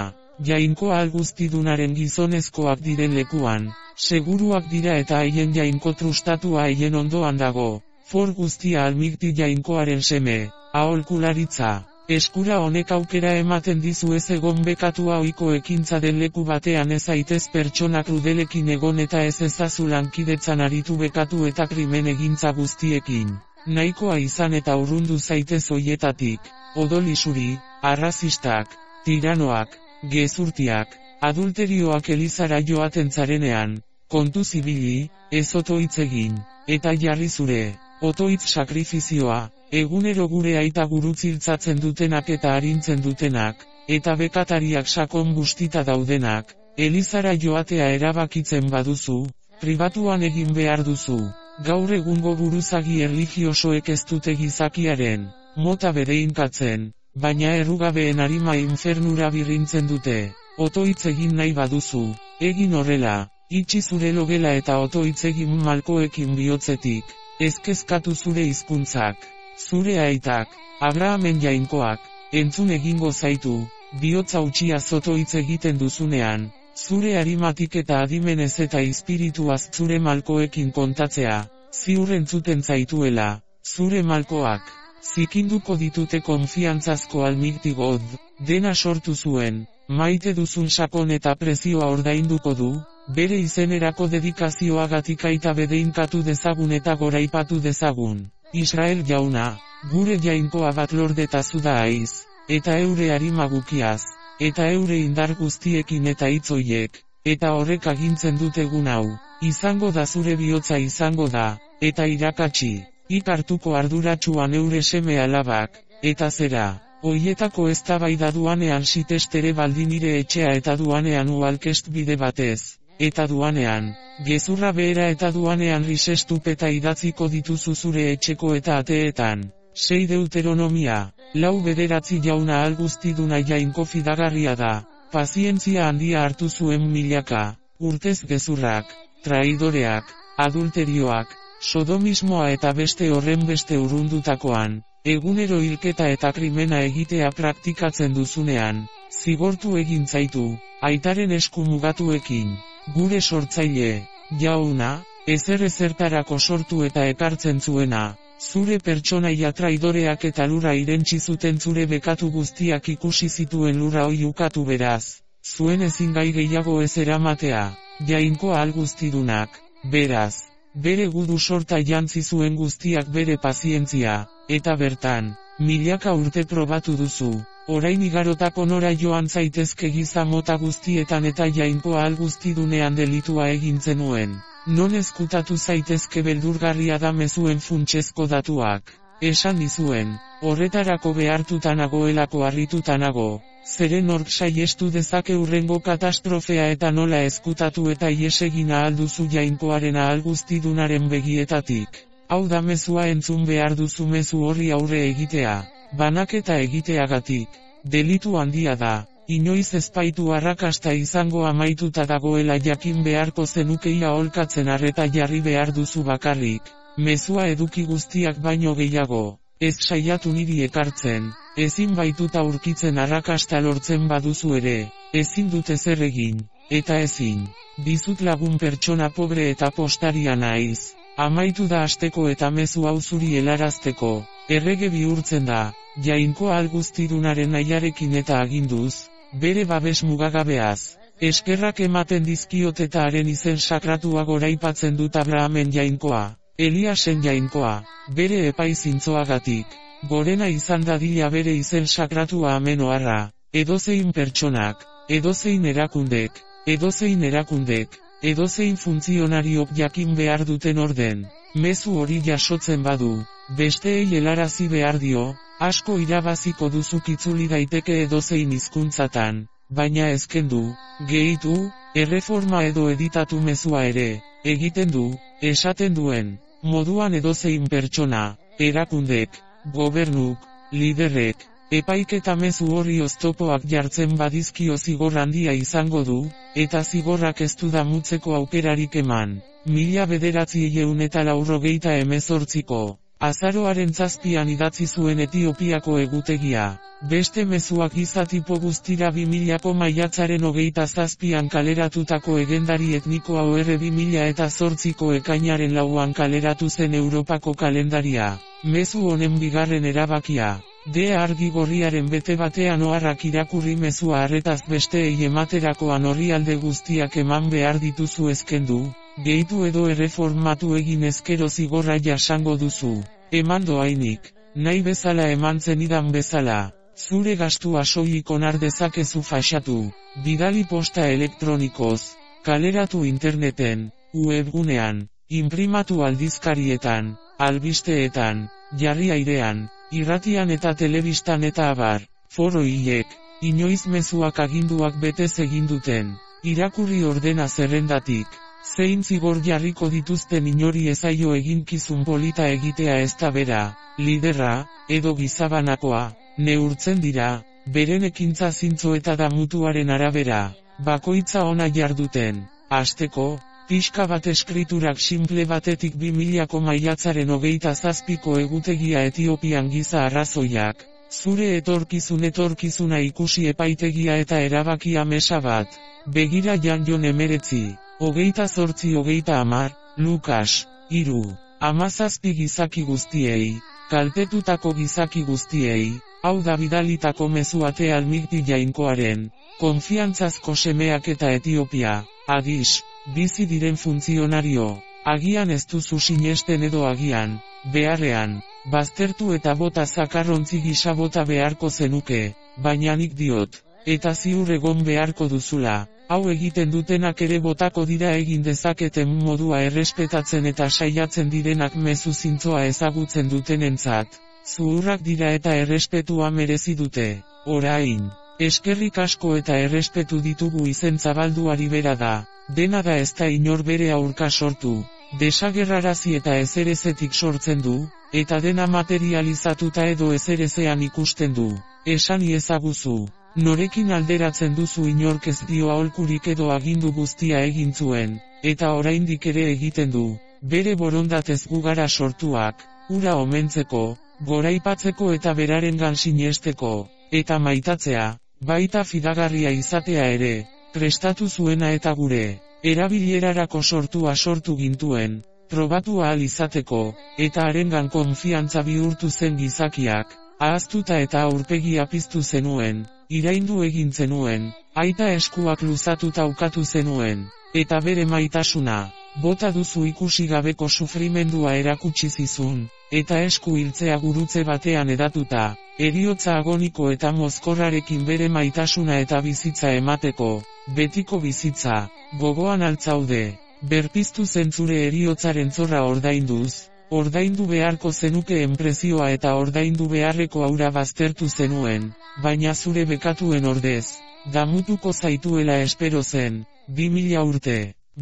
Jainkoa Alguztidunaren gizonezkoak diren lekuan, seguruak dira eta haien jainko trustatua haien ondoan dago. For guztia almikti Jainkoaren seme, aholkularitza. Eskura honek aukera ematen dizu ez egon bekatua ohiko ekintza den leku batean ez zaitez pertsona krudelekin egon eta ez ezazu lankidetzan aritu bekatu eta krimen egintza guztiekin. Nahikoa izan eta urrundu zaitez hoietatik, odolisuri, arrazistak, tiranoak, gezurtiak, adulterioak elizara joaten zarenean, kontu zibili, ez otoitz egin, eta jarri zure, otoitz sakrifizioa. Egunero gure aita gurutziltzatzen dutenak eta arintzen dutenak, eta bekatariak sakon bustita daudenak, elizara joatea erabakitzen baduzu, pribatuan egin behar duzu. Gaur egungo buruzagi erlijiosoek ez dute gizakiaren mota bereinkatzen, baina errugabeen arima infernura birrintzen dute. Otoitz egin nahi baduzu, egin horrela, itxi zure logela eta otoitz egin malkoekin bihotzetik, ez kezkatu zure hizkuntzak. Zure aitak, Abrahamen jainkoak, entzun egingo zaitu, bihotza utxia zotoitz egiten duzunean, zure arimatik eta adimenez eta espirituaz zure malkoekin kontatzea, ziur entzuten zaituela, zure malkoak, zikinduko ditute konfiantzazko almikti God, dena sortu zuen, maite duzun sakon eta prezioa ordainduko du, bere izenerako dedikazioagatik aita bedeinkatu dezagun eta goraipatu dezagun. Israel jauna, gure jainkoa bat lordetazu da aiz, eta eure arimagukiaz, eta eure indar guztiekin eta hitzoiek, eta horrek agintzen dut egun hau, izango da zure bihotza izango da, eta irakatsi, hartuko arduratsuan eure seme alabak, eta zera, hoietako eztabaida duanean sitestere baldin nire etxea eta duanean ualkest bide batez. Eta duanean, gezurra behera eta duanean risestupeta idatziko dituzu zure etxeko eta ateetan. 6 Deuteronomia, 4:9 Jauna Alguztiduna jainko fidagarria da, pazientzia handia hartu zuen milaka, urtez gezurrak, traidoreak, adulterioak, sodomismoa eta beste horren beste urrundutakoan, egunero hilketa eta krimena egitea praktikatzen duzunean, zigortu egin zaitu, aitaren esku mugatuekin. Gure sortzaile, jauna, ezertarako sortu eta ekartzen zuena, zure pertsonaia traidoreak eta lura irentsi zuten zure bekatu guztiak ikusi zituen lura hoi ukatu beraz, zuen ezin gai gehiago ez eramatea, Jainkoa Alguztidunak, beraz, bere gudu sorta jantzi zuen guztiak bere pazientzia, eta bertan, milaka urte probatu duzu. Orain igarotako nora joan zaitezke giza mota guztietan eta Jainkoa Alguztidunean delitua egin zenuen. Non ezkutatu zaitezke beldurgarria da mezuen funtsezko datuak. Esan dizuen, horretarako behartuta nagoelako harrituta nago. Zeren hork saiestu dezake hurrengo katastrofea eta nola ezkutatu eta ihes egin ahal duzu Jainkoaren Alguztidunaren begietatik. Hau da mezua entzun behar duzu mezu horri aurre egitea. Banaketa egiteagatik, delitu handia da, inoiz ezpaitu arrakasta izango amaituta dagoela jakin beharko zenukeia aholkatzen arreta jarri behar duzu bakarrik, mezua eduki guztiak baino gehiago, ez saiatu niri ekartzen, ezin baituta aurkitzen arrakasta lortzen baduzu ere, ezin dut ezer egin, eta ezin, dizut lagun pertsona pobre eta postaria naiz, amaitu da asteko eta mezu hau zuri helarazteko, errege bihurtzen da. Jainkoa Alguztidunaren nahiarekin eta aginduz, bere babes mugagabeaz, eskerrak ematen dizkiot eta haren izen sakratua goraipatzen dut Abrahamen jainkoa, Eliasen jainkoa, bere epai zintzoagatik, gorena izan dadila bere izen sakratua amen oharra, edozein pertsonak, edozein erakundek, edozein funtzionariok jakin behar duten orden, mezu hori jasotzen badu, besteei helarazi behar dio, asko irabaziko duzuk itzuli daiteke edozein hizkuntzatan, baina ezkendu, gehitu, erreforma edo editatu mezua ere, egiten du, esaten duen, moduan edozein pertsona, erakundek, gobernuk, liderrek, epaiketa mezu horri oztopoak jartzen badizkio zigor handia izango du, eta zigorrak ez du damutzeko aukerarik eman. 1998ko Azaroaren 7an idatzi zuen Etiopiako egutegia. Beste mezuak giza tipo guztira 2000ko maiatzaren 27an kaleratutako egendari etniko OR 2008ko ekainaren 4an kaleratu zen Europako kalendaria. Mezu honen bigarren erabakia. Argi gorriaren bete batean oharrak irakurri mezua arretaz besteei ematerakoan orrialde guztiak eman behar dituzu ezkendu, gehitu edo erreformatu egin ezkero zigorra jasango duzu. Eman doainik, nahi bezala eman zenidan bezala. Zure gastua soilik onar dezakezu faxatu, bidali posta elektronikoz, kaleratu interneten, webgunean, inprimatu aldizkarietan, albisteetan, jarri airean, irratian eta telebistan eta abar. Foro hilek, inoiz mezuak aginduak betez egin duten, irakurri ordena zerrendatik. Zein zigor jarriko dituzten inori ezaio eginkizun polita egitea ez da bera, liderra, edo gizabanakoa, neurtzen dira, beren ekintza zintzo eta damutuaren arabera, bakoitza ona jarduten. Hasteko, pixka bat eskriturak simple batetik 2000ko maiatzaren 27ko egutegia Etiopian giza arrazoiak, zure etorkizuna ikusi epaitegia eta erabakia mesa bat, begira Jan 19, 28-30, Lukas, 3, 17 gizaki guztiei, kaltetutako gizaki guztiei, hau da bidalitako mezuate Almigti Jainkoaren, konfiantzazko semeak eta Etiopia, Addis, bizi diren funtzionario, agian ez duzu sinesten edo agian, beharrean, baztertu eta bota zakarrontzi gisa bota beharko zenuke, baina nik diot, eta ziur egon beharko duzula. Hau egiten dutenak ere botako dira egin dezaketen modua errespetatzen eta saiatzen direnak mezu zintzoa ezagutzen dutenentzat. Zuhurrak dira eta errespetua merezi dute. Orain, eskerrik asko eta errespetu ditugu izen zabalduari bera da. Dena da ez da inor bere aurka sortu. Desagerrarazi eta ezerezetik sortzen du, eta dena materializatuta edo ezerezean ikusten du. Esan iezaguzu. Norekin alderatzen duzu inork ez dio aholkurik edo agindu guztia egin zuen, eta oraindik ere egiten du, bere borondatez gu gara sortuak, hura omentzeko, goraipatzeko eta berarengan sinesteko, eta maitatzea, baita fidagarria izatea ere, prestatu zuena eta gure, erabilerarako sortu gintuen, probatu ahal izateko, eta harengan konfiantza bihurtu zen gizakiak, ahaztuta eta aurpegia piztu zenuen. Iraindu egin zenuen, aita eskuak luzatuta ukatu zenuen, eta bere maitasuna, bota duzu ikusi gabeko sufrimendua erakutsi zizun, eta esku hiltzea gurutze batean edatuta, heriotza agoniko eta mozkorrarekin bere maitasuna eta bizitza emateko, betiko bizitza, gogoan altzaude, berpiztu zen zure heriotzaren zorra ordainduz, ordaindu beharko zenuke enprezioa eta ordaindu beharreko aura baztertu zenuen. Baina zure bekatuen ordez, damutuko zaituela espero zen, 2000 urte,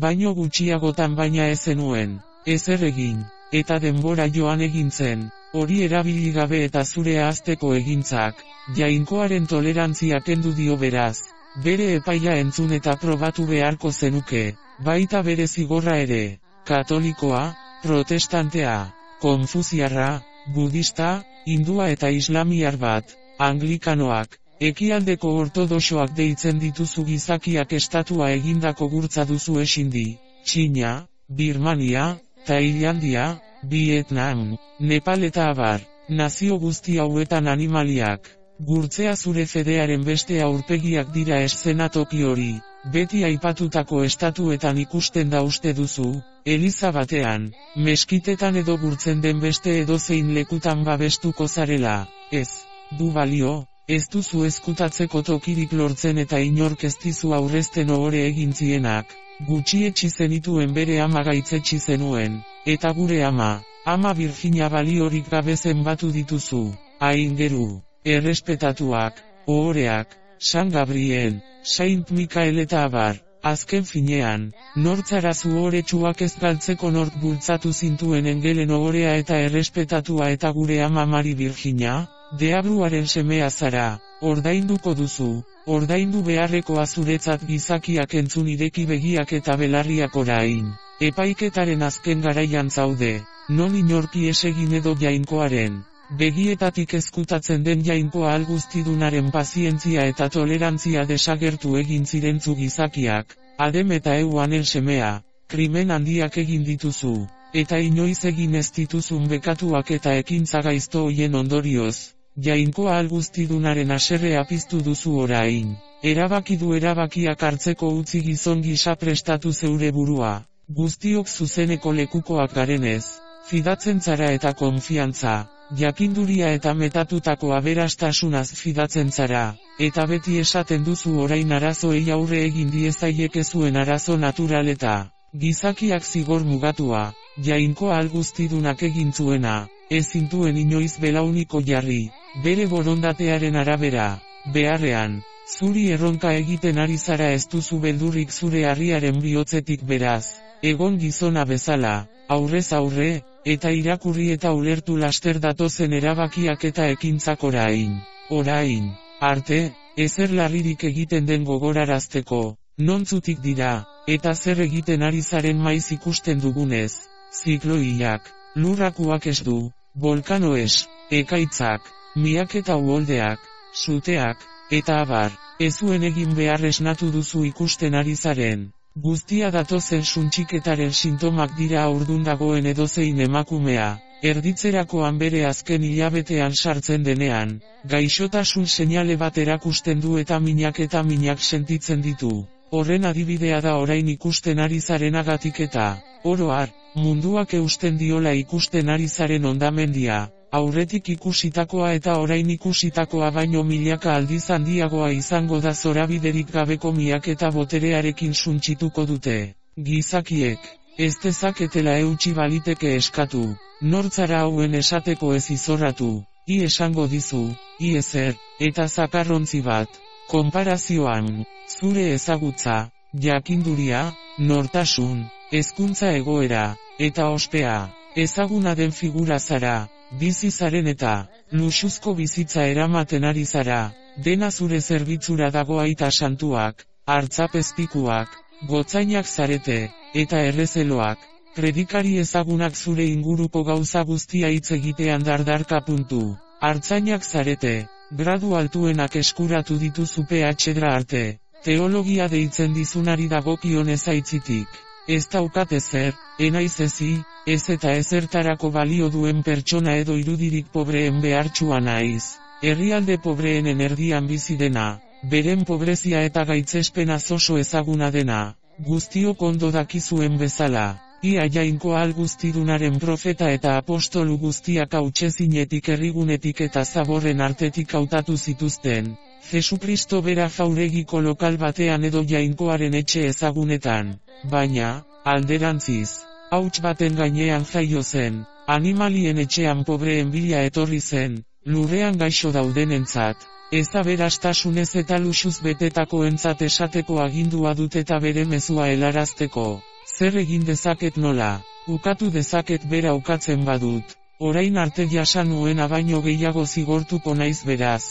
baino gutxiagotan baina ez zenuen, ezer egin, eta denbora joan egin zen, hori erabili gabe eta zure ahazteko egintzak, Jainkoaren tolerantzia kendu dio beraz, bere epaia entzun eta probatu beharko zenuke, baita bere zigorra ere, katolikoa, protestantea, konfuziarra, budista, hindua eta islamiar bat. Anglikanoak, ekialdeko ortodoxoak deitzen dituzu gizakiak estatua egindako gurtza duzu esindi, Txina, Birmania, Tailandia, Vietnam, Nepal eta abar, nazio guzti hauetan animaliak, gurtzea zure fedearen beste aurpegiak dira eszenatoki hori, beti aipatutako estatuetan ikusten da uste duzu, eliza batean, meskitetan edo gurtzen den beste edozein lekutan babestuko zarela, ez. Du balio, ez duzu ezkutatzeko tokirik lortzen eta inork ez dizu aurrezten ohore egin zienak, gutxietsi zenituen bere ama gaitzetsi zenuen, eta gure ama Virginia baliorik gabe zenbatu dituzu, aingeru, errespetatuak, ohoreak, San Gabriel, Saint Michael eta abar, azken finean, nortzara zuhoretsuak ez galtzeko nork bultzatu zintuen engelen ohorea eta errespetatua eta gure ama Mari Virginia? Deabruaren semea zara, ordainduko duzu, ordaindu beharrekoa zuretzat gizakiak entzun ireki begiak eta belarriak orain. Epaiketaren azken garaian zaude, non inorki esegin edo Jainkoaren begietatik ezkutatzen den Jainkoa alguztidunaren pazientzia eta tolerantzia desagertu egin zirentzu gizakiak, Adem eta Evanen semea, krimen handiak egin dituzu, eta inoiz egin ez dituzun bekatuak eta ekintza gaizto hoien ondorioz, Jainkoa alguztidunaren haserrea piztu duzu orain. Erabaki du erabakiak hartzeko utzi gizon gisa prestatu zeure burua, guztiok zuzeneko lekukoak garenez, fidatzen zara eta konfiantza, jakinduria eta metatutako aberastasunaz fidatzen zara, eta beti esaten duzu orain arazoei aurre egin diezaieke zuen arazo natural eta gizakiak zigor mugatua, Jainkoa alguztidunak egin zuena, ezin duen inoiz belauniko jarri, bere borondatearen arabera, beharrean. Zuri erronka egiten ari zara ez duzu beldurrik zure harriaren bihotzetik beraz, egon gizona bezala, aurrez aurre, eta irakurri eta ulertu laster datozen erabakiak eta ekintzak orain, arte, ezer larririk egiten den gogorarazteko, nontzutik dira, eta zer egiten ari zaren maiz ikusten dugunez, zikloiak, lurrakuak ez du, volkanoes, ekaitzak, miak eta uholdeak, suteak, eta abar, ezuen egin behar esnatu duzu ikusten ari zaren. Guztia datozen suntxiketaren sintomak dira aurdun dagoen edozein emakumea, erditzerakoan bere azken hilabetean sartzen denean, gaixotasun seinale bat erakusten du eta minak sentitzen ditu. Horren adibidea da orain ikusten ari zarenagatik eta, oro har, munduak eusten diola ikusten ari zaren hondamendia. Aurretik ikusitakoa eta orain ikusitakoa baino milaka aldiz handiagoa izango da zorabiderik gabeko miak eta boterearekin suntsituko dute. Gizakiek, ez dezaketela eutsi baliteke eskatu, nortzara hauen esateko ez izorratu, esango dizu, ezer, eta zakarrontzi bat, konparazioan, zure ezagutza, jakinduria, nortasun, hezkuntza egoera, eta ospea, ezaguna den figura zara. Bizi zaren eta, luxuzko bizitza eramaten ari zara, dena zure zerbitzura dago aita santuak, hartzapezpikuak, gotzainak zarete, eta errezeloak, predikari ezagunak zure inguruko gauza guztia hitz egitean dardarka puntu, hartzainak zarete, gradu altuenak eskuratu dituzu PhD arte, teologia deitzen dizunari dagokion ezaitzitik. Ez daukat ezer, enaiz ezi, ez eta ezertarako balio duen pertsona edo irudirik pobreen behartsua naiz. Herrialde pobreenen erdian bizi dena, beren pobrezia eta gaitzespena oso ezaguna dena, guztiok ondo dakizuen bezala. Ia Jainkoa alguztidunaren profeta eta apostolu guztiak hautsezinetik herrigunetik eta zaborren artetik hautatu zituzten. Jesukristo bera jauregiko lokal batean edo Jainkoaren etxe ezagunetan. Baina, alderantziz, hauts baten gainean jaio zen, animalien etxean pobreen bila etorri zen, lurrean gaixo daudenentzat, ez aberastasunez eta luxuz betetakoentzat esateko agindua dut eta bere mezua helarazteko. Zer egin dezaket nola, ukatu dezaket bera ukatzen badut, orain arte jasan nuena baino gehiago zigortuko naiz beraz,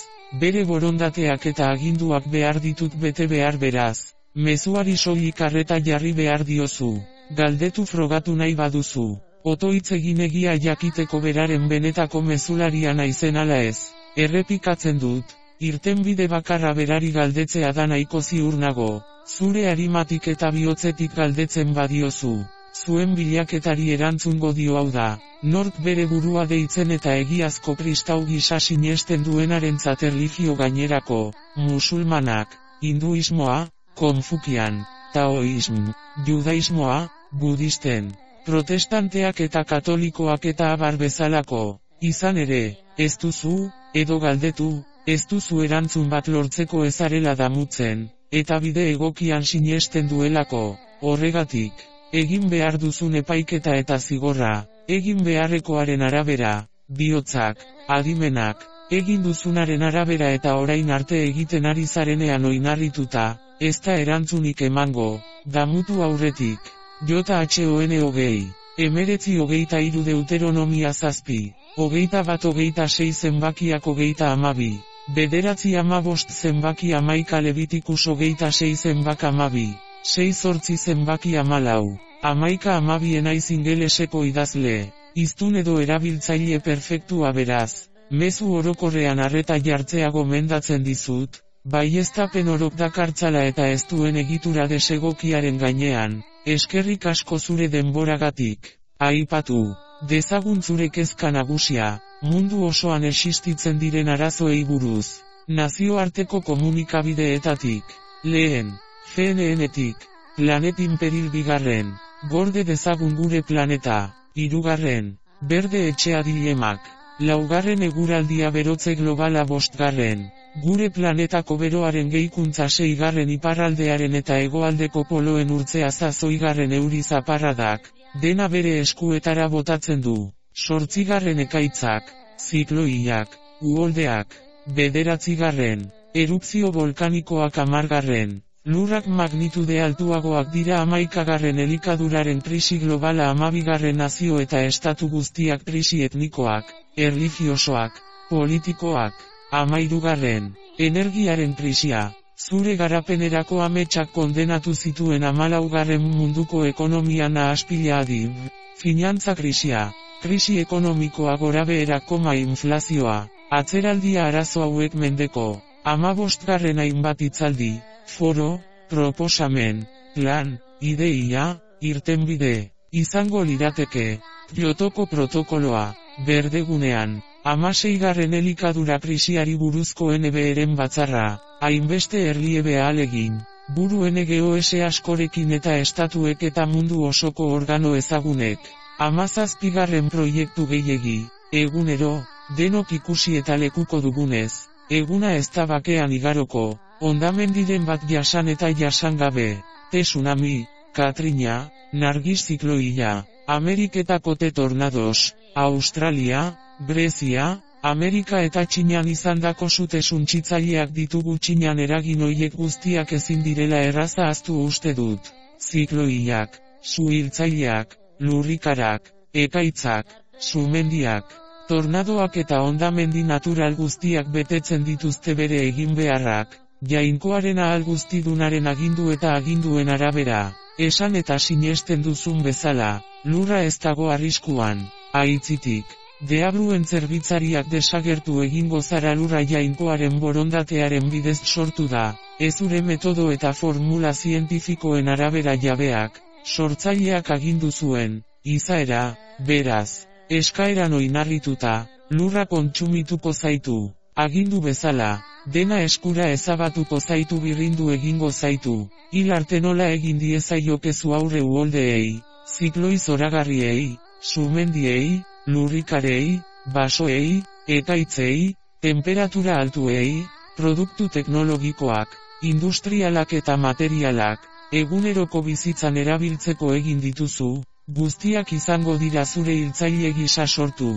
bere borondateak eta aginduak behar ditut bete behar beraz. Mezuari soilik arreta jarri behar diozu, galdetu frogatu nahi baduzu, otoitz egin egia jakiteko beraren benetako mezularia naizen ala ez, errepikatzen dut, irtenbide bakarra berari galdetzea da nahiko ziur nago, zure arimatik eta bihotzetik galdetzen badiozu, zuen bilaketari erantzungo dio hau da, nork bere burua deitzen eta egiazko kristau gisa sinesten duenarentzat erlijio gainerako, musulmanak, hinduismoa, Konfukian, Taoism, Judaismoa, Budisten, Protestanteak eta Katolikoak eta abar bezalako, izan ere, ez duzu, edo galdetu, ez duzu erantzun bat lortzeko ezarela damutzen, eta bide egokian sinesten duelako, horregatik, egin behar duzun epaiketa eta zigorra, egin beharrekoaren arabera, bihotzak, adimenak, egin duzunaren arabera eta orain arte egiten ari zarenean oinarrituta, ez da erantzunik emango, damutu aurretik, JHON 20, 19:23 Deuteronomia 7, 21:26 zenbakiak 32, 9:15 zenbaki 11 Levitikus 26 zenbak 12, 6:8 zenbaki 14. 11-12 naiz ingeleseko idazle, hiztun edo erabiltzaile perfektua beraz, mezu orokorrean arreta jartzea gomendatzen dizut, baieztapen orok dakartzala eta ez duen egitura desegokiaren gainean, eskerrik asko zure denboragatik. Aipatu dezagun zure kezka nagusia, mundu osoan existitzen diren arazoei buruz. Nazioarteko komunikabideetatik. Lehen, CNN-etik, Planet Imperil 2. Gorde dezagun gure planeta. 3. Berde etxea dilemak. 4. Eguraldia berotze globala 5. Gure planetako beroaren gehikuntza 6. Iparraldearen eta hegoaldeko poloen urtzea 8. Euri zaparradak, dena bere eskuetara botatzen du. 8. Ekaitzak, zikloiak, uholdeak. 9. Erupzio volkanikoak 10. Lurrak magnitude altuagoak dira 11. Elikaduraren krisi globala 12. Nazio eta estatu guztiak krisi etnikoak, erlijiosoak, politikoak. 13. Energiaren krisia. Zure garapenerako ametsak kondenatu zituen 14. Munduko ekonomia nahaspila adib. Finantza krisia. Krisi ekonomikoa gorabeherak, inflazioa. Atzeraldia arazo hauek mendeko. 15. Hainbat hitzaldi, foro, proposamen, plan, ideia, irtenbide, izango lirateke. Kyotoko protokoloa, berdegunean. 16. Elikadura krisiari buruzko NBR-en batzarra, hainbeste erliebe ahalegin, buru NGOS askorekin eta estatuek eta mundu osoko organo ezagunek. 17. Proiektu gehiegi, egunero, denok ikusi eta lekuko dugunez, eguna ez da bakean igaroko, hondamendiren bat jasan eta jasan gabe, tsunami, Katrina, Nargis zikloia, Ameriketako tornados, Australia, Grezia, Amerika eta Txinan izandako sute suntsitzaileak ditugu. Txinan eragin hoiek guztiak ezin direla erraza ahaztu uste dut. Zikloiak, su-hiltzaileak, lurrikarak, ekaitzak, sumendiak, tornadoak eta hondamendi natural guztiak betetzen dituzte bere eginbeharrak, jainkoaren ahal guztidunaren agindu eta aginduen arabera. Esan eta sinesten duzun bezala, lurra ez dago arriskuan, aitzitik. Deabruen zerbitzariak desagertu egingo zara lurra jainkoaren borondatearen bidez sortu da, ezure metodo eta formula zientifikoen arabera jabeak, sortzaileak agindu zuen, izaera, beraz, eskaeran oinarrituta, lurra kontsumituko zaitu, agindu bezala, dena eskura ezabatuko zaitu birrindu egingo zaitu, hil arte nola egin diezaiokezu aurre uholdeei, zikloi zoragarriei, sumendiei, lurrikarei, basoei, ekaitzei, temperatura altuei, produktu teknologikoak, industrialak eta materialak, eguneroko bizitzan erabiltzeko egin dituzu, guztiak izango dira zure hiltzaile gisa sortu,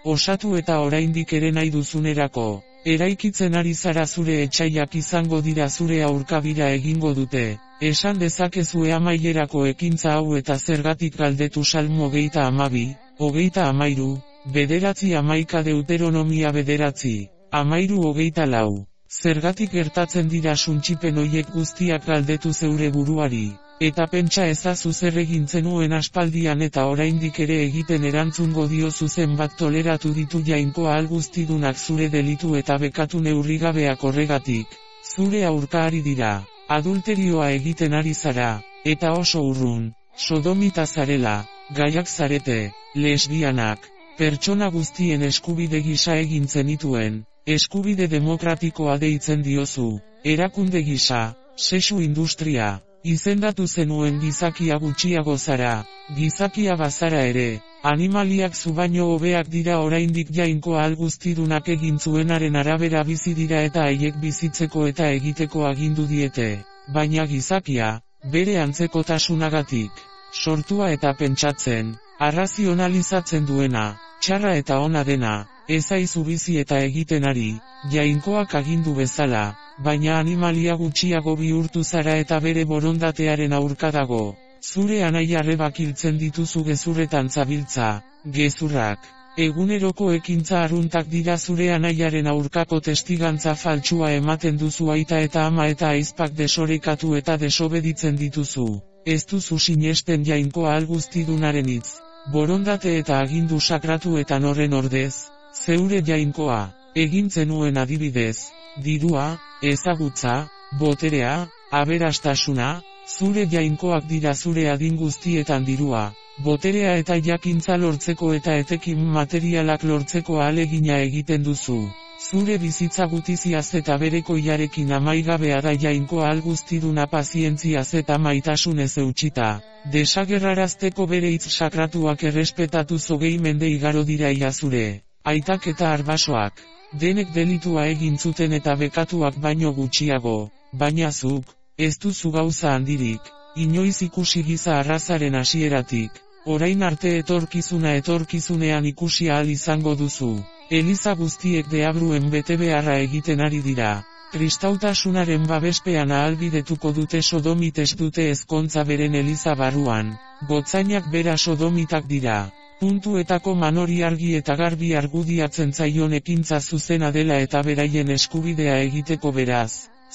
osatu eta oraindik ere nahi duzunerako. Eraikitzen ari zara zure etsaiak izango dira zure aurkabira egingo dute. Esan dezakezue amaierako ekintza hau eta zergatik galdetu Salmo 22, 23, 9-11 Deuteronomia 9, 13-24. Zergatik gertatzen dira suntsipen hoiek guztiak galdetu zeure buruari, eta pentsa ezazu zer egin zenuen aspaldian eta oraindik ere egiten erantzungo diozu zenbat toleratu ditu jainko ahal guztidunak zure delitu eta bekatu neurrigabeak horregatik. Zure aurka ari dira, adulterioa egiten ari zara, eta oso urrun, sodomita zarela, gaiak zarete, lesbianak, pertsona guztien eskubide gisa egin zenituen, eskubide demokratikoa deitzen diozu, erakunde gisa, sexu industria. Izendatu zenuen gizakia gutxiago zara, gizakia bazara ere, animaliak zu baino hobeak dira oraindik jainko ahal guztidunak egin zuenaren arabera bizi dira eta haiek bizitzeko eta egiteko agindu diete, baina gizakia, bere antzekotasunagatik, sortua eta pentsatzen, arrazionalizatzen duena, txarra eta ona dena, ez aizu bizi eta egiten ari, jainkoak agindu bezala. Baina animalia gutxiago bihurtu zara eta bere borondatearen aurka dago. Zure anai-arrebak hiltzen dituzu gezurretan zabiltza, gezurrak. Eguneroko ekintza arruntak dira zure anaiaren aurkako testigantza faltsua ematen duzu aita eta ama eta ahizpak desorekatu eta desobeditzen dituzu. ez duzu sinesten Jainkoa Alguztidunaren hitz, borondate eta agindu sakratuetan horren ordez, zeure Jainkoa, egin zenuen adibidez, dirua, ezagutza, boterea, aberastasuna, zure Jainkoak dira zure adin guztietan dirua, boterea eta jakintza lortzeko eta etekin materialak lortzeko ahalegina egiten duzu. Zure bizitza gutiziaz eta berekoiarekin amaigabea da Jainkoa Alguztiduna pazientziaz eta maitasunez eutxita, desagerrarazteko bere hitz sakratuak errespetatuz 20 mende igaro dira zure, aitak eta arbasoak, denek delitua egin zuten eta bekatuak baino gutxiago, baina zuk, ez duzu gauza handirik, inoiz ikusi giza arrazaren hasieratik, orain arte etorkizunean ikusi ahal izango duzu. Eliza guztiek deabruen betebeharra egiten ari dira. Kristautasunaren babespean ahalbidetuko dute sodomites dute ezkontza beren eliza barruan. Gotzainak bera sodomitak dira. Puntuetako manori argi eta garbi argudiatzen zaion ekintza zuzena dela eta beraien eskubidea egiteko beraz.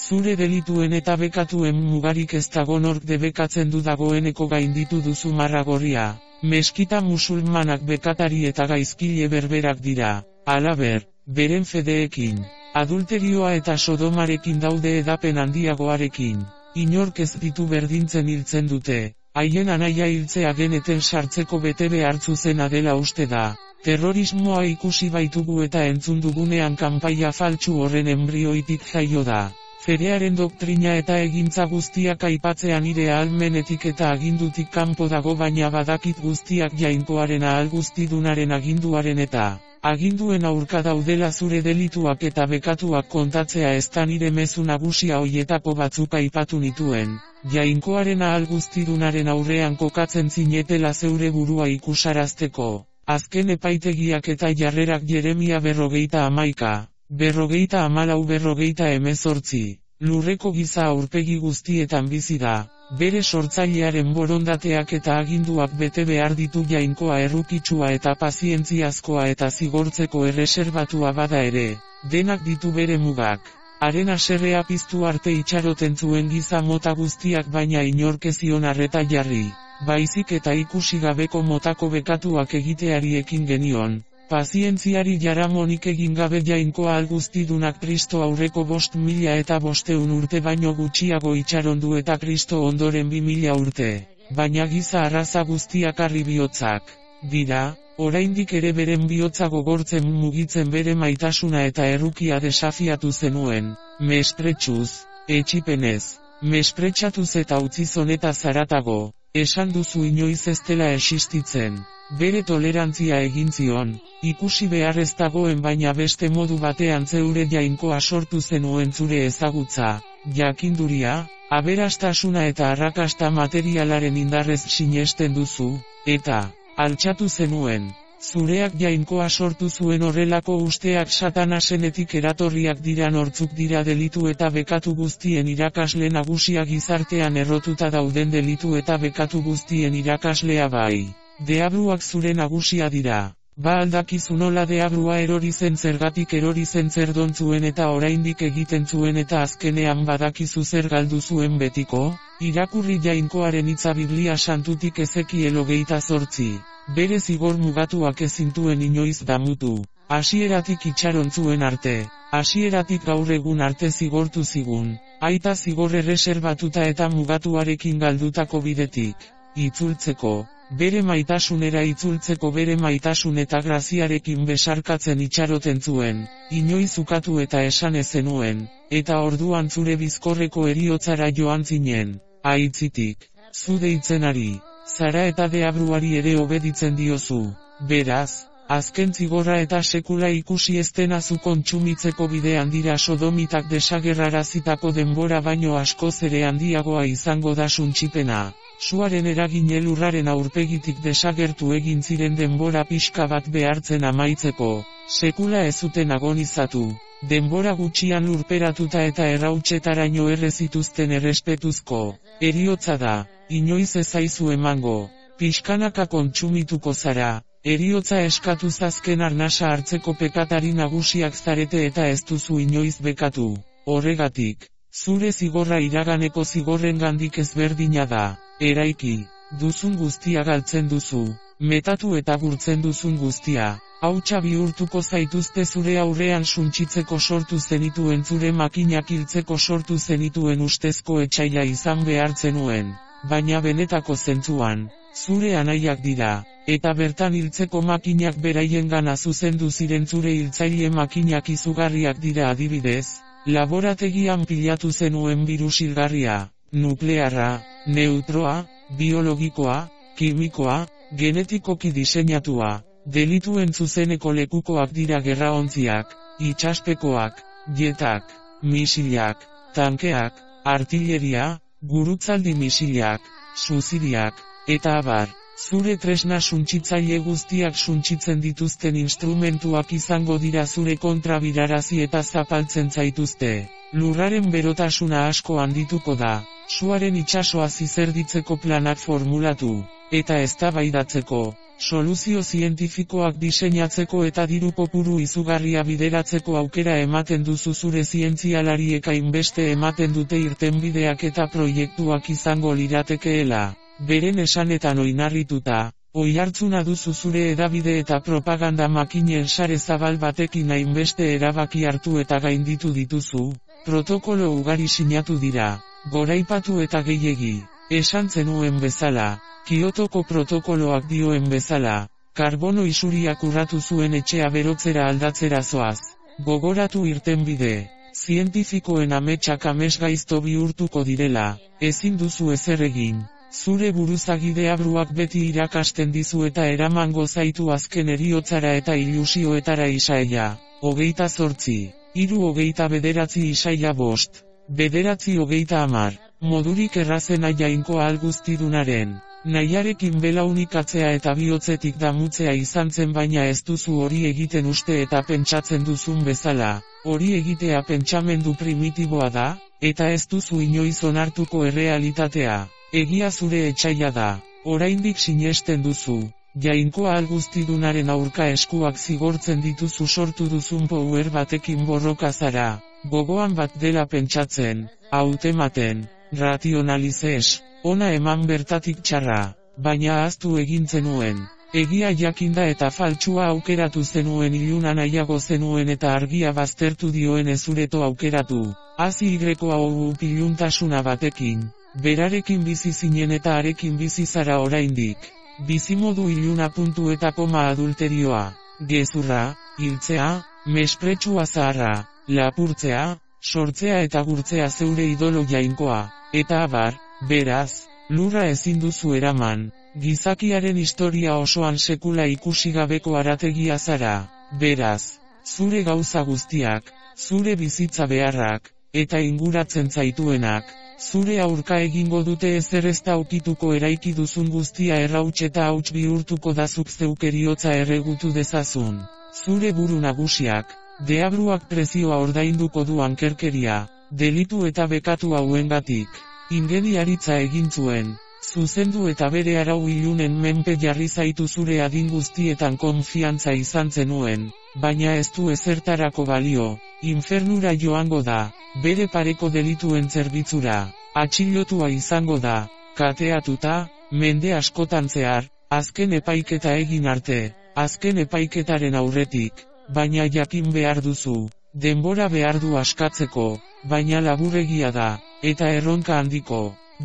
Zure delituen eta bekatuen mugarik ez dago nork debekatzen du dagoeneko gainditu duzu marra gorria. Meskita musulmanak bekatari eta gaizkile berberak dira. Halaber, beren fedeekin, adulterioa eta sodomarekin daude edapen handiagoarekin, inork ez ditu berdintzen hiltzen dute, haien anaia hiltzea geneten sartzeko betebe hartzuzena dela uste da, terrorismoa ikusi baitugu eta entzun dugunean kanpaia faltsu horren embrioitik jaio da. Fedearen doktrina eta egintza guztiak aipatzean nire ahalmenetik eta agindutik kanpo dago baina badakit guztiak Jainkoaren Alguztidunaren aginduaren eta aginduen aurka daudela zure delituak eta bekatuak kontatzea ez da nire mezu nagusia hoietako batzuk aipatu nituen. Jainkoaren Alguztidunaren aurrean kokatzen zinetela zeure burua ikusarazteko. Azken epaitegiak eta jarrerak Jeremia 41, 44, lurreko giza aurpegi guztietan bizi da, bere sortzailearen borondateak eta aginduak bete behar ditu Jainkoa errukitsua eta pazientziazkoa eta zigortzeko erreserbatua bada ere, denak ditu bere mugak. Haren haserrea piztu arte itxaroten zuen giza mota guztiak baina inork ez zion arreta jarri, baizik eta ikusi gabeko motako bekatuak egiteari ekin genion. Pazientziari jaramonik egin gabe Jainkoa Alguztidunak Kristo aurreko 5.500 urte baino gutxiago itxarondu eta Kristo ondoren 2.000 urte, baina giza arraza guztiak harri bihotzak dira, oraindik ere beren bihotza gogortzen mugitzen bere maitasuna eta errukia desafiatu zenuen, mespretsuz, etxipenez, mespretsatuz eta utzi zonetaz haratago, esan duzu inoiz ez dela existitzen. Bere tolerantzia egin zion, ikusi behar ez dagoen baina beste modu batean zeure Jainkoa sortu zenuen zure ezagutza, jakinduria, aberastasuna eta arrakasta materialaren indarrez sinesten duzu, eta, altxatu zenuen. Zureak Jainkoa sortu zuen horrelako usteak Satanasenetik eratorriak dira nortzuk dira delitu eta bekatu guztien irakasle nagusia gizartean errotuta dauden delitu eta bekatu guztien irakaslea bai. Deabruak zure nagusia dira. Ba aldakizu nola deabrua erori zen zergatik erori zen zer dontzuen eta oraindik egiten zuen eta azkenean badakizu zer galdu zuen betiko? Irakurri Jainkoaren hitza Biblia santutik Ezekiel 28. Bere zigor mugatuak ezintuen inoiz damutu. Hasieratik itxaron zuen arte. Hasieratik gaur egun arte zigortu zigun. Aita zigor erreserbatuta eta mugatuarekin galdutako bidetik. Itzultzeko. Bere maitasunera itzultzeko bere maitasun eta graziarekin besarkatzen itxaroten zuen, inoiz ukatu eta esan ezenuen, eta orduan zure bizkorreko heriotzara joan zinen, aitzitik, zu deitzenari, zara eta deabruari ere obeditzen diozu, beraz, azken zigorra eta sekula ikusi ez dena zu kontsumitzeko bidean dira sodomitak desagerrarazitako denbora baino askoz ere handiagoa izango da suntsipena. Suaren eragine lurraren aurpegitik desagertu egin ziren denbora pixka bat behartzen amaitzeko, sekula ez zuten agonizatu, denbora gutxian lurperatuta eta errautsetaraino errezituzten errespetuzko, heriotza da, inoiz ez zaizu emango, pixkanaka kontsumituko zara, heriotza eskatuz azken arnasa hartzeko pekatari nagusiak zarete eta ez duzu inoiz bekatu, horregatik, zure zigorra iraganeko zigorrengandik ezberdina da. eraiki, duzun guztia galtzen duzu, metatu eta gurtzen duzun guztia, hautsa bihurtuko zaituzte zure aurrean suntsitzeko sortu zenituen zure makinak hiltzeko sortu zenituen ustezko etsaila izan behar zenuen, baina benetako zentzuan, zure anaiak dira, eta bertan hiltzeko makinak beraiengana zuzendu ziren zure hiltzaile makinak izugarriak dira adibidez, laborategian pilatu zenuen birus hilgarria, nuklearra, neutroa, biologikoa, kimikoa, genetikoki diseinatua, delituen zuzeneko lekukoak dira gerraontziak, itsaspekoak, jetak, misilak, tankeak, artilleria, gurutzaldi misilak, suziriak, eta abar, zure tresna suntsitzaile guztiak suntsitzen dituzten instrumentuak izango dira zure kontra birarazi eta zapaltzen zaituzte. Lurraren berotasuna asko handituko da, suaren itsasoa zizerditzeko planak formulatu, eta eztabaidatzeko, soluzio zientifikoak diseinatzeko eta diru kopuru izugarria bideratzeko aukera ematen duzu zure zientzialariek hainbeste ematen dute irtenbideak eta proiektuak izango liratekeela, beren esanetan oinarrituta, oihartzuna duzu zure hedabide eta propaganda makinen sare zabal batekin hainbeste erabaki hartu eta gainditu dituzu, protokolo ugari sinatu dira, goraipatu eta gehiegi, esan zenuen bezala. Kiotoko protokoloak dioen bezala, karbono isuriak urratu zuen etxea berotzera aldatzera zoaz. Gogoratu irtenbide, zientifikoen ametsak amesgaizto bihurtuko direla, ezin duzu ezer egin. Zure buruzagide abruak beti irakasten dizu eta eramango zaitu azken heriotzara eta ilusioetara Isaia. 28, 3:29 Isaia 5, 9:30, modurik errazena jainko alguztidunaren. Nahiarekin belaunikatzea eta bihotzetik damutzea izan zen baina ez duzu hori egiten uste eta pentsatzen duzun bezala, hori egitea pentsamendu primitiboa da, eta ez duzu inoiz onartuko errealitatea, egia zure etsaia da, oraindik sinesten duzu, jainkoa alguztidunaren aurka eskuak zigortzen dituzu sortu duzun power batekin borroka zara, gogoan bat dela pentsatzen, hautematen, rationalizez. Ona eman bertatik txarra, baina ahaztu egin zenuen, egia jakinda eta faltsua aukeratu zenuen iluna nahiago zenuen eta argia baztertu dioen ezureto aukeratu, hazi hau piluntasuna batekin, berarekin bizi zinen eta arekin bizi zara oraindik, bizimodu iluna puntu eta koma adulterioa, gezurra, hiltzea, mespretsua zaharra, lapurtzea, sortzea eta gurtzea zeure idolo jainkoa, eta abar. Beraz, lurra ezin duzu eraman, gizakiaren historia osoan sekula ikusi gabeko harategia zara, beraz, zure gauza guztiak, zure bizitza beharrak, eta inguratzen zaituenak, zure aurka egingo dute ezer ez da ukituko eraiki duzun guztia errauts eta hauts bihurtuko da zuk zeuk heriotza erregutu dezazun, zure buru nagusiak, deabruak prezioa ordainduko du ankerkeria, delitu eta bekatu hauengatik. Ingeniaritza egin zuen, zuzendu eta bere arau ilunen menpe jarri zaitu zure adin guztietan konfiantza izan zenuen, baina ez du ezertarako balio, infernura joango da, bere pareko delituen zerbitzura, atxilotua izango da, kateatuta, mende askotan zehar, azken epaiketa egin arte, azken epaiketaren aurretik, baina jakin behar duzu, denbora behar du askatzeko, baina laburregia da. Eta erronka handiko,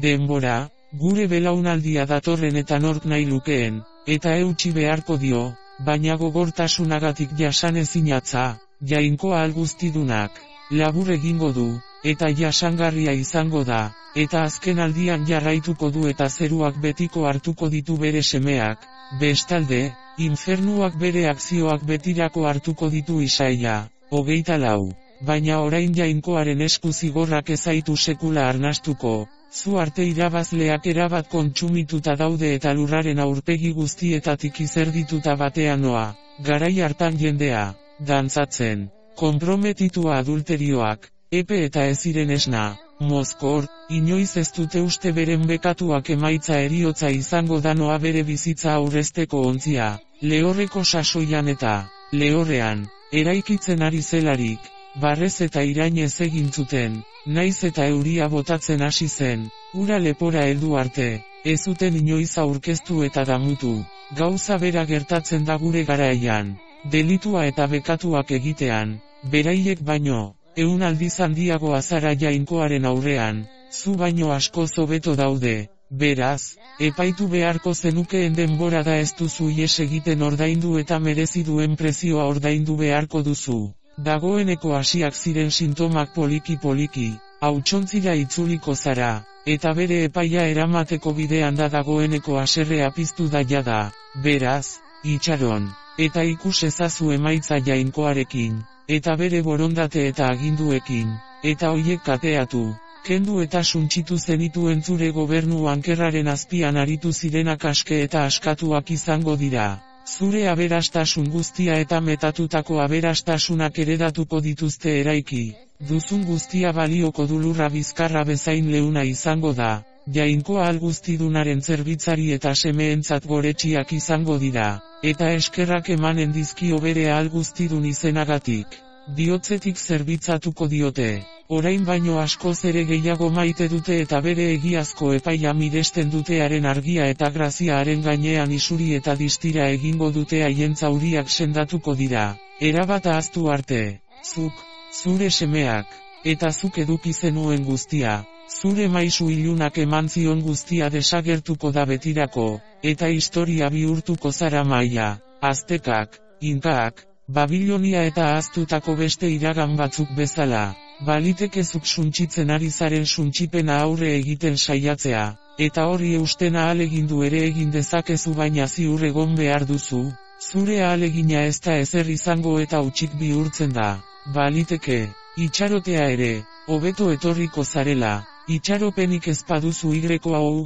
denbora, gure belaunaldia datorren eta nork nahi lukeen, eta eutsi beharko dio, baina gogortasunagatik jasanezinatza, jainkoa alguztidunak, labur egingo du, eta jasangarria izango da, eta azken aldian jarraituko du eta zeruak betiko hartuko ditu bere semeak, bestalde, infernuak bere akzioak betirako hartuko ditu Isaia, 24. Baina orain jainkoaren esku zigorrak ezaitu sekula arnastuko, zu arte irabazleak erabat kontsumituta daude eta lurraren aurpegi guztietatik izerdituta batean noa, garai hartan jendea, dantzatzen, konprometitua adulterioak, epe eta eziren esna, mozkor, inoiz ez dute uste beren bekatuak emaitza heriotza izango da noa bere bizitza aurrezteko ontzia, lehorreko sasoian eta, lehorrean, eraikitzen ari zelarik, barrez eta irainez egin zuten, naiz eta euria botatzen hasi zen, ura lepora heldu arte, ez zuten inoiz aurkeztu eta damutu. Gauza bera gertatzen da gure garaian. Delitua eta bekatuak egitean, beraiek baino, 100 aldiz handiago azara Jainkoaren aurrean, zu baino askoz hobeto daude. Beraz, epaitu beharko zenukeen denbora da ez duzu ihes egiten ordaindu eta merezi duen prezioa ordaindu beharko duzu. Dagoeneko hasiak ziren sintomak poliki-poliki, hautsontzira itzuliko zara, eta bere epaia eramateko bidean da dagoeneko haserrea piztu da jada. Beraz, itxaron, eta ikus ezazu emaitza Jainkoarekin, eta bere borondate eta aginduekin, eta hoiek kateatu. Kendu eta suntsitu zenituen zure gobernu ankerraren azpian aritu zirenak aske eta askatuak izango dira. Zure aberastasun guztia eta metatutako aberastasunak eredatuko dituzte eraiki. Duzun guztia balioko du lurra bizkarra bezain leuna izango da. Jainkoa alguztidunaren zerbitzari eta semeentzat goretxiak izango dira. Eta eskerrak emanen dizkio bere alguztidun izenagatik. Diotzetik zerbitzatuko diote. Orain baino askoz ere gehiago maite dute eta bere egiazko epaia miresten dutearen argia eta graziaaren gainean isuri eta distira egingo dute haien zauriak sendatuko dira. Erabat ahaztu arte, zuk, zure semeak, eta zuk eduki zenuen guztia, zure maisu ilunak eman zion guztia desagertuko da betirako, eta historia bihurtuko zara Maia, Aztekak, Inkaak, Babilonia eta ahaztutako beste iragan batzuk bezala. Baliteke zuk suntsitzen ari zaren suntsipena aurre egiten saiatzea, eta horri eusten ahalegindu ere egin dezakezu baina ziur egon behar duzu, zure ahalegina ez da ezer izango eta hutsik bihurtzen da. Baliteke, itxarotea ere, hobeto etorriko zarela, itxaropenik ez paduzu Y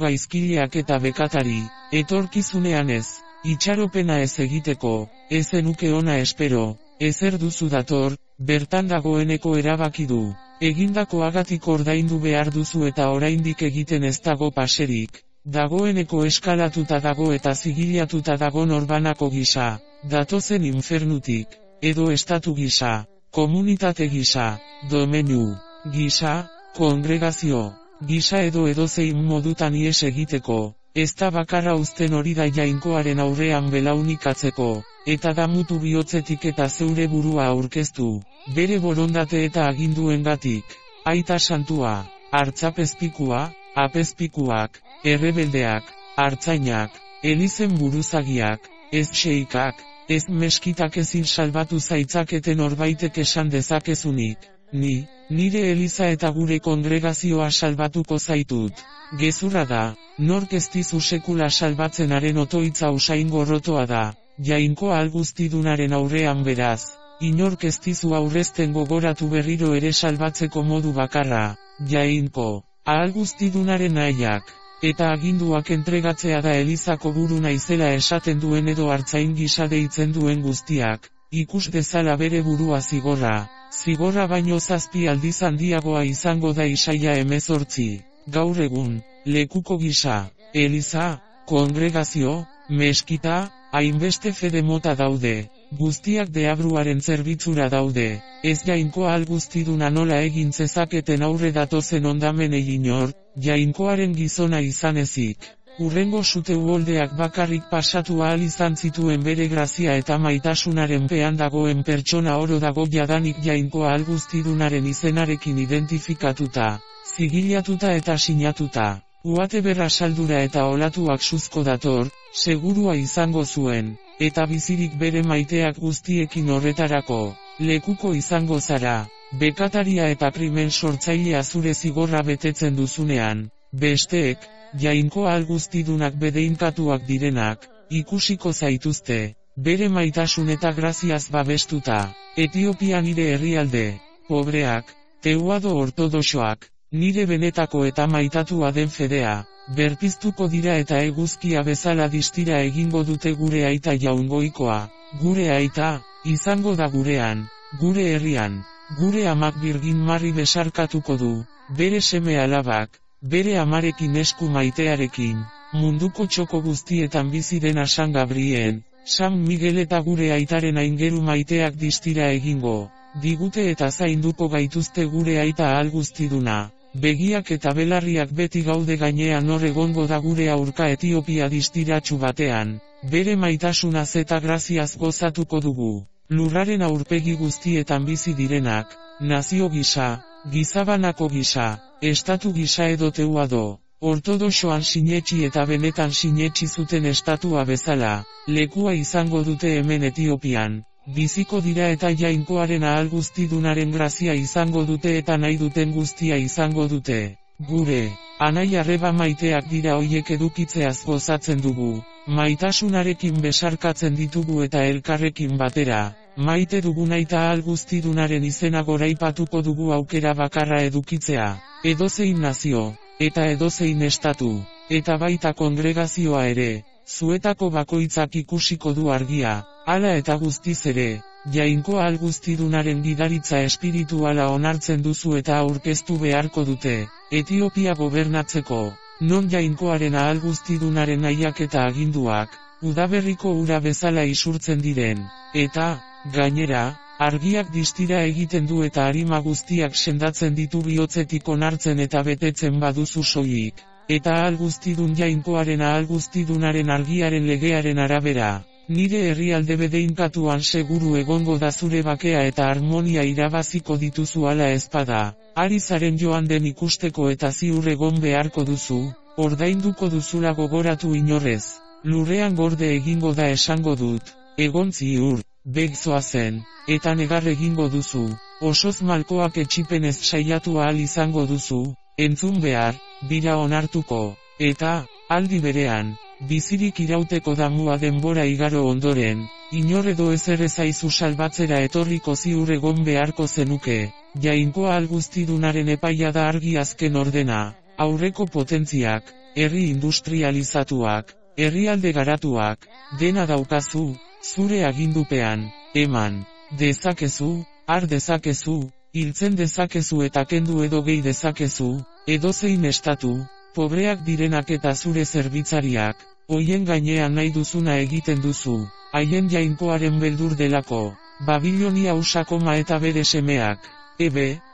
gaizkileak eta bekatari, etorkizunean ez, itxaropena ez egiteko, ez zenuke ona espero. Ezer duzu dator, bertan dagoeneko erabaki du. Egindakoagatik ordaindu behar duzu eta oraindik egiten ez dago paserik. Dagoeneko eskalatuta dago eta zigilatuta dago norbanako gisa. Datozen infernutik, edo estatu gisa, komunitate gisa, domenu gisa, kongregazio gisa edo edozein modutan ihes egiteko. Ez da bakarra uzten hori da Jainkoaren aurrean belaunikatzeko, eta damutu bihotzetik eta zeure burua aurkeztu, bere borondate eta aginduengatik. Aita santua, hartzapezpikua, apezpikuak, errebeldeak, hartzainak, elizen buruzagiak, ez xeikak, ez meskitak ezin salbatu zaitzaketen horbaitek esan dezakezunik. Nire eliza eta gure kongregazioa salbatuko zaitut. Gezurra da, nork ez dizu sekula salbatzenaren otoitza usain gorrotoa da, Jainkoa alguztidunaren aurrean beraz, inork ez dizu aurrezten gogoratu berriro ere salbatzeko modu bakarra, Jainko, alguztidunaren nahiak, eta aginduak entregatzea da elizako buru naizela esaten duen edo hartzain gisa deitzen duen guztiak, ikus dezala bere burua zigorra baino 7 aldiz handiagoa izango da Isaia 18. Gaur egun, lekuko gisa, eliza, kongregazio, meskita, hainbeste fede mota daude, guztiak deabruaren zerbitzura daude, ez Jainkoa alguztiduna nola egin zezaketen aurre datozen ondamenei inor, Jainkoaren gizona izan ezik. Urrengo sute uholdeak bakarrik pasatu ahal izan zituen bere grazia eta maitasunaren pean dagoen pertsona oro dago jadanik Jainkoa alguztidunaren izenarekin identifikatuta, zigilatuta eta sinatuta. Uate berra saldura eta olatuak suzko dator, segurua izango zuen, eta bizirik bere maiteak guztiekin horretarako, lekuko izango zara, bekataria eta krimen sortzailea zure zigorra betetzen duzunean, besteek, Jainkoa alguztidunak bedeinkatuak direnak, ikusiko zaituzte, bere maitasun eta graziaz babestuta, Etiopia nire herrialde, pobreak, teuado ortodoxoak, nire benetako eta maitatua den fedea, berpiztuko dira eta eguzkia bezala distira egingo dute gure aita jaungoikoa, gure aita, izango da gurean, gure herrian, gure amak Birgin Mari besarkatuko du, bere seme alabak, bere amarekin esku maitearekin, munduko txoko guztietan bizi den San Gabrien, San Miguel eta gure aitaren aingeru maiteak distira egingo, digute eta zainduko gaituzte gure aita alguztiduna, begiak eta belarriak beti gaude gainean hor egongo da gure aurka Etiopia distiratsu batean, bere maitasunaz eta graziaz gozatuko dugu. Lurraren aurpegi guztietan bizi direnak, nazio gisa, gizabanako gisa, estatu gisa edo teuado, ortodoxoan sinetsi eta benetan sinetsi zuten estatua bezala, lekua izango dute hemen Etiopian, biziko dira eta jainkoaren ahal guztidunaren grazia izango dute eta nahi duten guztia izango dute. Gure, anai arreba maiteak dira hoiek edukitzeaz gozatzen dugu, maitasunarekin besarkatzen ditugu eta elkarrekin batera, maite duguna eta ahal guztidunaren izena goraipatuko dugu aukera bakarra edukitzea, edozein nazio, eta edozein estatu, eta baita kongregazioa ere, zuetako bakoitzak ikusiko du argia, hala eta guztiz ere, jainko ahal guztidunaren gidaritza espirituala onartzen duzu eta aurkeztu beharko dute, Etiopia gobernatzeko, non jainkoaren ahal guztidunaren nahiak eta aginduak, udaberriko ura bezala isurtzen diren, eta, gainera, argiak distira egiten du eta arima guztiak sendatzen ditu bihotzetik onartzen eta betetzen baduzu soilik, eta ahal guztidun jainkoaren ahal guztidunaren argiaren legearen arabera. Nire herrialde bedeinkatuan seguru egongo da zure bakea eta harmonia irabaziko dituzu ala ezpada, ari zaren joan den ikusteko eta ziur egon beharko duzu, ordainduko duzula gogoratu inorrez, lurrean gorde egingo da esango dut, egon ziur, begzoazen, eta negar egingo duzu, osoz malkoak etxipenez saiatu ahal izango duzu, entzun behar, bira onartuko, eta, aldi berean, bizirik irauteko damua denbora igaro ondoren, inor edo ezer ezaizu salbatzera etorriko ziur egon beharko zenuke, jainko ahal guztidunaren epaia da argi azken ordena, aurreko potentziak, herri industrializatuak, herrialde garatuak, dena daukazu, zure agindupean, eman, dezakezu, har dezakezu, hiltzen dezakezu eta kendu edo gehi dezakezu, edozein estatu, pobreak direnak eta zure zerbitzariak, hoien gainean nahi duzuna egiten duzu, haien jainkoaren beldur delako, Babilonia usakoma eta bere semeak,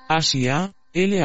Asia,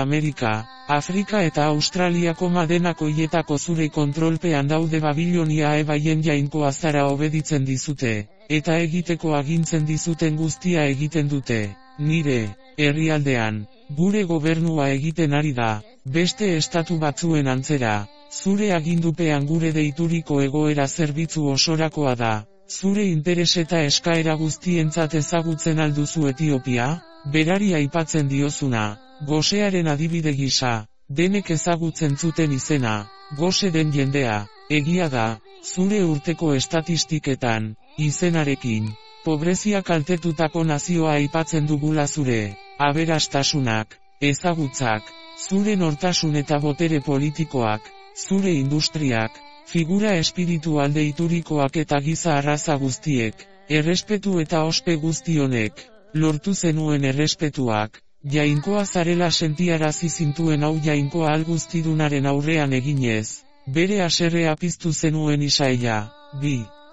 Amerika, Afrika eta Australiako denak hoietako zure kontrolpean daude Babilonia haien jainkoa zara obeditzen dizute, eta egiteko agintzen dizuten guztia egiten dute, nire, herrialdean, gure gobernua egiten ari da, beste estatu batzuen antzera, zure agindupean gure deituriko egoera zerbitzu osorakoa da, zure interes eta eskaera guztientzat ezagutzen alduzu Etiopia, berari aipatzen diozuna, gosearen adibide gisa, denek ezagutzen zuten izena, gose den jendea, egia da, zure urteko estatistiketan, izenarekin, pobrezia kaltetutako nazioa aipatzen dugula zure, aberastasunak, ezagutzak, zure nortasun eta botere politikoak, zure industriak, figura espiritual deiturikoak eta giza arraza guztiek, errespetu eta ospe guztionek, lortu zenuen errespetuak, jainkoa zarela sentiarazi zintuen hau jainkoa ahal guztidunaren aurrean eginez, bere haserrea piztu zenuen Isaia,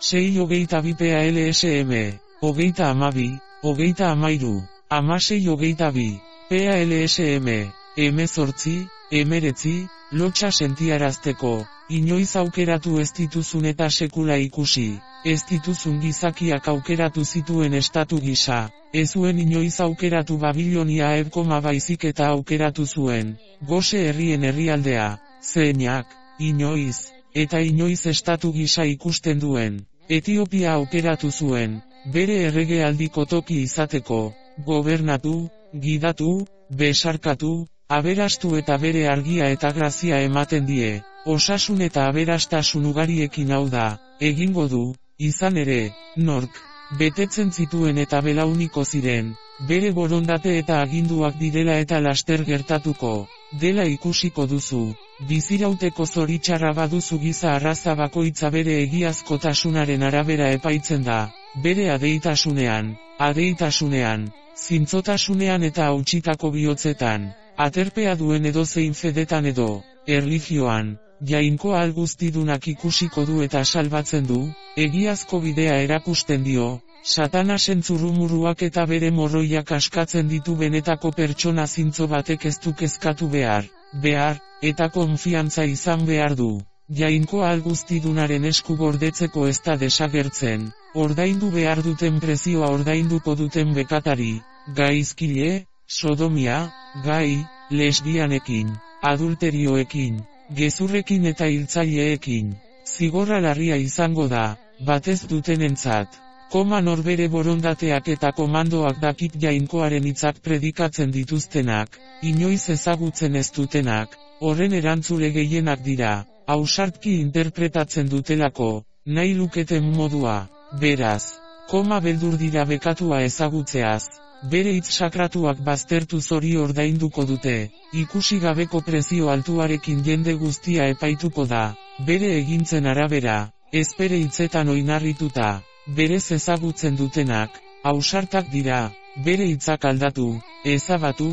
6:22 PALSM, 32, 13, 16:22, PALSM, 18, 19, lotxa sentiarazteko, inoiz aukeratu ez dituzun eta sekula ikusi, ez dituzun gizakiak aukeratu zituen estatu gisa, ez zuen inoiz aukeratu Babilonia baizik eta aukeratu zuen, gose herrien herrialdea, zeinak, inoiz, eta inoiz estatu gisa ikusten duen, Etiopia aukeratu zuen, bere erregealdiko toki izateko, gobernatu, gidatu, besarkatu, aberastu eta bere argia eta grazia ematen die, osasun eta aberastasun ugariekin hau da, egingo du, izan ere, nork, betetzen zituen eta belauniko ziren, bere borondate eta aginduak direla eta laster gertatuko, dela ikusiko duzu, bizirauteko zoritxarra baduzu giza arraza bakoitza bere egiazkotasunaren arabera epaitzen da, bere adeitasunean, zintzotasunean eta hautsitako bihotzetan, aterpea duen edozein fedetan edo, erlijioan, jainko ahal guztidunak ikusiko du eta salbatzen du, egiazko bidea erakusten dio, Satanasen zurrumuruak eta bere morroiak askatzen ditu benetako pertsona zintzo batek ez du kezkatu behar, behar, eta konfiantza izan behar du. Jainkoa alguztidunaren esku gordetzeko ez da desagertzen, ordaindu behar duten prezioa ordainduko duten bekatari, gaizkile, sodomia, gai, lesbianekin, adulterioekin, gezurrekin eta hiltzaileekin. Zigorra larria izango da, batez dutenentzat. Norbere borondateak eta komandoak dakit jainkoaren hitzak predikatzen dituztenak, inoiz ezagutzen ez dutenak, horren erantzule gehienak dira, ausartki interpretatzen dutelako, nahi luketen modua, beraz, beldur dira bekatua ezagutzeaz, bere hitz sakratuak baztertuz hori ordainduko dute, ikusi gabeko prezio altuarekin jende guztia epaituko da, bere egintzen arabera, ez bere hitzetan oinarrituta. Berez ezagutzen dutenak, ausartak dira, bere hitzak aldatu, ezabatu,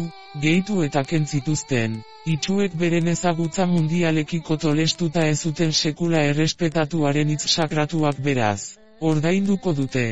gehitu eta kentzituzten, itxuek beren ezagutza mundialekiko tolestuta ez zuten sekula errespetatuaren hitz sakratuak beraz, ordainduko dute,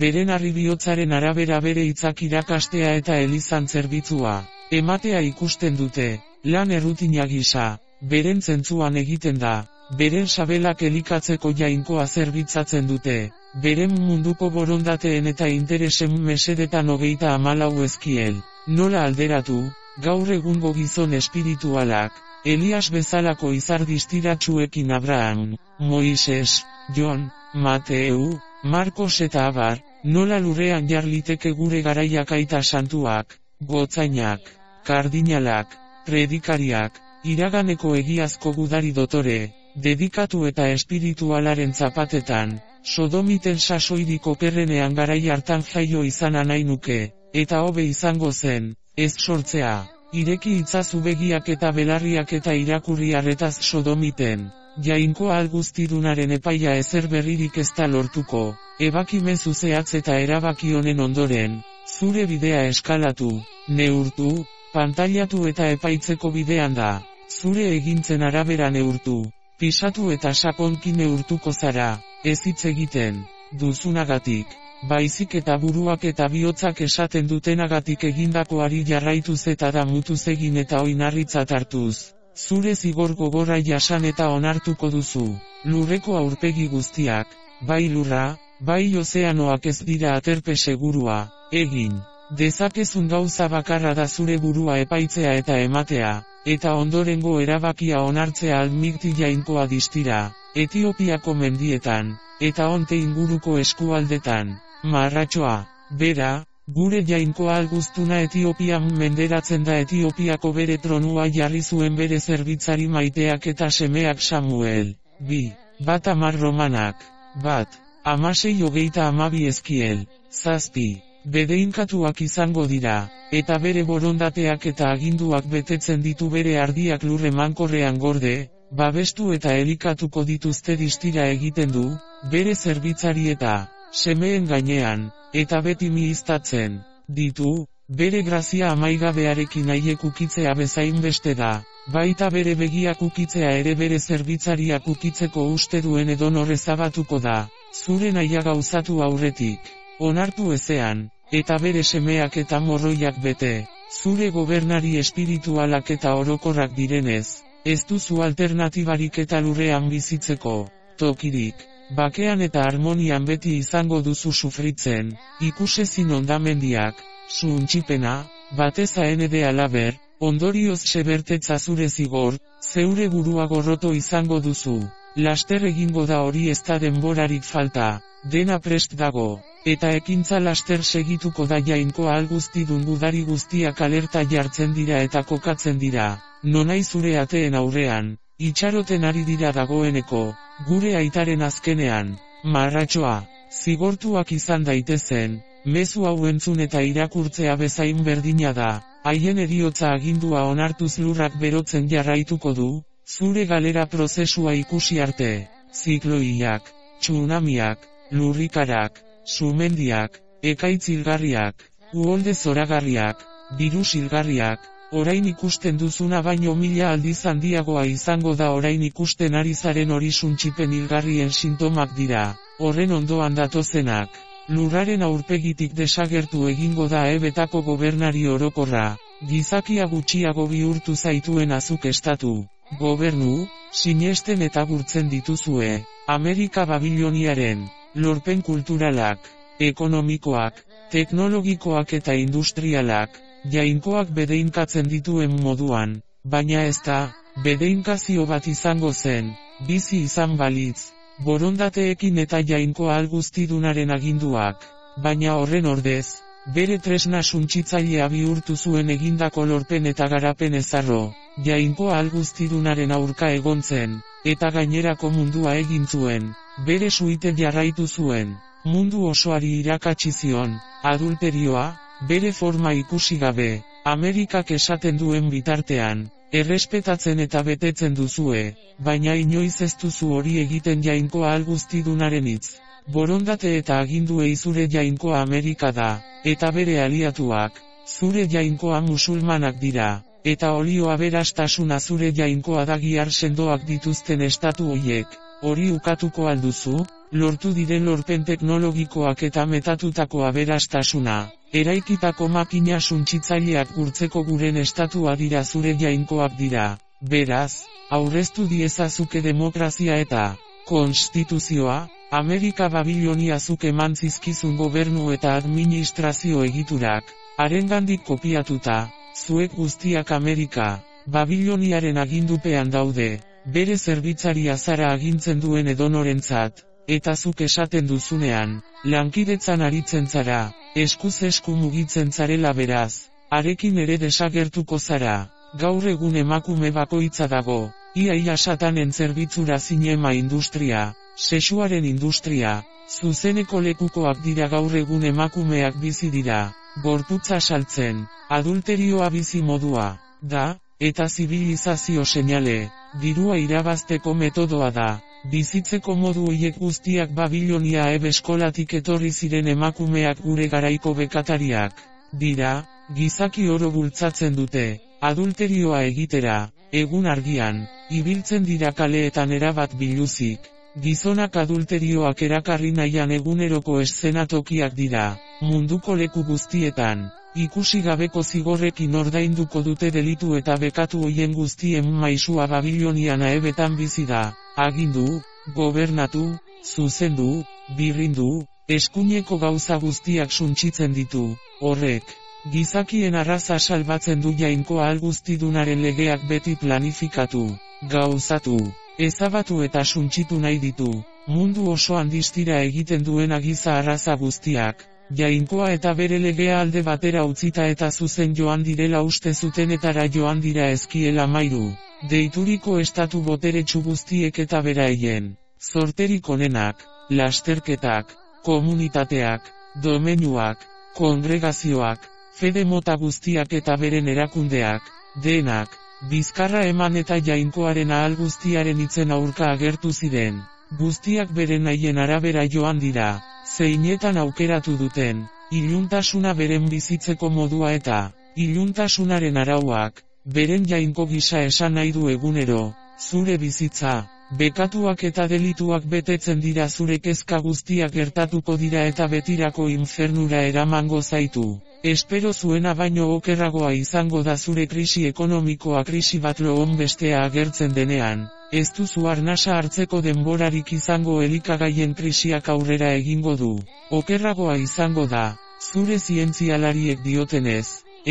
beren arribiotzaren arabera bere hitzak irakastea eta elizan zerbitzua, ematea ikusten dute, lan errutina gisa, beren zentzuan egiten da, beren sabelak elikatzeko jainkoa zerbitzatzen dute. Beren munduko borondateen eta interesen mesedetan 34 ezkiel. Nola alderatu, gaur egungo gizon espiritualak, Elias bezalako izar distiratsuekin Abraham, Moises, Jon, Mateu, Markos eta abar, nola lurrean jarliteke gure garaiak aita santuak, gotzainak, kardinalak, predikariak, iraganeko egiazko gudari dotore, dedikatu eta espiritualaren zapatetan, sodomiten sasoirik okerrenean garai hartan jaio izana nahi nuke, eta hobe izango zen, ez sortzea, ireki itzazu begiak eta belarriak eta irakurri arretaz sodomiten, jainkoa alguztidunaren epaia ezer berririk ez da lortuko, ebakimezu zehatz eta erabaki honen ondoren, zure bidea eskalatu, neurtu, pantailatu eta epaitzeko bidean da, zure egintzen arabera neurtu, pisatu eta sakonki neurtuko zara. Ez hitz egiten, duzunagatik, baizik eta buruak eta bihotzak esaten dutenagatik egindakoari jarraituz eta damutuz egin eta oinarritzat hartuz. Zure zigor gogorra jasan eta onartuko duzu, lurreko aurpegi guztiak, bai lurra, bai ozeanoak ez dira aterpe segurua, egin. Dezakezun gauza bakarra da zure burua epaitzea eta ematea, eta ondorengo erabakia onartzea almikti jainkoa distira. Etiopiako mendietan, eta onte inguruko eskualdetan, marratxoa, bera, gure jainkoa alguztuna Etiopian menderatzen da Etiopiako bere tronua jarri zuen bere zerbitzari maiteak eta semeak Samuel, 2, 10 romanak, 1, 16-22 ezkiel, 7, bedeinkatuak izango dira, eta bere borondateak eta aginduak betetzen ditu bere ardiak lurre mankorrean gorde, babestu eta elikatuko dituzte distira egiten du, bere zerbitzari eta semeen gainean, eta beti mihiztatzen ditu, bere grazia amaigabearekin haiek ukitzea bezain beste da, baita bere begiak ukitzea ere bere zerbitzariak ukitzeko uste duen edonor ezabatuko da, zure nahia gauzatu aurretik, onartu ezean, eta bere semeak eta morroiak bete, zure gobernari espiritualak eta orokorrak direnez. Ez duzu alternatibarik eta lurrean bizitzeko, tokirik, bakean eta harmonian beti izango duzu sufritzen, ikusezin ondamendiak, suntxipena, batez AND alaber, ondorioz sebertetza zure zigor, zeure burua gorroto izango duzu, laster egingo da hori ez da denborarik falta, dena prest dago, eta ekintza laster segituko da jainkoa alguztidun gudari guztiak alerta jartzen dira eta kokatzen dira. Nonai zure ateen aurrean, itxaroten ari dira dagoeneko, gure aitaren azkenean, marratxoa, zigortuak izan daitezen, mezu hau entzun eta irakurtzea bezain berdina da, haien heriotza agindua onartuz lurrak berotzen jarraituko du, zure galera prozesua ikusi arte, zikloiak, tsunamiak, lurrikarak, sumendiak, ekaitz hilgarriak, uholde zoragarriak, birus hilgarriak, orain ikusten duzuna baino 1000 aldiz handiagoa izango da orain ikusten ari zaren hori suntxipen hilgarrien sintomak dira, horren ondoan datozenak. Lurraren aurpegitik desagertu egingo da ebetako gobernari orokorra, gizakia gutxiago bihurtu zaituen azuk estatu, gobernu, sinesten eta gurtzen dituzue, Amerika Babiloniaren, lorpen kulturalak, ekonomikoak, teknologikoak eta industrialak, jainkoak bedeinkatzen dituen moduan, baina ez da, bedeinkazio bat izango zen, bizi izan balitz, borondateekin eta jainkoa alguztidunaren aginduak, baina horren ordez, bere tresna suntsitzailea bihurtu zuen egindako lorpen eta garapen ezarro, jainkoa alguztidunaren aurka egon zen, eta gainerako mundua egin zuen, bere suite jarraitu zuen, mundu osoari irakatsi zion, adulterioa, bere forma ikusi gabe, Amerikak esaten duen bitartean, errespetatzen eta betetzen duzue, baina inoiz ez duzu hori egiten jainkoa alguztidunaren hitz. Borondate eta aginduei zure jainkoa Amerika da, eta bere aliatuak, zure jainkoa musulmanak dira, eta olio aberastasuna zure jainkoa da gihar sendoak dituzten estatu hoiek, hori ukatuko alduzu, lortu diren lorpen teknologikoak eta metatutako aberastasuna, eraikitako makina suntsitzaileak gurtzeko guren estatua dira zure jainkoak dira, beraz, aurreztu diezazuke demokrazia eta konstituzioa, Amerika Babilonia zuk eman zizkizun gobernu eta administrazio egiturak, harengandik kopiatuta, zuek guztiak Amerika Babiloniaren agindupean daude, bere zerbitzaria zara agintzen duen edonorentzat, eta zuk esaten duzunean, lankidetzan aritzen zara, eskuz esku mugitzen zarela beraz, harekin ere desagertuko zara, gaur egun emakume bakoitza dago, ia satanen zerbitzura zinema industria, sexuaren industria, zuzeneko lekukoak dira gaur egun emakumeak bizi dira, gorputza saltzen, adulterioa bizi modua, da, eta zibilizazio seinale, dirua irabazteko metodoa da, bizitzeko modu hoiek guztiak Babilonia eskolatik etorri ziren emakumeak gure garaiko bekatariak, dira, gizaki oro bultzatzen dute, adulterioa egitera, egun argian, ibiltzen dira kaleetan erabat biluzik. Gizonak adulterioak erakarri nahian eguneroko eszenatokiak dira, munduko leku guztietan, ikusi gabeko zigorrekin ordainduko dute delitu eta bekatu hoien guztien maisua Babilonian aebetan bizi da, agindu, gobernatu, zuzendu, birrindu, eskuineko gauza guztiak suntsitzen ditu, horrek, gizakien arraza salbatzen du jainkoa alguztidunaren legeak beti planifikatu, gauzatu. Ezabatu eta suntsitu nahi ditu, mundu osoan distira egiten duen giza arraza guztiak, jainkoa eta bere legea alde batera utzita eta zuzen joan direla uste zutenetara joan dira ezkiela mairu, deituriko estatu boteretsu guztiek eta beraien, zorterik onenak, lasterketak, komunitateak, domeinuak, kongregazioak, fede mota guztiak eta beren erakundeak, denak, bizkarra eman eta jainkoaren ahal guztiaren itzen aurka agertu ziren, guztiak beren nahien arabera joan dira, zeinetan aukeratu duten, iluntasuna beren bizitzeko modua eta, iluntasunaren arauak, beren jainko gisa esan nahi du egunero, zure bizitza, bekatuak eta delituak betetzen dira zure kezka guztiak gertatuko dira eta betirako infernura eramango zaitu. Espero zuena baino okerragoa izango da zure krisi ekonomikoa krisi bat loon bestea agertzen denean, ez duzu arnasa hartzeko denborarik izango elikagaien krisiak aurrera egingo du, okerragoa izango da, zure zientzialariek diotenez,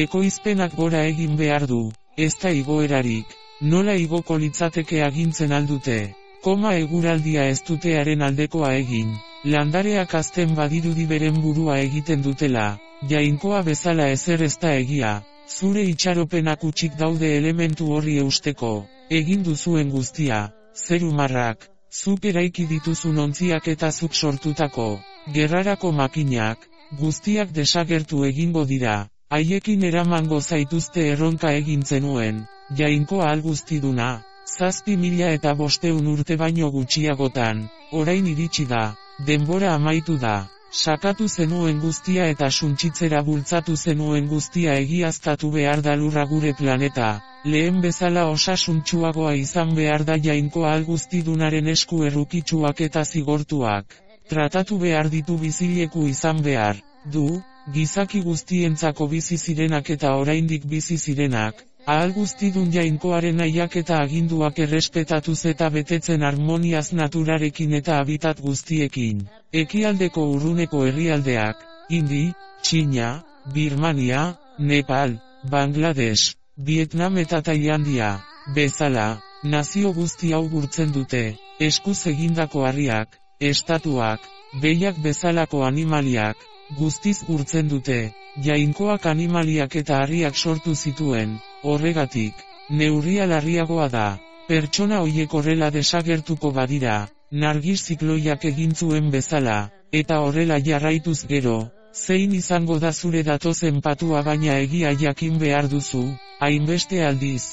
ekoizpenak gora egin behar du, ez da igoerarik, nola igoko litzateke agintzen aldute, eguraldia ez dutearen aldekoa egin, landareak azten badirudi beren burua egiten dutela. Jainkoa bezala ezer ez da egia, zure itxaropenak utxik daude elementu horri eusteko, egin duzuen guztia, zeru marrak, zuk eraiki dituzun ontziak eta zuk sortutako, gerrarako makinak, guztiak desagertu egingo dira, haiekin eramango zaituzte erronka egin zenuen, jainkoa alguztiduna, 7.500 urte baino gutxiagotan, orain iritsi da, denbora amaitu da. Sakatu zenuen guztia eta suntsitzera bultzatu zenuen guztia egiaztatu behar da lurra gure planeta, lehen bezala osasuntsuagoa izan behar da jainkoa alguztidunaren esku errukitsuak eta zigortuak, tratatu behar ditu bizileku izan behar, du, gizaki guztientzako bizi zirenak eta oraindik bizi zirenak, ahal guztidun Jainkoaren nahiak eta aginduak errespetatuz eta betetzen harmoniaz naturarekin eta habitat guztiekin. Ekialdeko urruneko herrialdeak, Indi, Txina, Birmania, Nepal, Bangladesh, Vietnam eta Tailandia, bezala, nazio guzti hau gurtzen dute, eskuz egindako harriak, estatuak, behiak bezalako animaliak, guztiz gurtzen dute, Jainkoak animaliak eta harriak sortu zituen, horregatik, neurria larriagoa da, pertsona hoiek horrela desagertuko badira, Nargis zikloiak egin zuen bezala, eta horrela jarraituz gero, zein izango da zure datozen patua baina egia jakin behar duzu, hainbeste aldiz,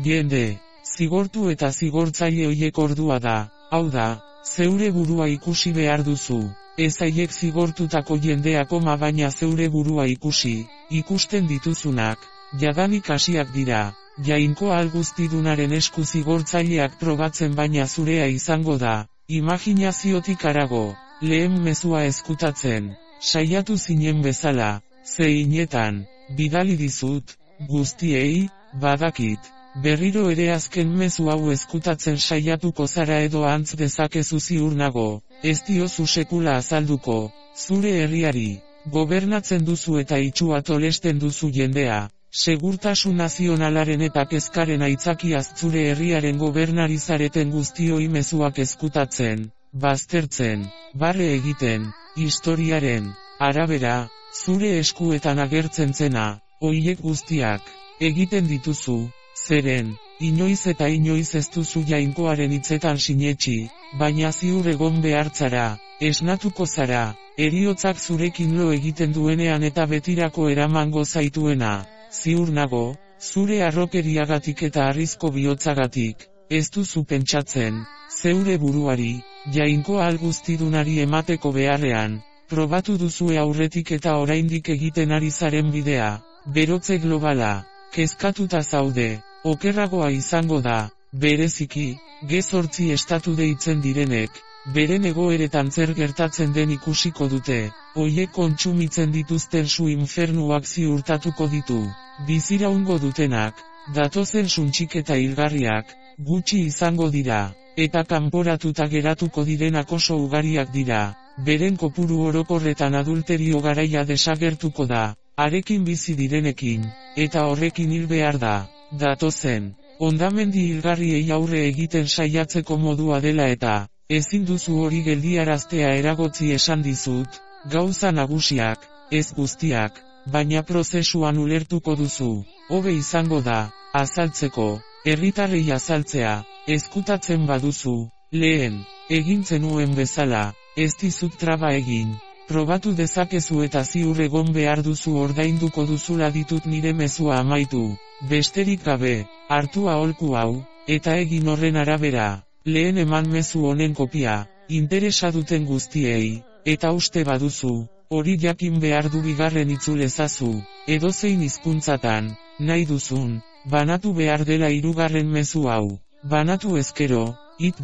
jende, zigortu eta zigortzaile hoiek ordua da, hau da, zeure burua ikusi behar duzu, ez haiek zigortutako jendea koma baina zeure burua ikusi, ikusten dituzunak, jadanik hasiak dira, Jainko ahal guztidunaren esku zigortzaileak probatzen baina zurea izango da, imaginaziotik harago, lehen mezua ezkutatzen. Saiatu zinen bezala, zeinetan, bidali dizut, guztiei, badakit, berriro ere azken mezu hau ezkutatzen saiatuko zara edo antz dezakezu ziur nago, ez diozu sekula azalduko, zure herriari, gobernatzen duzu eta itxua tolesten duzu jendea, segurtasun nazionalaren eta kezkaren aitzakiaz zure herriaren gobernari zareten guztioi mezuak ezkutatzen, baztertzen, barre egiten, historiaren arabera, zure eskuetan agertzen zena, hoiek guztiak, egiten dituzu, zeren, inoiz eta inoiz ez duzu Jainkoaren hitzetan sinetsi, baina ziur egon behartzara, esnatuko zara, heriotzak zurekin lo egiten duenean eta betirako eramango zaituena, ziur nago, zure harrokeriagatik eta harrizko bihotzagatik, ez duzu pentsatzen, zeure buruari, Jainkoa ahal guztidunari emateko beharrean, probatu duzue aurretik eta oraindik egiten ari zaren bidea, berotze globala, kezkatuta zaude, okerragoa izango da, bereziki, G8 estatu deitzen direnek, beren egoeretan zer gertatzen den ikusiko dute, hoiek kontsumitzen dituzten su infernuak ziurtatuko ditu, biziraungo dutenak, datozen suntsik eta hilgarriak, gutxi izango dira. Eta kanporatuta geratuko direnak oso ugariak dira, beren kopuru orokorretan adulterio garaia desagertuko da, harekin bizi direnekin, eta horrekin hil behar da, datozen, hondamendi hilgarriei aurre egiten saiatzeko modua dela eta, ezin duzu hori geldiaraztea eragotzi esan dizut, gauza nagusiak, ez guztiak, baina prozesuan ulertuko duzu, hobe izango da, azaltzeko, herritarrei azaltzea, ezkutatzen baduzu, lehen, egin zenuen bezala, ez dizut traba egin, probatu dezakezu eta ziur egon behar duzu ordainduko duzula ditut nire mezua amaitu, besterik gabe, hartu aholku hau, eta egin horren arabera, lehen eman mezu honen kopia, interesa duten guztiei, eta uste baduzu, hori jakin behar du bigarren itzul ezazu, edozein hizkuntzatan, nahi duzun, banatu behar dela hirugarren mezu hau. Banatu ezkero,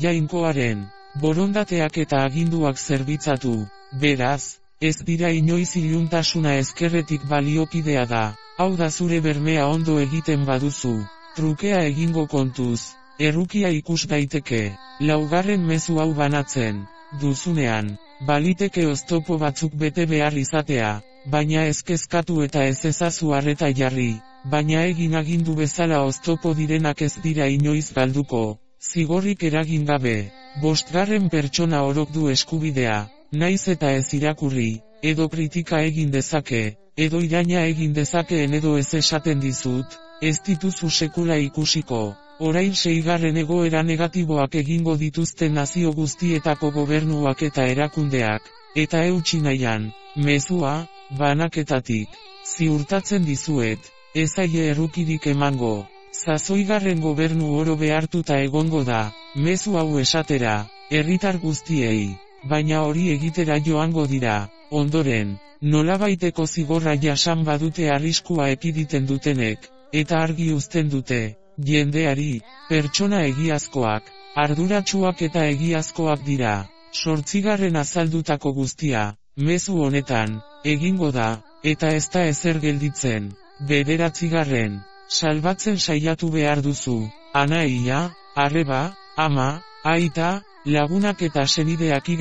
Jainkoaren borondateak eta aginduak zerbitzatu, beraz, ez dira inoiz iluntasuna ezkerretik baliokidea da, hau da zure bermea ondo egiten baduzu, trukea egingo kontuz, errukia ikus daiteke, laugarren mezu hau banatzen, duzunean, baliteke oztopo batzuk bete behar izatea, baina ez kezkatu eta ez ezazu arreta jarri. Baina egin agindu bezala oztopo direnak ez dira inoiz galduko, zigorrik eragin gabe, bostgarren pertsona orok du eskubidea, naiz eta ez irakurri, edo kritika egin dezake, edo iraina egin dezakeen edo ez esaten dizut, ez dituzu sekula ikusiko, orain 6. egoera negatiboak egingo dituzten nazio guztietako gobernuak eta erakundeak, eta eutsi nahian, mezua, banaketatik, ziurtatzen dizuet. Ez aie errukirik emango, sasoigarren gobernu oro behartuta egongo da, mezu hau esatera, herritar guztiei, baina hori egitera joango dira, ondoren, nolabaiteko zigorra jasan badute arriskua ekiditen dutenek, eta argi uzten dute, jendeari, pertsona egiazkoak, arduratsuak eta egiazkoak dira, 8. azaldutako guztia, mezu honetan, egingo da, eta ez da ezer gelditzen. 9. Salbatzen saiatu behar duzu. Anaia, arreba, ama, aita, lagunak eta senideak Y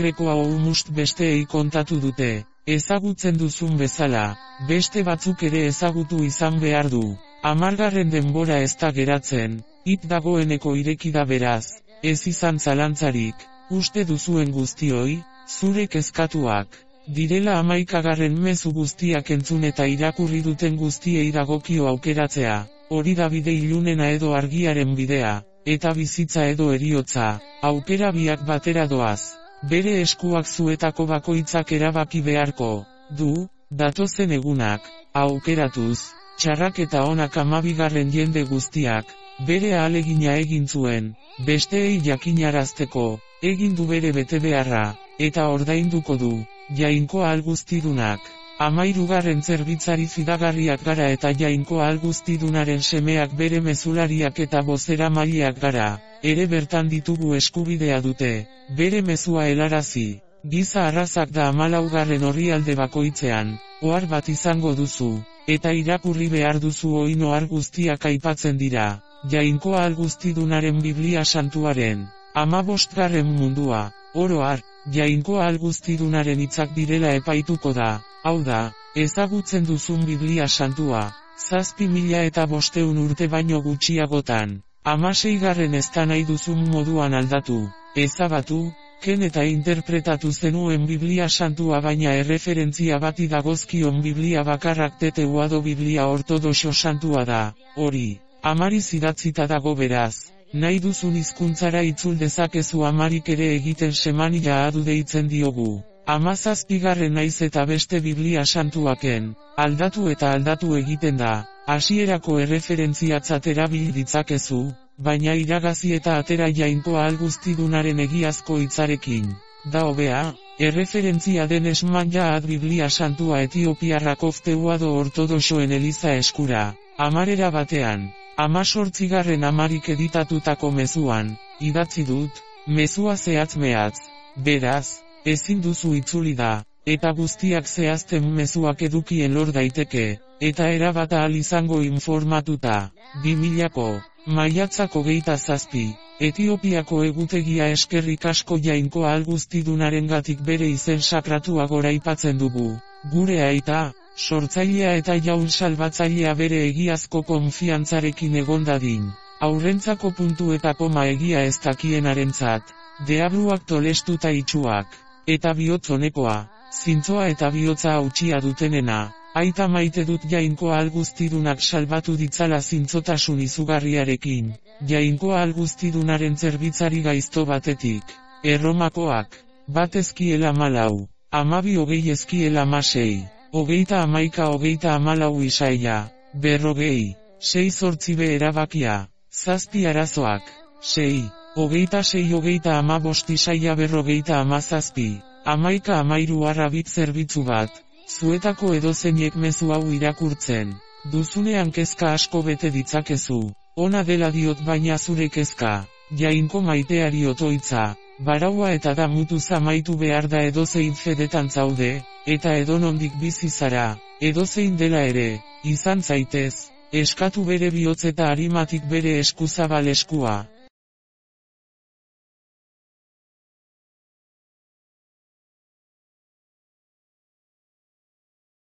besteei kontatu dute. Ezagutzen duzun bezala, beste batzuk ere ezagutu izan behar du. 10. denbora ez da geratzen, dagoeneko ireki da beraz, ez izan zalantzarik, uste duzuen guztioi, zure kezkatuak. Direla 11. mezu guztiak entzun eta irakurri duten guztiei dagokio aukeratzea, hori da bide ilunena edo argiaren bidea, eta bizitza edo heriotza, aukera biak batera doaz. Bere eskuak zuetako bakoitzak erabaki beharko du, datozen egunak, aukeratuz, txarrak eta onak 12. jende guztiak, bere ahalegina egin zuen, besteei jakinarazteko, egin du bere betebeharra, eta ordainduko du, Jainko Alguztidunak. 13. zerbitzari fidagarriak gara eta Jainko Alguztidunaren semeak bere mezulariak eta bozeramaileak gara, ere bertan ditugu eskubidea dute, bere mezua helarazi. Giza arrazak da 14. orrialde bakoitzean, ohar bat izango duzu, eta irakurri behar duzu oin ohar guztiak aipatzen dira, Jainko Alguztidunaren Biblia santuaren. 15. mundua, oro har, Jainko Alguztidunaren hitzak direla epaituko da, hau da, ezagutzen duzun Biblia santua, 7.500 urte baino gutxiagotan, 16. ez da nahi duzun moduan aldatu, ezabatu, ken eta interpretatu zenuen Biblia santua baina erreferentzia bati dagozkion Biblia bakarrak teteuado Biblia ortodoxo santua da, hori, amariz idatzita dago beraz. Nahi duzun hizkuntzara itzul dezakezu amarik ere egiten semania adu deitzen diogu. 17. naiz eta beste Biblia santuaken, aldatu eta aldatu egiten da, hasierako erreferentziatzat erabil ditzakezu, baina iragazi eta atera Jainko Alguztidunaren egiazko hitzarekin. Da hobea, erreferentzia den esmanja ad Biblia santua etiopiarrak ofteuado ortodoxoen eliza eskura, 10 batean. 18. amarik editatutako mezuan, idatzi dut, mezua zehatz mehatz, beraz, ezin duzu itzuli da, eta guztiak zehazten mezuak edukien lor daiteke, eta erabat ahal izango informatuta. 2000ko, maiatzak 27, Etiopiako egutegia eskerrik asko Jainko Alguztidunarengatik bere izen sakratua goraipatzen dugu, gure aita, sortzailea eta jaun salbatzailea bere egiazko konfiantzarekin egon dadin. Aurrentzako puntu eta koma egia ez dakienarentzat, deabluak tolestuta itxuak, eta bihotz honekoa, zintzoa eta bihotza hautsia dutenena, aita maite dut Jainko Alguztidunak salbatu ditzala zintzotasun izugarriarekin, Jainko Alguztidunaren zerbitzari gaizto batetik, Erromakoak, bat ezkiela 14, 12 ezkiela 16. 30-11-14 Isaia, 40, 6-8 erabakia, 7 arazoak, 6, 26-15 Isaia 40-17, 11-13 arrabit zerbitzu bat, zuetako edozeinek mezu hau irakurtzen, duzunean kezka asko bete ditzakezu, ona dela diot baina zure kezka, Jainko maiteari otoitza, baraua eta da mutuz amaitu behar da edozein fedetan zaude, eta edonondik bizi zara, edozein dela ere, izan zaitez, eskatu bere bihotz eta arimatik bere eskuzabal eskua.